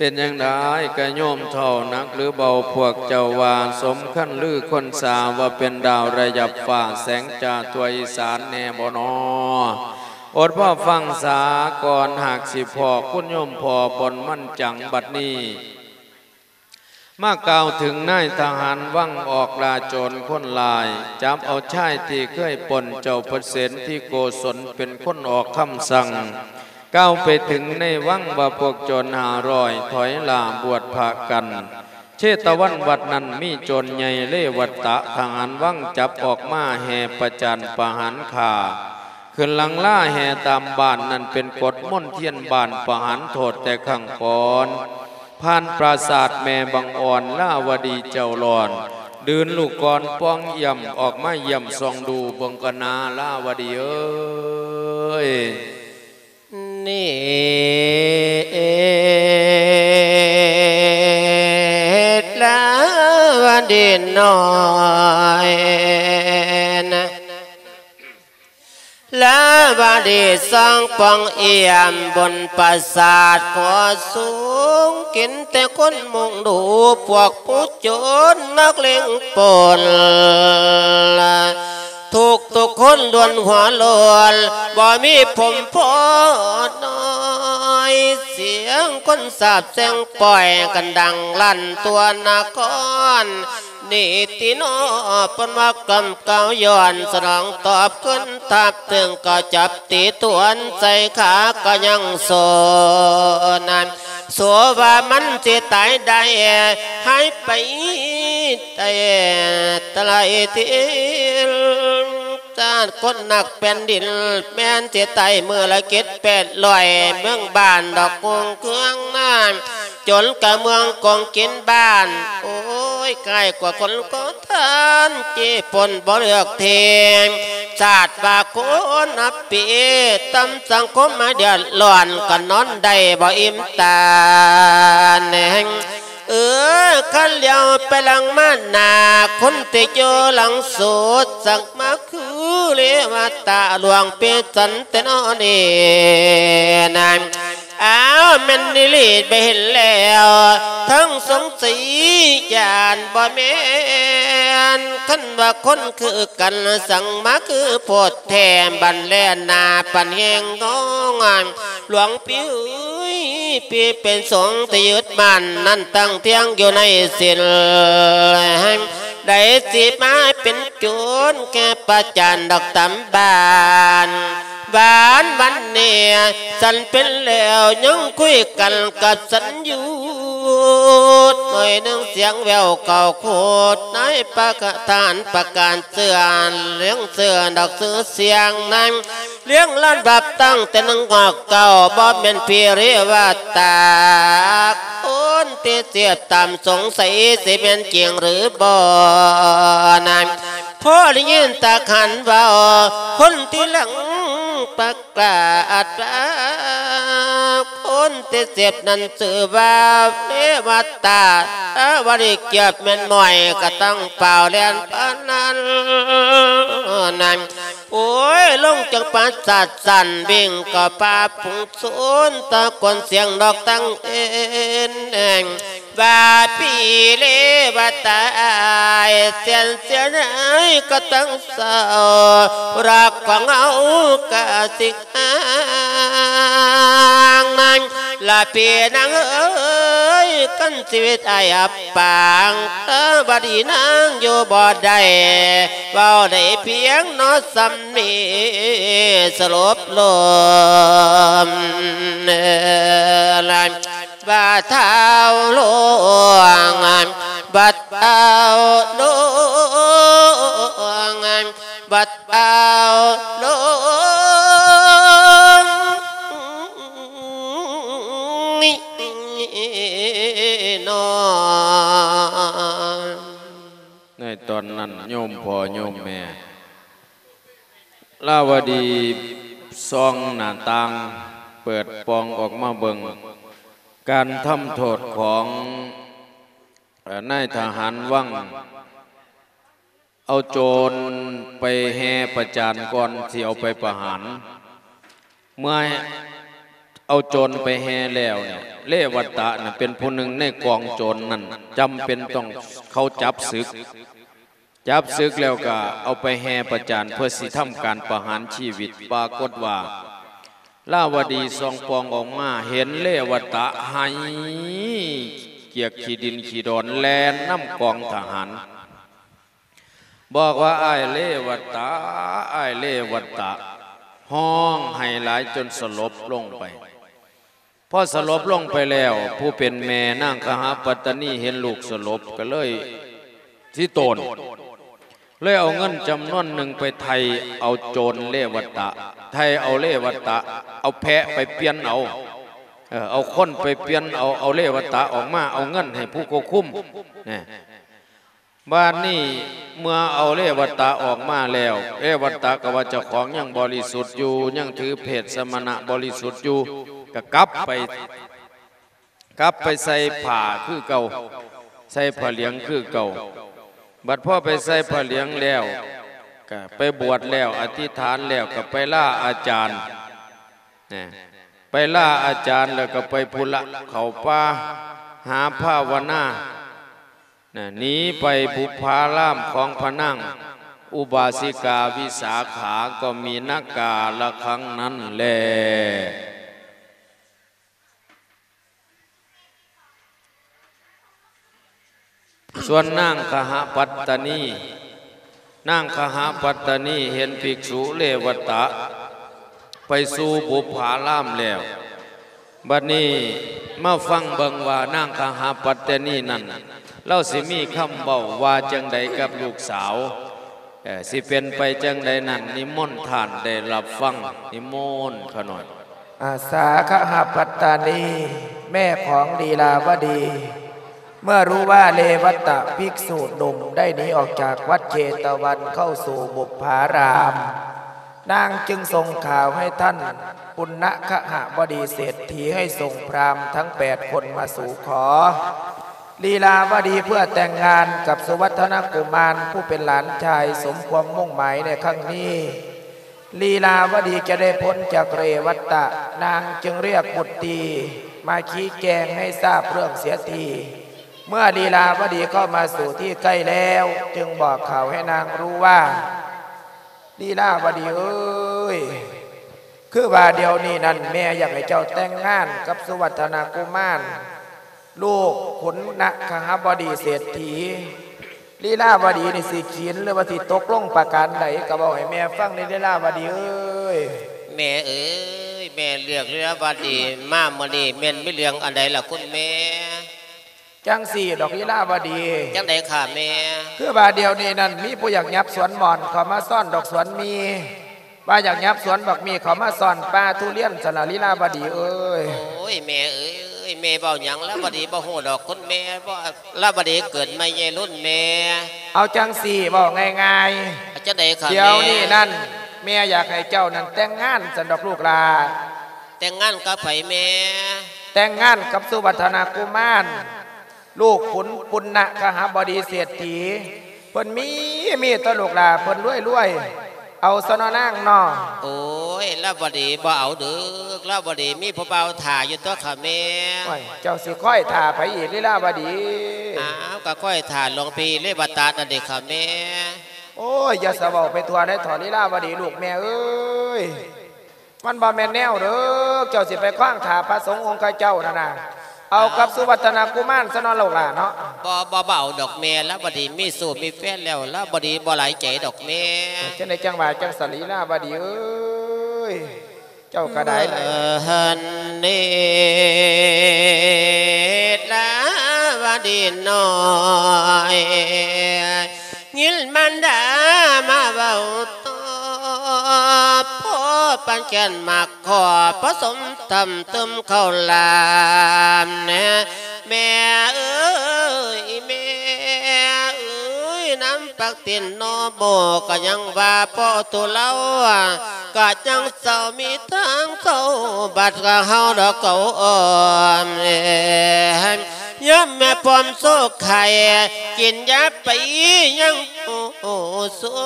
ເປັນຈັ່ງໃດກະໂຍມເຖົ້າ ໜັກຫຼືເບົາ ພວກເຈົ້າວ່າສົມຄັນລືຄົນສາ ວ່າເປັນດາວລະຍັບຟ້າ ແສງຈ້າທົ່ວອີສານແນ່ບໍ່ນໍ? ອົດລໍຟັງສາກ່ອນ ຫາກຊິພໍ້ຄຸນໂຍມພໍ່ ບ່ອນມັນຈັງບັດນີ້ ມາກ່າວເຖິງນາຍທະຫານວັງ ອອກລ່າໂຈນຄົນຮ້າຍ ຈັບເອົາຊາຍທີ່ເຄີຍປົນເຈົ້າພະເສນທິໂກສົນ ເປັນຄົນອອກຄຳສັ່ງ ກ່າວໄປເຖິງໃນວັງວ່າ ພວກໂຈນຫ້າຮ້ອຍຖອຍລ່າບວດພະກັນ ເຊຕະວັນວັດນັ້ນມີໂຈນໃຫຍ່ເລວະຕະ ທະຫານວັງຈັບອອກມາແຫ່ປະຈານປະຫານຂ້າ ຂຶ້ນຫຼັງລາແຫ່ຕາມບ້ານນັ້ນ ເປັນກົດມົນທຽນບ້ານ ປະຫານໂທດແຕ່ຄັ້ງກ່ອນ ຜ່ານປາສາດແມ່ບັງອ່ອນ ລາວະດີເຈົ້າລ້ອນ ດື່ນລູກກ່ອນປ່ອງຢ້ຽມ ອອກມາຢ້ຽມສ່ອງດູເບິ່ງກະນາ ລາວະດີເອີຍ. ນີ້ ລາວະດີນ້ອຍນະ ລາວະດີສ້າງປ່ອງຢ້ຽມບົນປາສາດກໍສູງ ກິນແຕ່ຄົນມຸງດູ ພວກຜູ້ໂຈນນັກເລັງປົນ ທຸກໆຄົນລວນຫົວໂລນ ບໍ່ມີຜົມພໍນ້ອຍ ສຽງຄົນສາບແຊ່ງປ່ອຍກັນດັງລັ່ນທົ່ວນະຄອນ ນີ້ຕິເນາະ ເພິ່ນວ່າກຳກ່າວຍ້ອນ ສະໜອງຕອບຄືນທາບເຖິງ ກໍຈັບຕີທວນໃສ່ຂາກໍຍັງໂຊນັ້ນ ໂສວ່າມັນຊິຕາຍໄດ້ ຫາຍໄປໄດ້ຕະໄລທີ ຊາດຄົນນັກແຜ່ນດິນ ແມ່ນຊິຕາຍມື້ລະເຈັດແປດຮ້ອຍ ເມືອງບ້ານດອກກຸງເຄືອງນາ ຈົນກະເມືອງກົງກິນບ້ານ ໂອ້ຍ ຄ້າຍກວ່າຄົນຂໍທານ ຈີ້ປົນບໍ່ເລືອກເທງ ຊາດວ່າຄົນນັບປີ ຕຳສັງຄົມມາເດືອດຮ້ອນ ກໍນອນໄດ້ບໍ່ອີ່ມຕາແນງ ເອີ ຄັນຫຼຽວໄປຫຼັງມາໜ້າ ຄົນທີ່ຢູ່ຫຼັງສຸດ ສັກມາຄືເລວະຕາຫຼວງເປສັນແຕ່ນໍນີ້ນາ ອ້າວ ແມ່ນອີ່ຫຼີໄປເຫັນແລ້ວ ທັງສົງໄສຢ້ານບໍ່ແມ່ນ ຄັນວ່າຄົນຄືກັນ ສັງມາຄືໂພດແທ້ ບັນແລນາປັນແຮງງອງ ຫຼວງພີ່ເອີຍ ພີ່ເປັນສົງທີ່ຍຶດໝັ້ນ ນັ້ນຕັ້ງທ່ຽງຢູ່ໃນສິນ ໃດຊິມາເປັນ ໂຈນແກ່ປະຈານດອກຕຳບານ ຫວານວັນນີ້ ສັນເປັນແລ້ວຍັງຄຸຍກັນກັບສັນຢູ່ ໜ້ອຍໜຶ່ງສຽງແວ່ວເຂົ້າໂຄດ ນາຍປະກະທານປະການເຊື່ອ ເລື່ອງເຊື່ອດອກຊື່ສຽງນັ້ນ ລຽງລຳດັບຕັ້ງແຕ່ໜຶ່ງຮອດເກົ້າ ບໍ່ແມ່ນພີເຣວະຕາ ຄົນທີ່ເສບຕາມສົງໄສ ຊິແມ່ນຈິງຫຼືບໍ່ນັ້ນ ພໍໄດ້ຍິນຕາຂັນເວົ້າ ຄົນທີ່ຫຼັງປະກາດວ່າ ຄົນທີ່ເສບນັ້ນຊື່ວ່າເລວະຕາ ຖ້າວ່າໄດ້ກຽບແມ່ນໝ້ອຍ ກໍຕ້ອງຟ້າວແລ່ນປານນັ້ນ ໂອ້ຍ ລົງຈາກປາສາດສັ້ນ ວິ່ງກໍປ່າຝູງຊົນ ຕະໂກນສຽງນອກຕັ້ງເອັນ ວ່າພີ່ເລວະຕາອ້າຍ ເສຍເສຍດາຍກໍຕ້ອງເສົ້າ ລັກຂອງເຮົາກະຊິຫ່າງນາງ ລະພີ່ນາງເອີຍ ຄັນຊີວິດອ້າຍອັບ ປາງ ເອີ ບັດນີ້ນາງຢູ່ບໍ່ໄດ້ ເວົ້າໄດ້ພຽງເນາະສ່ຳນີ້ ສະລົບລົງ ເອີ ລະ ວ່າທ້າວຫຼວງ ບັດທ້າວຫຼວງ ບັດທ້າວຫຼວງ ໃນຕອນນັ້ນໂຍມພໍ່ໂຍມແມ່ ລາວະດີສ່ອງໜ້າຕ່າງ ເປີດປ່ອງອອກມາເບິ່ງ ການທຳໂທດຂອງ ເອີ ນາຍທະຫານວັງ ເອົາໂຈນໄປແຫ່ປະຈານກ່ອນຊິເອົາໄປປະຫານ ເມື່ອ ເອົາໂຈນໄປແຫ່ແລ້ວນີ້ ເລວະຕະນັ້ນເປັນຜູ້ໜຶ່ງໃນກອງໂຈນນັ້ນ ຈຳເປັນຕ້ອງເຂົາຈັບສຶກ ຈັບສຶກແລ້ວກໍເອົາໄປແຫ່ປະຈານ ເພື່ອຊິທຳການປະຫານຊີວິດ. ປາກົດວ່າ ລາວະດີສ່ອງປ່ອງອອກມາ ເຫັນເລວະຕະໄຫ້ກຽກຂີ້ດິນຂີ້ດອນ ແລ່ນນຳກອງທະຫານ ບອກວ່າ ອ້າຍເລວະຕະ ອ້າຍເລວະຕະ ຮ້ອງໄຫ້ຫຼາຍຈົນສະຫຼົບລົງໄປ. ພໍສະຫຼົບລົງໄປແລ້ວ ຜູ້ເປັນແມ່ນາງຄະຫະປັດຕະນີເຫັນລູກສະຫຼົບ ກໍເລີຍຊິໂຕນ ເລີຍເອົາເງິນຈຳນວນໜຶ່ງໄປໄຖ່ເອົາໂຈນເລວະຕະ ໄຖ່ເອົາເລວະຕະ ເອົາແພະໄປປ່ຽນເອົາ ເອີ ເອົາຄົນໄປປ່ຽນເອົາ ເອົາເລວະຕະອອກມາ ເອົາເງິນໃຫ້ຜູ້ຄວບຄຸມ ນະ. ບາດນີ້ເມື່ອເອົາເລວະຕະອອກມາແລ້ວ ເລວະຕະກໍວ່າເຈົ້າຂອງຍັງບໍລິສຸດຢູ່ ຍັງຖືເພດສະມະນະບໍລິສຸດຢູ່ ກໍກັບໄປ ກັບໄປໃສ່ຜ້າຄືເກົ່າ ໃສ່ຜ້າຫຼຽງຄືເກົ່າ. ບັດພໍໄປໃສ່ຜ້າຫຼຽງແລ້ວ ກໍໄປບວດແລ້ວ ອະທິຖານແລ້ວ ກໍໄປລາອາຈານ ນະ ໄປລາອາຈານແລ້ວກໍໄປພຸ້ນລະ ເຂົ້າປ່າຫາພາວະນາ ນະ ໜີໄປບຸບພາລາມຂອງພະນາງອຸບາສິກາວິສາຂາ ກໍມີນະກາລະຄັງນັ້ນແລ. ສ່ວນນາງຄະຫະປັດຕະນີ ນາງຄະຫະປັດຕະນີເຫັນພິກສຸເລວະຕະໄປສູ່ບຸບພາລາມແລ້ວ ບັດນີ້ມາຟັງເບິ່ງວ່ານາງຄະຫະປັດຕະນີນັ້ນ ລາວຊິມີຄຳເວົ້າວ່າຈັ່ງໃດກັບລູກສາວ ເອີ ຊິເປັນໄປຈັ່ງໃດນັ້ນ ນິມົນທ່ານໄດ້ຮັບຟັງ ນິມົນຂະນ້ອຍ. ອາສາຄະຫະປັດຕານີ ແມ່ຂອງລີລາວະດີ ເມື່ອຮູ້ວ່າເລວະຕະ ພິກສຸໜຸ່ມໄດ້ໜີອອກຈາກວັດເຈຕະວັນເຂົ້າສູ່ບຸບພາລາມ ນາງຈຶ່ງສົ່ງຂ່າວໃຫ້ທ່ານປຸນນະຄະຫະບໍດີເສດຖີ ໃຫ້ສົ່ງພຣາມທັງແປດຄົນມາສູ່ຂໍ. ລີລາວະດີເພື່ອແຕ່ງງານກັບສຸວັດທະນະກຸມານ ຜູ້ເປັນຫຼານຊາຍ ສົມຄວາມມຸ່ງໝາຍໃນຄັ້ງນີ້ ລີລາວະດີຈະໄດ້ພົ້ນຈາກເລວັດຕະ ນາງຈຶ່ງຮຽກບຸດຕີມາຊີ້ແຈງໃຫ້ຊາບເລື່ອງເສຍທີ. ເມື່ອລີລາວະດີເຂົ້າມາສູ່ທີ່ໃກ້ແລ້ວ ຈຶ່ງບອກຂ່າວໃຫ້ນາງຮູ້ວ່າ ລີລາວະດີເອີຍ ຄືວ່າດຽວນີ້ນັ້ນ ແມ່ຢາກໃຫ້ເຈົ້າແຕ່ງງານກັບສຸວັດທະນະກຸມານ ລູກຂຸນນະຄະຫະບໍດີເສດຖີ. ລີລາວະດີນີ້ຊິຂີນ ຫຼືວ່າຊິຕົກລົງປະການໃດ ກໍເວົ້າໃຫ້ແມ່ຟັງແດ່ ລີລາວະດີເອີຍ. ແມ່ເອີຍ ແມ່ເລືອກລີລາວະດີມາມື້ນີ້ ແມ່ນມີເລື່ອງອັນໃດລະຄຸນແມ່? ຈັ່ງຊີ້ດອກ ລີລາວະດີ. ຈັ່ງໃດຂ້າແມ່? ຄືວ່າດຽວນີ້ນັ້ນ ມີຜູ້ຢາກຫຍັບສວນໝອນເຂົ້າມາຊ້ອນດອກສວນໝີ່ ວ່າຢາກຫຍັບສວນບັກໝີ່ເຂົ້າມາຊ້ອນປ່າທຸລຽນຊັ້ນລະ ລີລາວະດີເອີຍ. ໂອ້ຍ ແມ່ເອີຍ ແມ່ເວົ້າຫຍັງລາວະດີບໍ່ຮູ້ດອກ ຄຸນແມ່ ບໍ່ ລາວະດີເກີດໃໝ່ໃຫຍ່ລຸ້ນແມ່. ເອົາຈັ່ງຊີ້ ເວົ້າງ່າຍໆ ຈັ່ງໃດຂ້າແມ່? ດຽວນີ້ນັ້ນ ແມ່ຢາກໃຫ້ເຈົ້ານັ້ນແຕ່ງງານຊັ້ນດອກລູກຫຼ້າ. ແຕ່ງງານກັບໃຜແມ່? ແຕ່ງງານກັບສຸວັດທະນະກຸມານ ລູກຂຸນປຸນນະຄະຫະບໍດີເສດຖີ. ເພິ່ນມີ ມີແຕ່ລູກຫຼ້າເພິ່ນລວຍໆ ເອົາຊະເນາະນາງເນາະ. ໂອ້ຍ ລາວະດີບໍ່ເອົາເດີກ ລາວະດີມີຜູ້ບ່າວຖ້າຢູ່ຕົວະຂ້າແມ່. ໂອ້ຍ ເຈົ້າຊິຄອຍຖ້າໃຜອີກ ລີລາວະດີ? ອ້າວ ກໍຄອຍຖ້າຫຼວງພີ່ເລວະຕະນັ້ນເດຂ້າແມ່. ໂອ້ຍ ຢ່າສະເວົ້າໄປທົ່ວໄດ໋ເຖາະ ລີລາວະດີລູກແມ່ເອີຍ. ມັນບໍ່ແມ່ນແນວເດີກ ເຈົ້າຊິໄປຂວາງຖ້າພະສົງອົງຄະເຈົ້ານັ້ນນະ ເອົາກັບສຸວັດທະນະກຸມານຊະເນາະລູກຫຼ້າເນາະ. ບໍ່ ບໍ່ ບໍ່ເອົາດອກແມ່ ລາວະດີມີຊູ້ມີແຟນແລ້ວ ລາວະດີບໍ່ຫຼາຍໃຈດອກແມ່. ຈັ່ງໃດຈັ່ງວ່າຈັ່ງຊັ້ນ ລີລາວະດີເອີຍ ເຈົ້າກໍໄດ້. ເອີ ຫັ້ນເດ ລາວະດີນ້ອຍ ຍິນມານດາມາເວົ້າຕໍ່ ພໍປານແກ່ນໝາກ ຂໍປະສົມທຳຕື່ມເຂົ້າຫຼາມແນ່ ແມ່ເອີຍ ແມ່ເອີຍ ນ້ຳປັກຕີນໜໍ່ໂມ ກໍຍັງວ່າພໍໂຕລາວ ກໍຍັງເຊົາມີທາງເຂົ້າ ບັດກະເຮົາດອກເຂົາອ່ອນແອ ຍາມແມ່ພ້ອມໂຊກໄຂ່ ກິນຢາໄປຍັງໂອສວ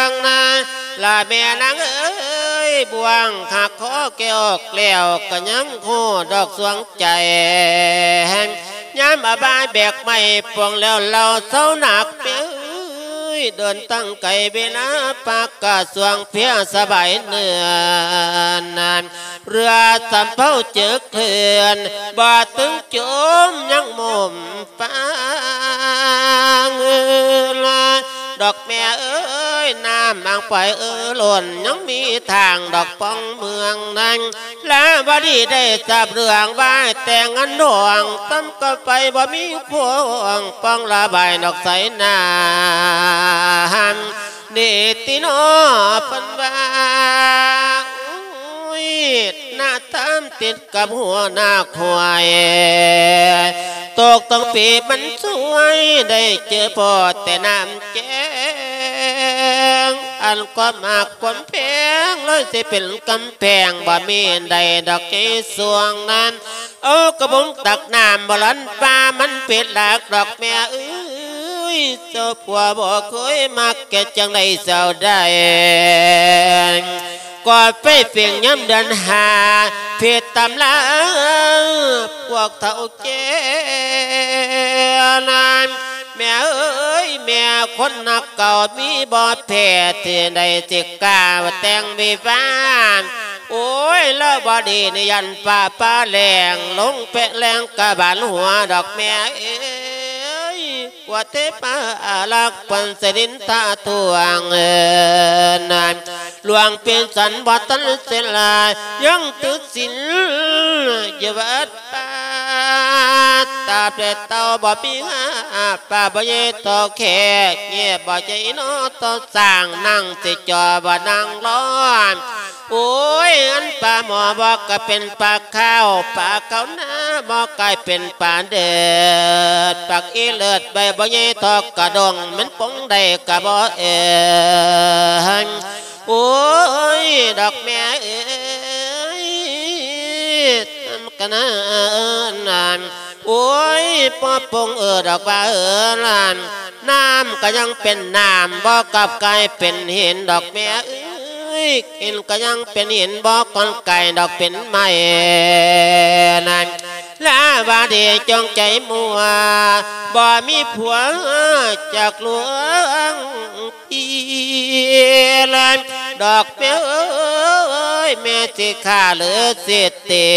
ງນາ ລະແມ່ນາງເອີຍ ບ່ວງ ຫາກຂໍແກ້ອອກແລ້ວ ກໍຍັງຮູ້ດອກສວງໃຈ ຍາມອາບາຍແບກໄມ້ ປ່ວງແລ້ວເລົ່າເຊົາໜັກ ແມ່ເອີຍ ເດີນຕັ້ງໄກ ເວລາປາກກະສວງ ເພຍສະບາຍເໜື່ອຍ ເຮືອສຳເພົາເຈີເຄື່ອນ ບໍ່ເຖິງຈົມຍັງໝົມຟັງ ດອກແມ່ເອີຍ ນ້ຳອ່າງໄປເອີລ້ນ ຍັງມີທາງດອກປ່ອງເມືອງນັ້ນ ລາວະດີໄດ້ຊາບເລື່ອງວ່າແຕ່ງງານດອງ ຊ້ຳກໍໄປບໍ່ມີຄວາມປ່ອງລະບາຍດອກໃສນາ ນີ້ຕິໜໍ່ເພິ່ນວ່າ ໂອ້ຍ ໜ້າຕາມຕິດກັບຫົວໜ້າຄວາຍ ຕົກຕັ້ງປີມັນສວຍ ໄດ້ເຈີພໍ້ແຕ່ນ້ຳແຈງ ອັນຄວາມຮັກຄວາມແພງ ເລີຍຊິເປັນກຳແພງ ບໍ່ມີໃດດອກໃນຊ່ວງນັ້ນ ເອົາກະບົງຕັກນ້ຳບໍ່ລັນປ່າ ມັນເປັນຫຼັກດອກແມ່ເອີຍ ເຈົ້າຜົວບໍ່ເຄີຍມັກ ເຮັດຈັ່ງໃດເຈົ້າໄດ້ ກໍໄປເປັນຍາມເດືອນຫ້າ ຜິດຕຳລາພວກເຖົ້າແກ່ນັ້ນ ແມ່ເອີຍ ແມ່ຄົນຮັກເກົ່າມີບໍ່ແພ້ ທີ່ໃດຊິກ້າແຕ່ງວິວາ ໂອ້ຍ ລາວະດີນີ້ຢ້ານຟ້າຜ່າແລງ ລົງແປະແລງກະບານຫົວດອກແມ່ເອີຍ ກວ່າເທວາອາລັກເພິ່ນຊິນິນທາທວງເອີນ ຫຼວງເປັນສັນບໍ່ທັນເສຍຫຼາຍ ຍັງຖືສິນຢູ່ວັດ ປາດຕາເປັດເຕົ່າບໍ່ມີຫາ ປາບໍ່ໃຫຍ່ທໍ່ແຂກ ແຍບບໍ່ໃຫຍ່ນອຕໍ່ສ້າງ ນັ່ງຊິຈ່ອບໍ່ນັ່ງລອນ ໂອ້ຍ ອັນປາໝໍບໍ່ກາຍເປັນປາຂາວ ປາຂາວນາບໍ່ກາຍເປັນປາເດີດ ປັກອີເລີດໃບບໍ່ໃຫຍ່ທໍ່ກະດົງ ມັນປົງໄດ້ກະບໍ່ເອີງ ໂອ້ຍ ດອກແມ່ເອີຍ ກະນານ ໂອ້ຍ ບໍ່ປົງເອີດອກວ່າເອີຫຼານ ນ້ຳກະຍັງເປັນນ້ຳ ບໍ່ກັບກາຍເປັນຫີນ ດອກແມ່ເອີຍ ຫີນກະຍັງເປັນຫີນ ບໍ່ກອນກາຍດອກເປັນໄມ້ນັ້ນ ລາວະດີຈົ່ງໃຈມົວ ບໍ່ມີຜົວຈັກລວງ ອີລະ ດອກແມ່ເອີຍ ແມ່ຊິຂ້າຫຼືຊິເຕະ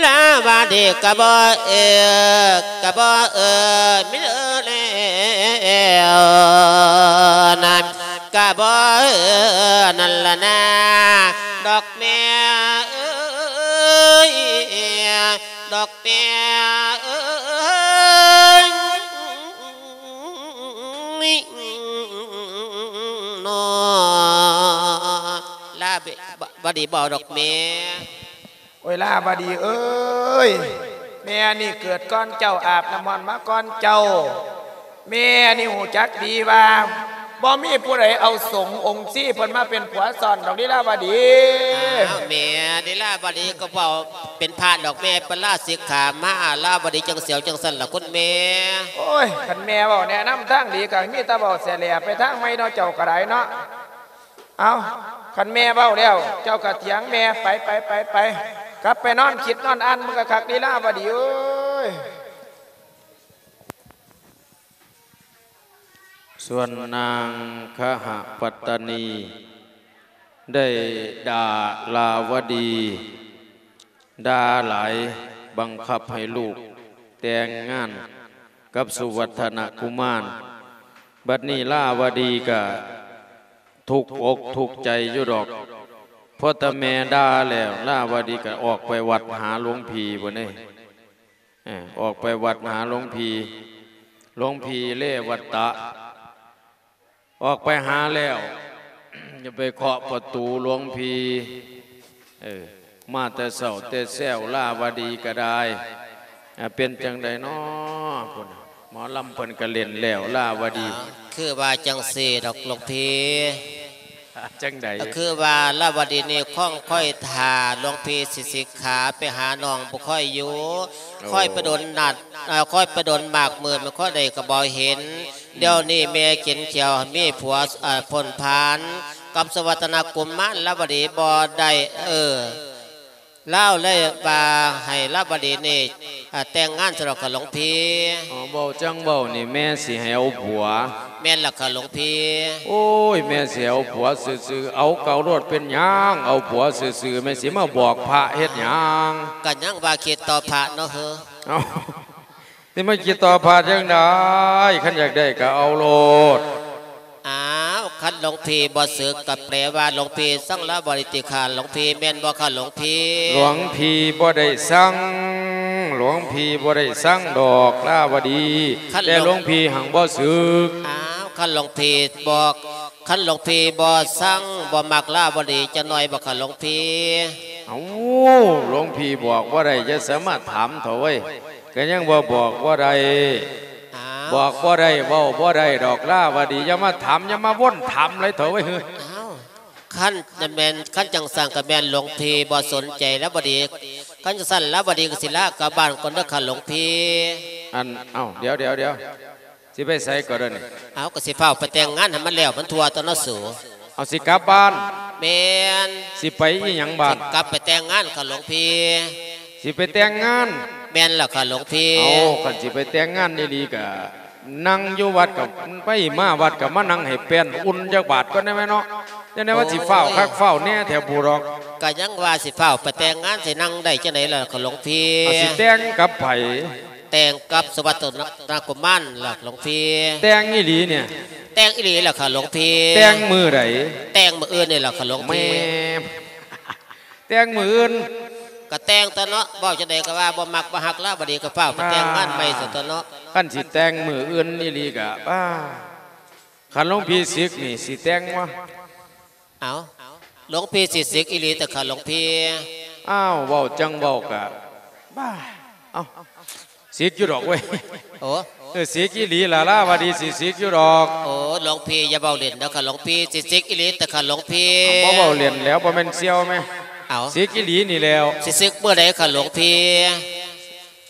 ລາວະດີກະບໍ່ເອີ ກະບໍ່ເອີ ມີເອີແລ້ວນັ້ນ ກະບໍ່ເອີນັ້ນລະນາ ດອກແມ່ເອີຍ ດອກແມ່ເອີຍ ນ້ອ ລາວະດີບໍ່ດອກແມ່ ໂອ້ຍ ລາວະດີເອີຍ ແມ່ນີ້ເກີດກ່ອນເຈົ້າ ອາບນ້ຳຮ້ອນມາກ່ອນເຈົ້າ ແມ່ນີ້ຮູ້ຈັກດີວ່າ ບໍ່ມີຜູ້ໃດເອົາສົງອົງຊີເພິ່ນມາເປັນຜົວຊ້ອນດອກເດ ລາວະດີ ອ້າວ ແມ່ ເດ ລາວະດີກໍເວົ້າເປັນພະດອກແມ່ ເພິ່ນລາສິກຂາມາ ລາວະດີຈັ່ງສຽວຈັ່ງຊັ້ນລະຄຸນແມ່ ໂອ້ຍ ຄັນແມ່ເວົ້າແນະນຳທາງດີ ກໍມີແຕ່ເວົ້າແສແຫຼໄປທາງໃໝ່ເນາະ ເຈົ້າກໍໄດ້ເນາະ ເອົ້າ ຄັນແມ່ເວົ້າແລ້ວ ເຈົ້າກໍຖຽງແມ່ ໄປ ໄປ ໄປ ໄປ ກັບໄປນອນຄິດນອນອ່ານມັນກໍຄັກເດ ລາວະດີເອີຍ. ສ່ວນນາງຄະຫະປັດຕະນີ ໄດ້ດ່າລາວະດີ ດ່າຫຼາຍ ບັງຄັບໃຫ້ລູກແຕ່ງງານກັບສຸວັດທະນະກຸມານ. ບັດນີ້ລາວະດີກະທຸກອົກທຸກໃຈຢູ່ດອກ ພໍແຕ່ແມ່ດ່າແລ້ວ ລາວະດີກະອອກໄປວັດຫາຫຼວງພີ່ພຸ້ນເດ້. ເອີ ອອກໄປວັດຫາຫຼວງພີ່ ຫຼວງພີ່ເລວັດຕະ ອອກໄປຫາແລ້ວ ຢ່າໄປເຄາະປະຕູຫຼວງພີ່ ເອີ ມາແຕ່ເຊົ້າແຕ່ແຊວ ລາວະດີກໍໄດ້ ເປັນຈັ່ງໃດນໍພຸ້ນ ໝໍລຳເພິ່ນກໍເຫຼັ້ນແລ້ວ ລາວະດີ ຄືວ່າຈັ່ງຊີ້ດອກຫຼວງພີ່. ຈັ່ງໃດ? ຄືວ່າລາວະດີນີ້ຄອງຄອຍຖ້າຫຼວງພີ່ຊິສິກຂາໄປຫານ້ອງບໍ່ຄ່ອຍຢູ່ ໂອ້ ຄ່ອຍໄປດົນນັດ ເອີ ຄ່ອຍໄປດົນມາກມື້ ມັນຄ່ອຍໄດ້ກໍບໍ່ເຫັນ ອືມ ດຽວນີ້ແມ່ກິນຂ້າວ ມີຜົວ ເອີ ພົ້ນພານ ກັບສຸວັດທະນະກຸມານລາວະດີບໍ່ໄດ້. ເອີ ລາວເລີຍວ່າໃຫ້ລາວະດີນີ້ ອາ ແຕ່ງງານຊະດອກ ຂ້າຫຼວງພີ່. ອໍ ເວົ້າຈັ່ງເວົ້ານີ້ ແມ່ຊິໃຫ້ເອົາຜົວ. ແມ່ນລະ ຂ້າຫຼວງພີ່. ໂອ້ຍ ແມ່ຊິເອົາຜົວຊື່ໆ ເອົາເອົາໂລດ ເປັນຫຍັງ ເອົາຜົວຊື່ໆ ແມ່ຊິມາບອກພະເຮັດຫຍັງ? ກະຍັງວ່າຄິດຕໍ່ພະເນາະເຮີ. ເອົ້າ ຊິມາຄິດຕໍ່ພະຈັ່ງໃດ? ຄັນຢາກໄດ້ກະເອົາໂລດ. ອ້າວ ຄັນຫຼວງພີ່ບໍ່ສຶກ ກະແປວ່າຫຼວງພີ່ຊັງລາວະດີຕິ ຂ້າຫຼວງພີ່ ແມ່ນບໍ່ ຂ້າຫຼວງພີ່? ຫຼວງພີ່ບໍ່ໄດ້ຊັງ ຫຼວງພີ່ບໍ່ໄດ້ຊັງດອກລາວະດີ ຄັນ ແຕ່ ຫຼວງ ຫຼວງພີ່ຫັ້ງບໍ່ສຶກ. ອ້າວ ຄັນຫຼວງພີ່ບໍ່ ຄັນຫຼວງພີ່ບໍ່ຊັງ ບໍ່ມັກລາວະດີຈັກໜ້ອຍບໍ່ ຂ້າຫຼວງພີ່? ເອົ້າ ຫຼວງພີ່ບອກບໍ່ໄດ້ ຢ່າສາມາດຖາມເຖົ້າເວີຍ. ກະຍັງວ່າບອກບໍ່ໄດ້. ອ້າວ ບອກບໍ່ໄດ້ ເວົ້າບໍ່ໄດ້ດອກລາວະດີ ຢ່າມາຖາມ ຢ່າມາວົນຖາມຫຼາຍເຖົ້າເວີຍ. ອ້າວ ຄັນແມ່ນ ຄັນຈັ່ງຊັ້ນກະແມ່ນຫຼວງພີ່ບໍ່ສົນໃຈລາວະດີ. ຄັນຈັ່ງຊັ້ນລາວະດີກະຊິລາກັບບ້ານກ່ອນເດີ ຂ້າຫຼວງພີ່. ອັນ ເອົ້າ ດຽວ ດຽວ ດຽວ ຊິໄປໃສກໍເດີນີ້? ເອົາ ກໍຊິຟ້າວໄປແຕ່ງງານໃຫ້ມັນແລ້ວມັນທົ່ວຕົວເນາະສູ. ເອົາ ຊິກັບບ້ານ? ແມ່ນ. ຊິໄປອີ່ຫຍັງບ້ານ? ຊິກັບໄປແຕ່ງງານ ຂ້າຫຼວງພີ່. ຊິໄປແຕ່ງງານ? ແມ່ນລະ ຂ້າຫຼວງພີ່. ເອົາ ຄັນຊິໄປແຕ່ງງານອີ່ຫຼີກະ ນັ່ງຢູ່ວັດກະໄປ ມາວັດກະມານັ່ງໃຫ້ແປ້ນອຸ່ນຈັກບາດກ່ອນໄດ້ແມະເນາະ. ຈັ່ງໃດວ່າຊິຟ້າວຄັກຟ້າວແນ່ແທ້ພຸ້ນດອກ. ກະຍັງວ່າຊິຟ້າວໄປແຕ່ງງານ ຊິນັ່ງໄດ້ຈັ່ງໃດລະ ຂ້າຫຼວງພີ່? ເອົາ ຊິແຕ່ງກັບໃຜ? ແຕ່ງກັບສຸວັດທະນະກຸມານລະ ຫຼວງພີ່. ແຕ່ງອີ່ຫຼີນີ້? ແຕ່ງອີ່ຫຼີລະ ຂ້າຫຼວງພີ່. ແຕ່ງມື້ໃດ? ແຕ່ງມື້ອື່ນນີ້ລະ ຂ້າຫຼວງພີ່. ແມ່ ແຕ່ງມື້ອື່ນ? ກະແຕ່ງຕົວເນາະ ເວົ້າຈັ່ງໃດກະວ່າບໍ່ມັກບໍ່ຮັກລາວະດີ ກະຟ້າວໄປແຕ່ງງານໃໝ່ຊະຕົວເນາະ. ຄັນຊິແຕ່ງມື້ອື່ນອີ່ຫຼີກະ ປ້າ ຄັນຫຼວງພີ່ສິກນີ້ ຊິແຕ່ງບໍ່? ເອົ້າ ຫຼວງພີ່ຊິສິກອີ່ຫຼີຕິ ຂ້າຫຼວງພີ່? ອ້າວ ເວົ້າຈັ່ງເວົ້າກະ ບ້າ ເອົ້າ ສິກຢູ່ດອກເວີຍ. ໂອ້ ເອີ ສິກອີ່ຫຼີລະ ລາວະດີຊິສິກຢູ່ດອກ. ໂອ້ ຫຼວງພີ່ຢ່າເວົ້າຫຼິ້ນເດີ ຂ້າຫຼວງພີ່. ຊິສິກອີ່ຫຼີຕິ ຂ້າຫຼວງພີ່? ບໍ່ເວົ້າຫຼິ້ນແລ້ວ ບໍ່ແມ່ນສ່ຽວແມະ. ເອົ້າ ສິກອີ່ຫຼີນີ້ແລ້ວ. ຊິສິກມື້ໃດ ຂ້າຫຼວງພີ່?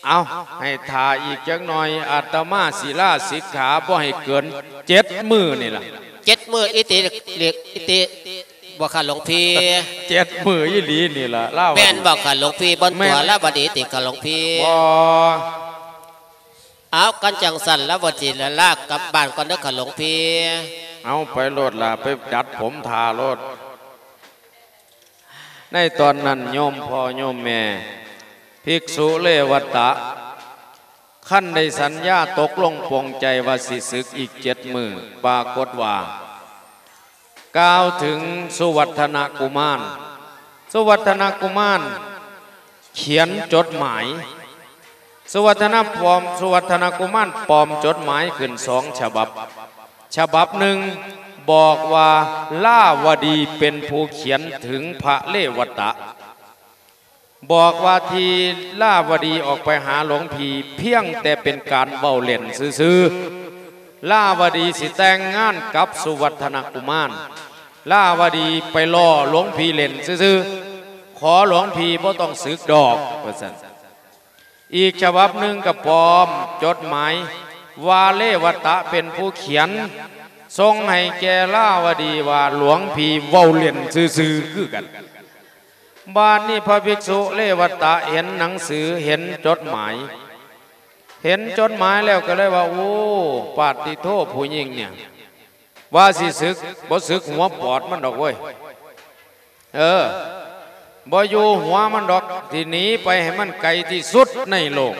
ເອົ້າ ໃຫ້ຖ້າອີກຈັກໜ່ອຍ ອາດຕະມາສິລາສິກຂາ ບໍ່ໃຫ້ເກີນເຈັດມື້ນີ້ລະ. ເຈັດມື້ອີ່ຕິ ອີ່ຕິ ບໍ່ ຂ້າຫຼວງພີ່? ເຈັດມື້ອີ່ຫຼີນີ້ລະ ລາວະດີ. ແມ່ນບໍ່ ຂ້າຫຼວງພີ່? ບໍ່ຕົວະ ລາວະດີຕິ ຂ້າຫຼວງພີ່? ບໍ່. ເອົາ ຄັນຈັ່ງຊັ້ນ ລາວະດີລະ ລາກັບບ້ານກ່ອນເດີ ຂ້າຫຼວງພີ່. ເອົາ ໄປໂລດລະ ໄປດັດຜົມຖ້າໂລດ. ໃນຕອນນັ້ນ ໂຍມພໍ່ໂຍມແມ່ ພິກສຸເລວັດຕະ ຄັນໄດ້ສັນຍາຕົກລົງປົງໃຈວ່າຊິສຶກອີກເຈັດມື້ ປາກົດວ່າ ກ່າວເຖິງສຸວັດທະນະກຸມານ, ສຸວັດທະນະກຸມານຂຽນຈົດໝາຍ, ສຸວັດທະນະປອມ, ສຸວັດທະນະກຸມານປອມຈົດໝາຍຂຶ້ນສອງສະບັບ. ສະບັບໜຶ່ງບອກວ່າ ລາວະດີເປັນຜູ້ຂຽນເຖິງພະເລວັດຕະ. ບອກວ່າທີ່ລາວະດີອອກໄປຫາຫຼວງພີ່ພຽງແຕ່ເປັນການເວົ້າເລ່ນຊື່ໆ. ລາວະດີຊິແຕ່ງງານກັບສຸວັດທະນະກຸມານ. ລາວະດີໄປລໍ້ຫຼວງພີ່ເລ່ນຊື່ໆ. ຂໍຫຼວງພີ່ບໍ່ຕ້ອງສຶກດອກ ວ່າຊັ້ນ. ອີກສະບັບໜຶ່ງກໍປອມຈົດໝາຍວ່າເລວັດຕະເປັນຜູ້ຂຽນ ສົ່ງໃຫ້ແກ່ລາວະດີວ່າ ຫຼວງພີ່ເວົ້າເລ່ນຊື່ໆຄືກັນ. ບາດນີ້ພະພິກສຸເລວັດຕະເຫັນໜັງສື ເຫັນຈົດໝາຍ, ເຫັນຈົດໝາຍແລ້ວກໍເລີຍວ່າ ໂອ້ ປາດຕິໂທ ຜູ້ຍິງເນ່ຍ ວ່າຊິສຶກ ບໍ່ສຶກຫົວປອດມັນດອກເວີຍ. ເອີ ບໍ່ຢູ່ຫົວມັນດອກ ຊິໜີໄປໃຫ້ມັນໄກທີ່ສຸດໃນໂລກ.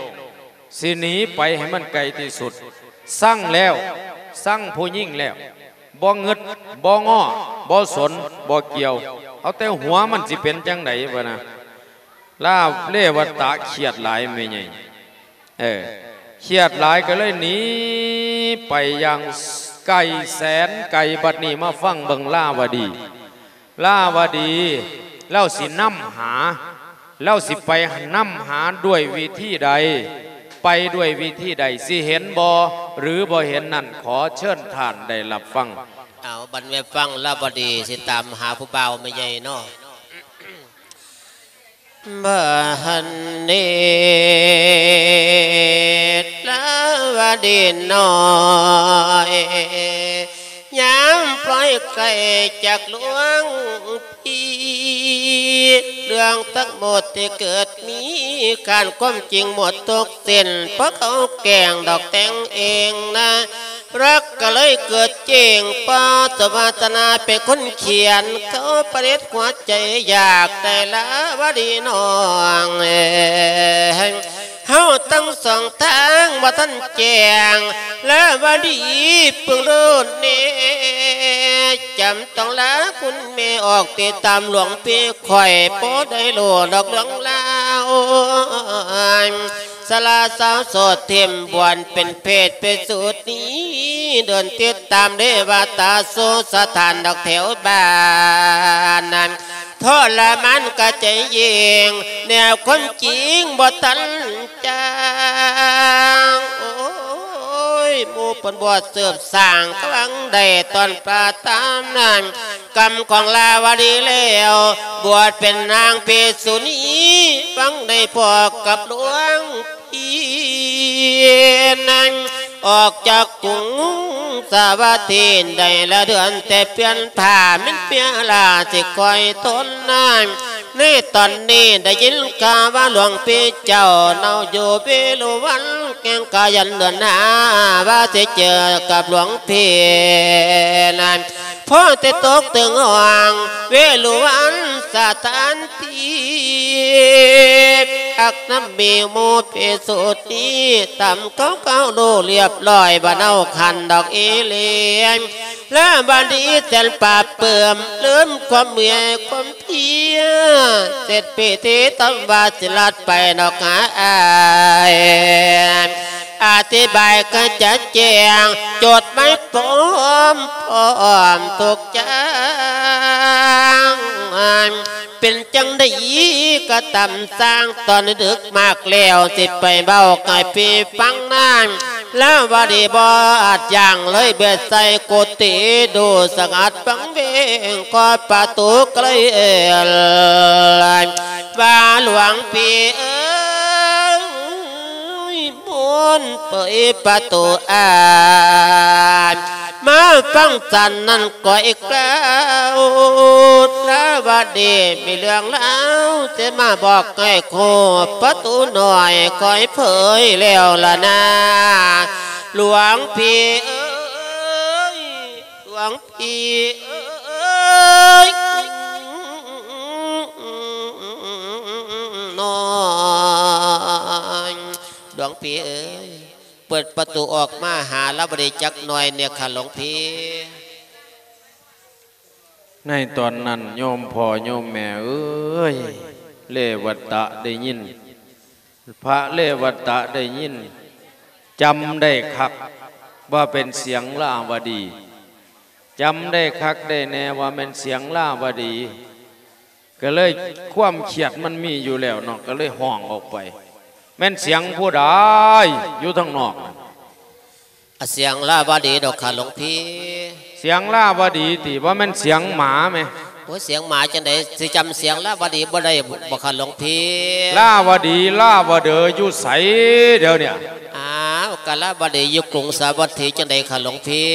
ຊິໜີໄປໃຫ້ມັນໄກທີ່ສຸດ. ຊັງແລ້ວ, ຊັງຜູ້ຍິງແລ້ວ, ບໍ່ງຶດ, ບໍ່ງໍ, ບໍ່ສົນ, ບໍ່ກ່ຽວ, ເອົາແຕ່ຫົວມັນຊິເປັນຈັ່ງໃດ ວ່ານະ. ລາວເລວັດຕະຄຽດຫຼາຍແມ່ໃຫຍ່. ເອີ ຄຽດຫຼາຍກໍເລີຍໜີໄປຢ່າງໄກແສນໄກ. ບັດນີ້ມາຟັງເບິ່ງລາວະດີ. ລາວະດີ ລາວຊິນຳຫາ, ລາວຊິໄປນຳຫາດ້ວຍວິທີໃດ, ໄປດ້ວຍວິທີໃດ, ຊິເຫັນບໍ່ ຫຼື ບໍ່ເຫັນນັ້ນ ຂໍເຊີນທ່ານໄດ້ຮັບຟັງ. ເອົາ ບັດແມ່ນຟັງລາວະດີຊິຕາມຫາຜູ້ບ່າວແມ່ໃຫຍ່ເນາະ. ບາດນີ້ລາວະດີນ້ອຍ ນ້ຳປ່ອຍໄກຈາກຫຼວງພີ່ ເລື່ອງທັງໝົດທີ່ເກີດມີ ການຄວາມຈິງໝົດທຸກສິ້ນ ເພາະເຂົາແກ້ງດອກແຕ່ງເອງນະ ລັກກໍເລີຍເກີດເຈ້ງ ເພາະສະວາສະໜາເປັນຄົນຂຽນ ເຂົາຜະລິດຫົວໃຈຢາກໄດ້ລາວະດີນ້ອງເອີຍ ເຮົາທັງສອງທາງບໍ່ທັນແຈ້ງ ລາວະດີເບິ່ງໂລດແນ່ ຈຳຕ້ອງລາຄຸນແມ່ອອກຕິດຕາມຫຼວງພີ່ຂ້ອຍ ບໍ່ໄດ້ຮູ້ດອກເລື່ອງລາວ ສາລາສາວໂສດຖິ້ມບວນເປັນເຜດເປັນສູດນີ້ ເດີນຕິດຕາມເດວະຕາສູ່ສະຖານດອກແຖວບ້ານນັ້ນ ທໍລະມານກະໃຈເຢັນ ແນວຄວາມຈິງບໍ່ທັນຈາງ ໂອ້ຍ ໝູ່ເພິ່ນບວດສືບສ້າງກຳລັງໄດ້ຕ້ອນປາຕາມນັ້ນ ກຳຂອງລາວະດີແລ້ວ ບວດເປັນນາງພິກຂຸນີ ຫວັງໄດ້ພໍ້ກັບຫຼວງ ອີ່ນັ້ນ ອອກຈາກກຸງສາວັດຖີໄດ້ລະເດືອນ ແຕ່ປ່ຽນຜ້າແມ່ນເປຍລາຊິຄອຍທົນນານ ໃນຕອນນີ້ໄດ້ຍິນຂ່າວວ່າຫຼວງພີ່ເຈົ້າເນົາຢູ່ເວລຸວັນ ແກ່ງກາຍັນເດືອນຫ້າ ວ່າຊິເຈີກັບຫຼວງພີ່ນັ້ນ ພໍແຕ່ຕົກເຖິງຫ້ອງເວລຸວັນສະຖານທີ່ ອັກນຳມີໝູ່ພິກຂຸນີຕາມເຂົາເຂົາຮູ້ລຽບຮ້ອຍ ບໍ່ເນົາຄັນດອກອີ່ຫຼີ ລາວະດີແສນປາບເປື້ອມ ລືມຄວາມເມື່ອຍຄວາມເພຍ ເສັດພິທີທຳວາສິລັດໄປນອກຫາອ້າຍ ອະທິບາຍກະຈະແຈ້ງ ຈົດໝາຍພ້ອມ ພ້ອມທຸກຢ່າງ ເປັນຈັ່ງໃດກະຕາມຊ່າງ ຕອນດຶກມາກແລ້ວ ຊິໄປເວົ້າໃຫ້ພີ່ຟັງນານ ລາວະດີບໍ່ອາດຢັ້ງ ເລີຍບຽດໃສ່ກຸຕິ ດູສະຫງັດວັງເວງ ເຄາະປະຕູກະເລີຍເອີ້ນ ວ່າ ຫຼວງພີ່ເອີຍ ມົນເປີດປະຕູອ້າຍ ມາຟັງສັນນັ້ນກ່ອຍກ່າວ ລາວະດີມີເລື່ອງລາວ ຊິມາບອກໃຫ້ຮູ້ ປະຕູນ້ອຍຄ່ອຍເຜີຍແລ້ວລະນາ ຫຼວງພີ່ເອີຍ ຫຼວງພີ່ເອີຍ ນ້ອຍ ຫຼວງພີ່ເອີຍ ເປີດປະຕູອອກມາຫາລາວະດີຈັກໜ່ອຍແດ່ຂ້າຫຼວງພີ່. ໃນຕອນນັ້ນໂຍມພໍ່ໂຍມແມ່ເອີຍ ເລວະຕະໄດ້ຍິນ ພະເລວະຕະໄດ້ຍິນ ຈຳໄດ້ຄັກວ່າເປັນສຽງລາວະດີ ຈຳໄດ້ຄັກໄດ້ແນ່ວ່າແມ່ນສຽງລາວະດີ ກະເລີຍຄວາມຄຽດມັນມີຢູ່ແລ້ວເນາະ ກະເລີຍຮ້ອງອອກໄປ ແມ່ນສຽງຜູ້ໃດຢູ່ທາງນອກ? ອາ ສຽງລາວະດີດອກຂ້າຫຼວງພີ່. ສຽງລາວະດີຕິ? ບໍ່ແມ່ນສຽງໝາແມ? ໂອ້ຍ ສຽງໝາຈັ່ງໃດ ຊິຈຳສຽງລາວະດີບໍ່ໄດ້ບໍ່ຂ້າຫຼວງພີ່? ລາວະດີ ລາວະເດີຢູ່ໃສດຽວນີ້? ອ້າວ ກະລາວະດີຢູ່ກຸງສາວັດຖີຈັ່ງໃດຂ້າຫຼວງພີ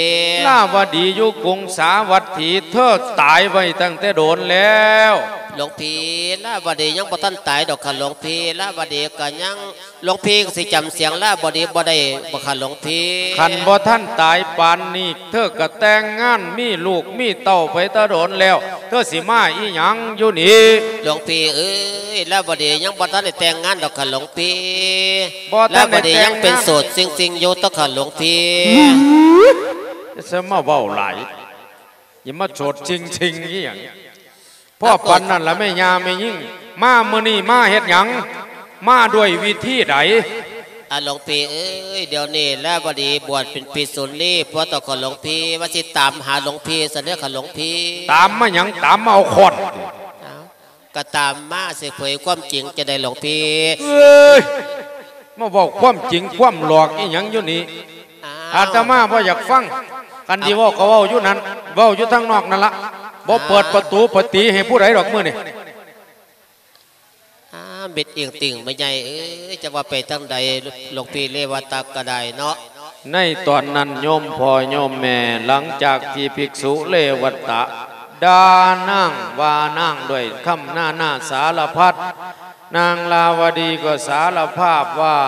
່? ລາວະດີຢູ່ກຸງສາວັດຖີ ເທີຕາຍໄວ້ຕັ້ງແຕ່ດົນແລ້ວ. ຫຼວງພີ່ ລາວະດີຍັງບໍ່ທັນຕາຍດອກຂ້າຫຼວງພີ່ ລາວະດີກະຍັງ ຫຼວງພີ່ຊິຈຳສຽງລາວະດີບໍ່ໄດ້ບໍ່ຂ້າຫຼວງພີ່? ຄັນບໍ່ທັນຕາຍປານນີ້ ເທີກະແຕ່ງງານມີລູກມີເຕົ້າໄປຕະດົນແລ້ວ ເທີຊິມາອີ່ຫຍັງຢູ່ນີ້? ຫຼວງພີ່ເອີຍ ລາວະດີຍັງບໍ່ທັນໄດ້ແຕ່ງງານດອກຂ້າຫຼວງພີ່ ບໍ່ທັນໄດ້ແຕ່ງງານ ລາວະດີຍັງເປັນໂສດຊິງໆຢູ່ຕົວະຂ້າຫຼວງພີ່. ຢ່າມາເວົ້າຫຼາຍ ຢ່າມາໂສດຊິງໆອີ່ຫຍັງ. ພໍປານນັ້ນລະແມ່ຍ່າແມ່ຍິງ ມາມື້ນີ້ມາເຮັດຫຍັງ? ມາດ້ວຍວິທີໃດ? ອາ ຫຼວງພີ່ເອີຍ ດຽວນີ້ລາວະດີບວດເປັນພິກຂຸນີ ພວກເຈົ້າຂອງຫຼວງພີ່ວ່າຊິຕາມຫາຫຼວງພີ່ຊັ້ນເດີຂ້າຫຼວງພີ່. ຕາມມາຫຍັງ? ຕາມມາເອົາຄ້ອນ. ເອົ້າ ກະຕາມມາຊິເຜີຍຄວາມຈິງຈັ່ງໃດຫຼວງພີ່? ເອີຍ ມາເວົ້າຄວາມຈິງຄວາມຫຼອກອີ່ຫຍັງຢູ່ນີ້? ອາ ອາດຕະມາບໍ່ຢາກຟັງ ຄັນຊິເວົ້າກໍເວົ້າຢູ່ນັ້ນ ເວົ້າຢູ່ທາງນອກນັ້ນລະ ບໍ່ເປີດປະຕູປະຕີໃຫ້ຜູ້ໃດດອກມື້ນີ້. ອາ ເມັດອີງຕິ່ງແມ່ໃຫຍ່ເອີຍ ຈະວ່າໄປທາງໃດ ຫຼວງພີ່ເລວະຕະກະໄດ້ເນາະ. ໃນຕອນນັ້ນໂຍມພໍ່ໂຍມແມ່ ຫຼັງຈາກທີ່ພິກສຸເລວະຕະດ່ານາງ ວ່ານາງດ້ວຍຄຳນານາສາລະພັດ, ນາງລາວະດີກໍສາລະພາບວ່າ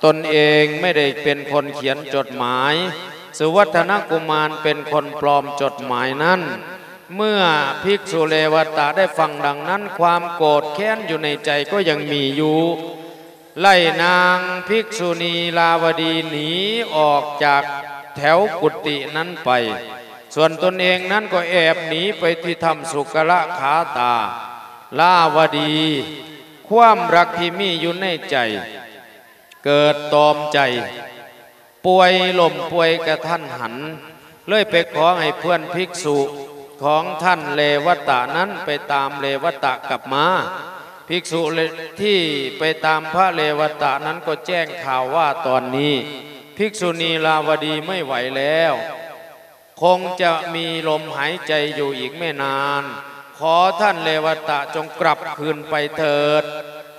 ຕົນເອງໄມ່ໄດ້ເປັນຄົນຂຽນຈົດໝາຍ, ສຸວັດທະນະກຸມານເປັນຄົນປລອມຈົດໝາຍນັ້ນ. ເມື່ອພິກສຸເລວະຕະໄດ້ຟັງດັ່ງນັ້ນ, ຄວາມໂກດແຄ້ນຢູ່ໃນໃຈກໍຍັງມີຢູ່. ໄລ່ນາງພິກສຸນີລາວະດີໜີອອກຈາກແຖວກຸຕິນັ້ນໄປ, ສ່ວນຕົນເອງນັ້ນກໍແອບໜີໄປທີ່ຖ້ຳສຸກະລະຄາຕາ. ລາວະດີ, ຄວາມຮັກທີ່ມີຢູ່ໃນໃຈເກີດຕອມໃຈ, ປ່ວຍ, ລົ້ມປ່ວຍກະທັນຫັນ, ເລີຍໄປຂໍໃຫ້ເພື່ອນພິກສຸຂອງທ່ານເລວະຕະນັ້ນໄປຕາມເລວະຕະກັບມາ. ພິກສຸທີ່ໄປຕາມພະເລວະຕະນັ້ນກໍແຈ້ງຂ່າວວ່າຕອນນີ້ພິກສຸນີລາວະດີໄມ່ໄຫວແລ້ວ, ຄົງຈະມີລົມຫາຍໃຈຢູ່ອີກໄມ່ນານ. ຂໍທ່ານເລວະຕະຈົ່ງກັບຄືນໄປເຖີດ,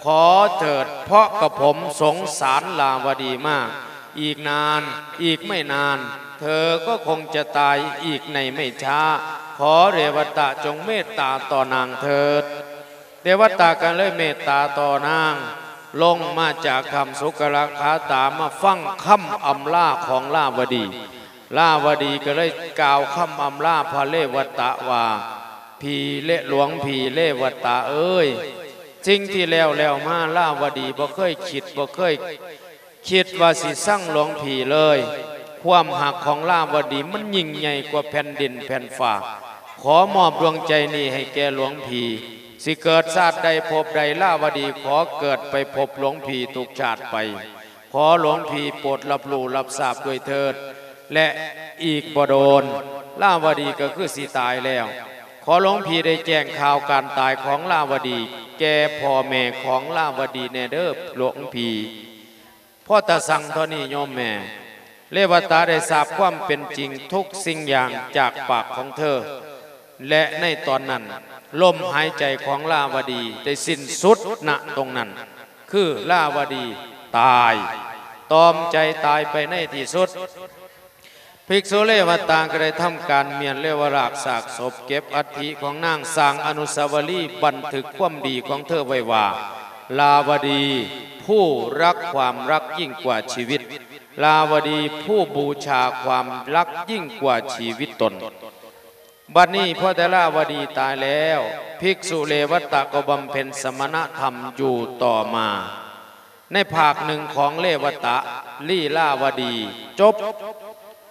ຂໍເຖີດ, ເພາະກະຜົມສົງສານລາວະດີມາກ. ອີກນານ, ອີກໄມ່ນານ ເທີກໍຄົງຈະຕາຍອີກໃນໄມ່ຊ້າ. ຂໍເລວະຕະຈົ່ງເມດຕາຕໍ່ນາງເຖີດ. ເລວະຕະກໍເລີຍເມດຕາຕໍ່ນາງ, ລົງມາຈາກຖ້ຳສຸກະລະຄາຕາ ມາຟັງຄຳອຳລາຂອງລາວະດີ. ລາວະດີກໍເລີຍກ່າວຄຳອຳລາພະເລວະຕະວ່າ, ຜີເລ ຫຼວງຜີເລວະຕະເອີຍ, ສິ່ງທີ່ແລ້ວໆມາ ລາວະດີບໍ່ເຄີຍຄິດ, ບໍ່ເຄີຍ ຄິດວ່າຊິຊັງຫຼວງຜີເລີຍ. ຄວາມຮັກຂອງລາວະດີມັນຍິ່ງໃຫຍ່ກວ່າແຜ່ນດິນແຜ່ນຟ້າ. ຂໍມອບດວງໃຈນີ້ໃຫ້ແກ່ຫຼວງຜີ. ຊິເກີດຊາດໃດພົບໃດ, ລາວະດີຂໍເກີດໄປພົບຫຼວງຜີທຸກຊາດໄປ. ຂໍຫຼວງຜີໂປດຮັບຮູ້ຮັບຊາບດ້ວຍເທີດ. ແລະ ອີກບໍ່ດົນ ລາວະດີກໍຄືຊິຕາຍແລ້ວ. ຂໍຫຼວງຜີໄດ້ແຈ້ງຂ່າວການຕາຍຂອງລາວະດີແກ່ພໍ່ແມ່ຂອງລາວະດີແດ່ເດີຫຼວງຜີ. ພໍຕາສັ່ງເທົ່ານີ້ໂຍມແມ່ ເລວະຕະໄດ້ຊາບຄວາມເປັນຈິງທຸກສິ່ງຢ່າງຈາກປາກຂອງເທີ, ແລະ ໃນຕອນນັ້ນ ລົມຫາຍໃຈຂອງລາວະດີໄດ້ສິ້ນສຸດນະຕົງນັ້ນ, ຄືລາວະດີຕາຍ, ຕອມໃຈຕາຍໄປໃນທີ່ສຸດ. ພິກສຸເລວະຕະກໍໄດ້ທຳການມ້ຽນເລວະລາກຊາກສົບ, ເກັບອັດຖິຂອງນາງ, ສ້າງອະນຸສາວະລີບັນທຶກຄວາມດີຂອງເທີໄວ້ວ່າ, ລາວະດີຜູ້ຮັກຄວາມຮັກຍິ່ງກວ່າຊີວິດ, ລາວະດີຜູ້ບູຊາຄວາມຮັກຍິ່ງກວ່າຊີວິດຕົນ. ບັດນີ້ພໍແຕ່ລາວະດີຕາຍແລ້ວ, ພິກສຸເລວະຕະກໍບຳເພັນສະມະນະທຳຢູ່ຕໍ່ມາ. ໃນພາກໜຶ່ງຂອງເລວະຕະລີລາວະດີຈົບ.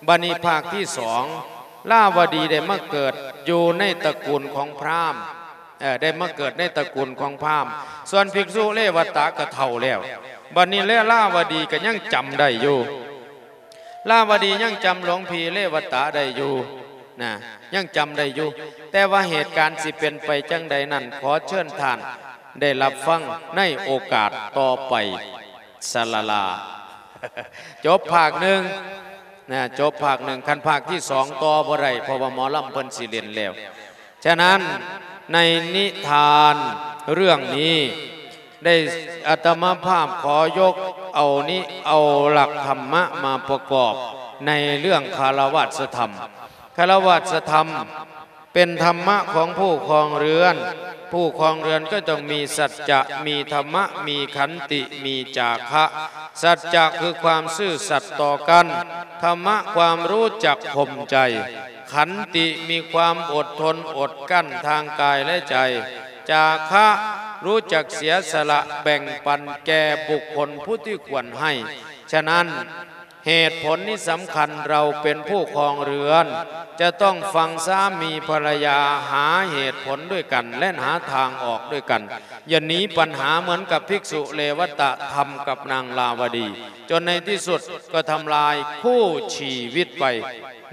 ບັດນີ້ພາກທີສອງ ລາວະດີໄດ້ມາເກີດຢູ່ໃນຕະກູນຂອງພຣາມ, ເອີ ໄດ້ມາເກີດໃນຕະກູນຂອງພຣາມ. ສ່ວນພິກສຸເລວະຕະກໍເຖົ້າແລ້ວ. ບັດນີ້ແລະລາວະດີກໍຍັງຈຳໄດ້ຢູ່. ລາວະດີຍັງຈຳຫຼວງພີ່ເລວະຕະໄດ້ຢູ່ນະ, ຍັງຈຳໄດ້ຢູ່. ແຕ່ວ່າເຫດການຊິເປັນໄປຈັ່ງໃດນັ້ນ, ຂໍເຊີນທ່ານໄດ້ຮັບຟັງໃນໂອກາດຕໍ່ໄປ. ສະລະລາ. ຈົບພາກໜຶ່ງນະ, ຈົບພາກໜຶ່ງ. ຄັນພາກທີສອງຕໍ່ບໍ່ໄດ້, ເພາະວ່າໝໍລຳເພິ່ນຊິເຫຼັ້ນແລ້ວ. ສະນັ້ນ ໃນນິທານເລື່ອງນີ້ ໄດ້ ອາດຕະມາພາບຂໍຍົກເອົານິ ເອົາຫຼັກທຳມະມາປະກອບໃນເລື່ອງຄາລະວາດສະທຳ. ຄາລະວາດສະທຳເປັນທຳມະຂອງຜູ້ຄອງເຮືອນ. ຜູ້ຄອງເຮືອນກໍຕ້ອງມີສັດຈະ, ມີທຳມະ, ມີຂັນຕິ, ມີຈາຄະ. ສັດຈະຄືຄວາມຊື່ສັດຕໍ່ກັນ, ທຳມະຄວາມຮູ້ຈັກຂົ່ມໃຈ, ຂັນຕິມີຄວາມອົດທົນອົດກັ້ນທາງກາຍ ແລະ ໃຈ, ຈາຄະຮູ້ຈັກເສຍສະຫຼະແບ່ງປັນແກ່ບຸກຄົນຜູ້ທີ່ຄວນໃຫ້. ສະນັ້ນ ເຫດຜົນນີ້ສຳຄັນ, ເຮົາເປັນຜູ້ຄອງເຮືອນ ຈະຕ້ອງຟັງສາມີພັນລະຍາ ຫາເຫດຜົນດ້ວຍກັນ ແລະ ຫາທາງອອກດ້ວຍກັນ. ຢ່າໜີປັນຫາເໝືອນກັບພິກສຸເລວະຕະທຳກັບນາງລາວະດີ, ຈົນໃນທີ່ສຸດກໍທຳລາຍຄູ່ຊີວິດໄປ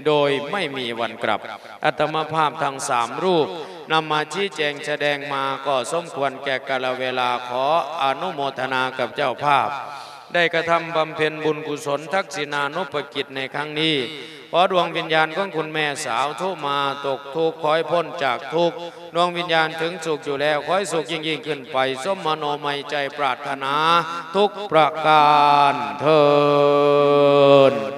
ໂດຍໄມ່ມີວັນກັບ. ອາດຕະມາພາບທັງສາມຮູບນຳມາຊີ້ແຈງສະແດງມາກໍສົມຄວນແກ່ກາລະເວລາ. ຂໍອະນຸໂມທະນາກັບເຈົ້າພາບ ໄດ້ກະທຳບຳເພັນບຸນກຸສົນທັກສິນານຸປະກິດໃນຄັ້ງນີ້. ຂໍດວງວິນຍານຂອງຄຸນແມ່ສາວທຸມາຕົກທຸກ ຂໍໃຫ້ພົ້ນຈາກທຸກ, ດວງວິນຍານເຖິງສຸກຢູ່ແລ້ວ ຂໍໃຫ້ສຸກຍິ່ງໆຂຶ້ນໄປ ສົມມະໂນໄມໃຈປາດຖະໜາທຸກປະການເທີ້ນ.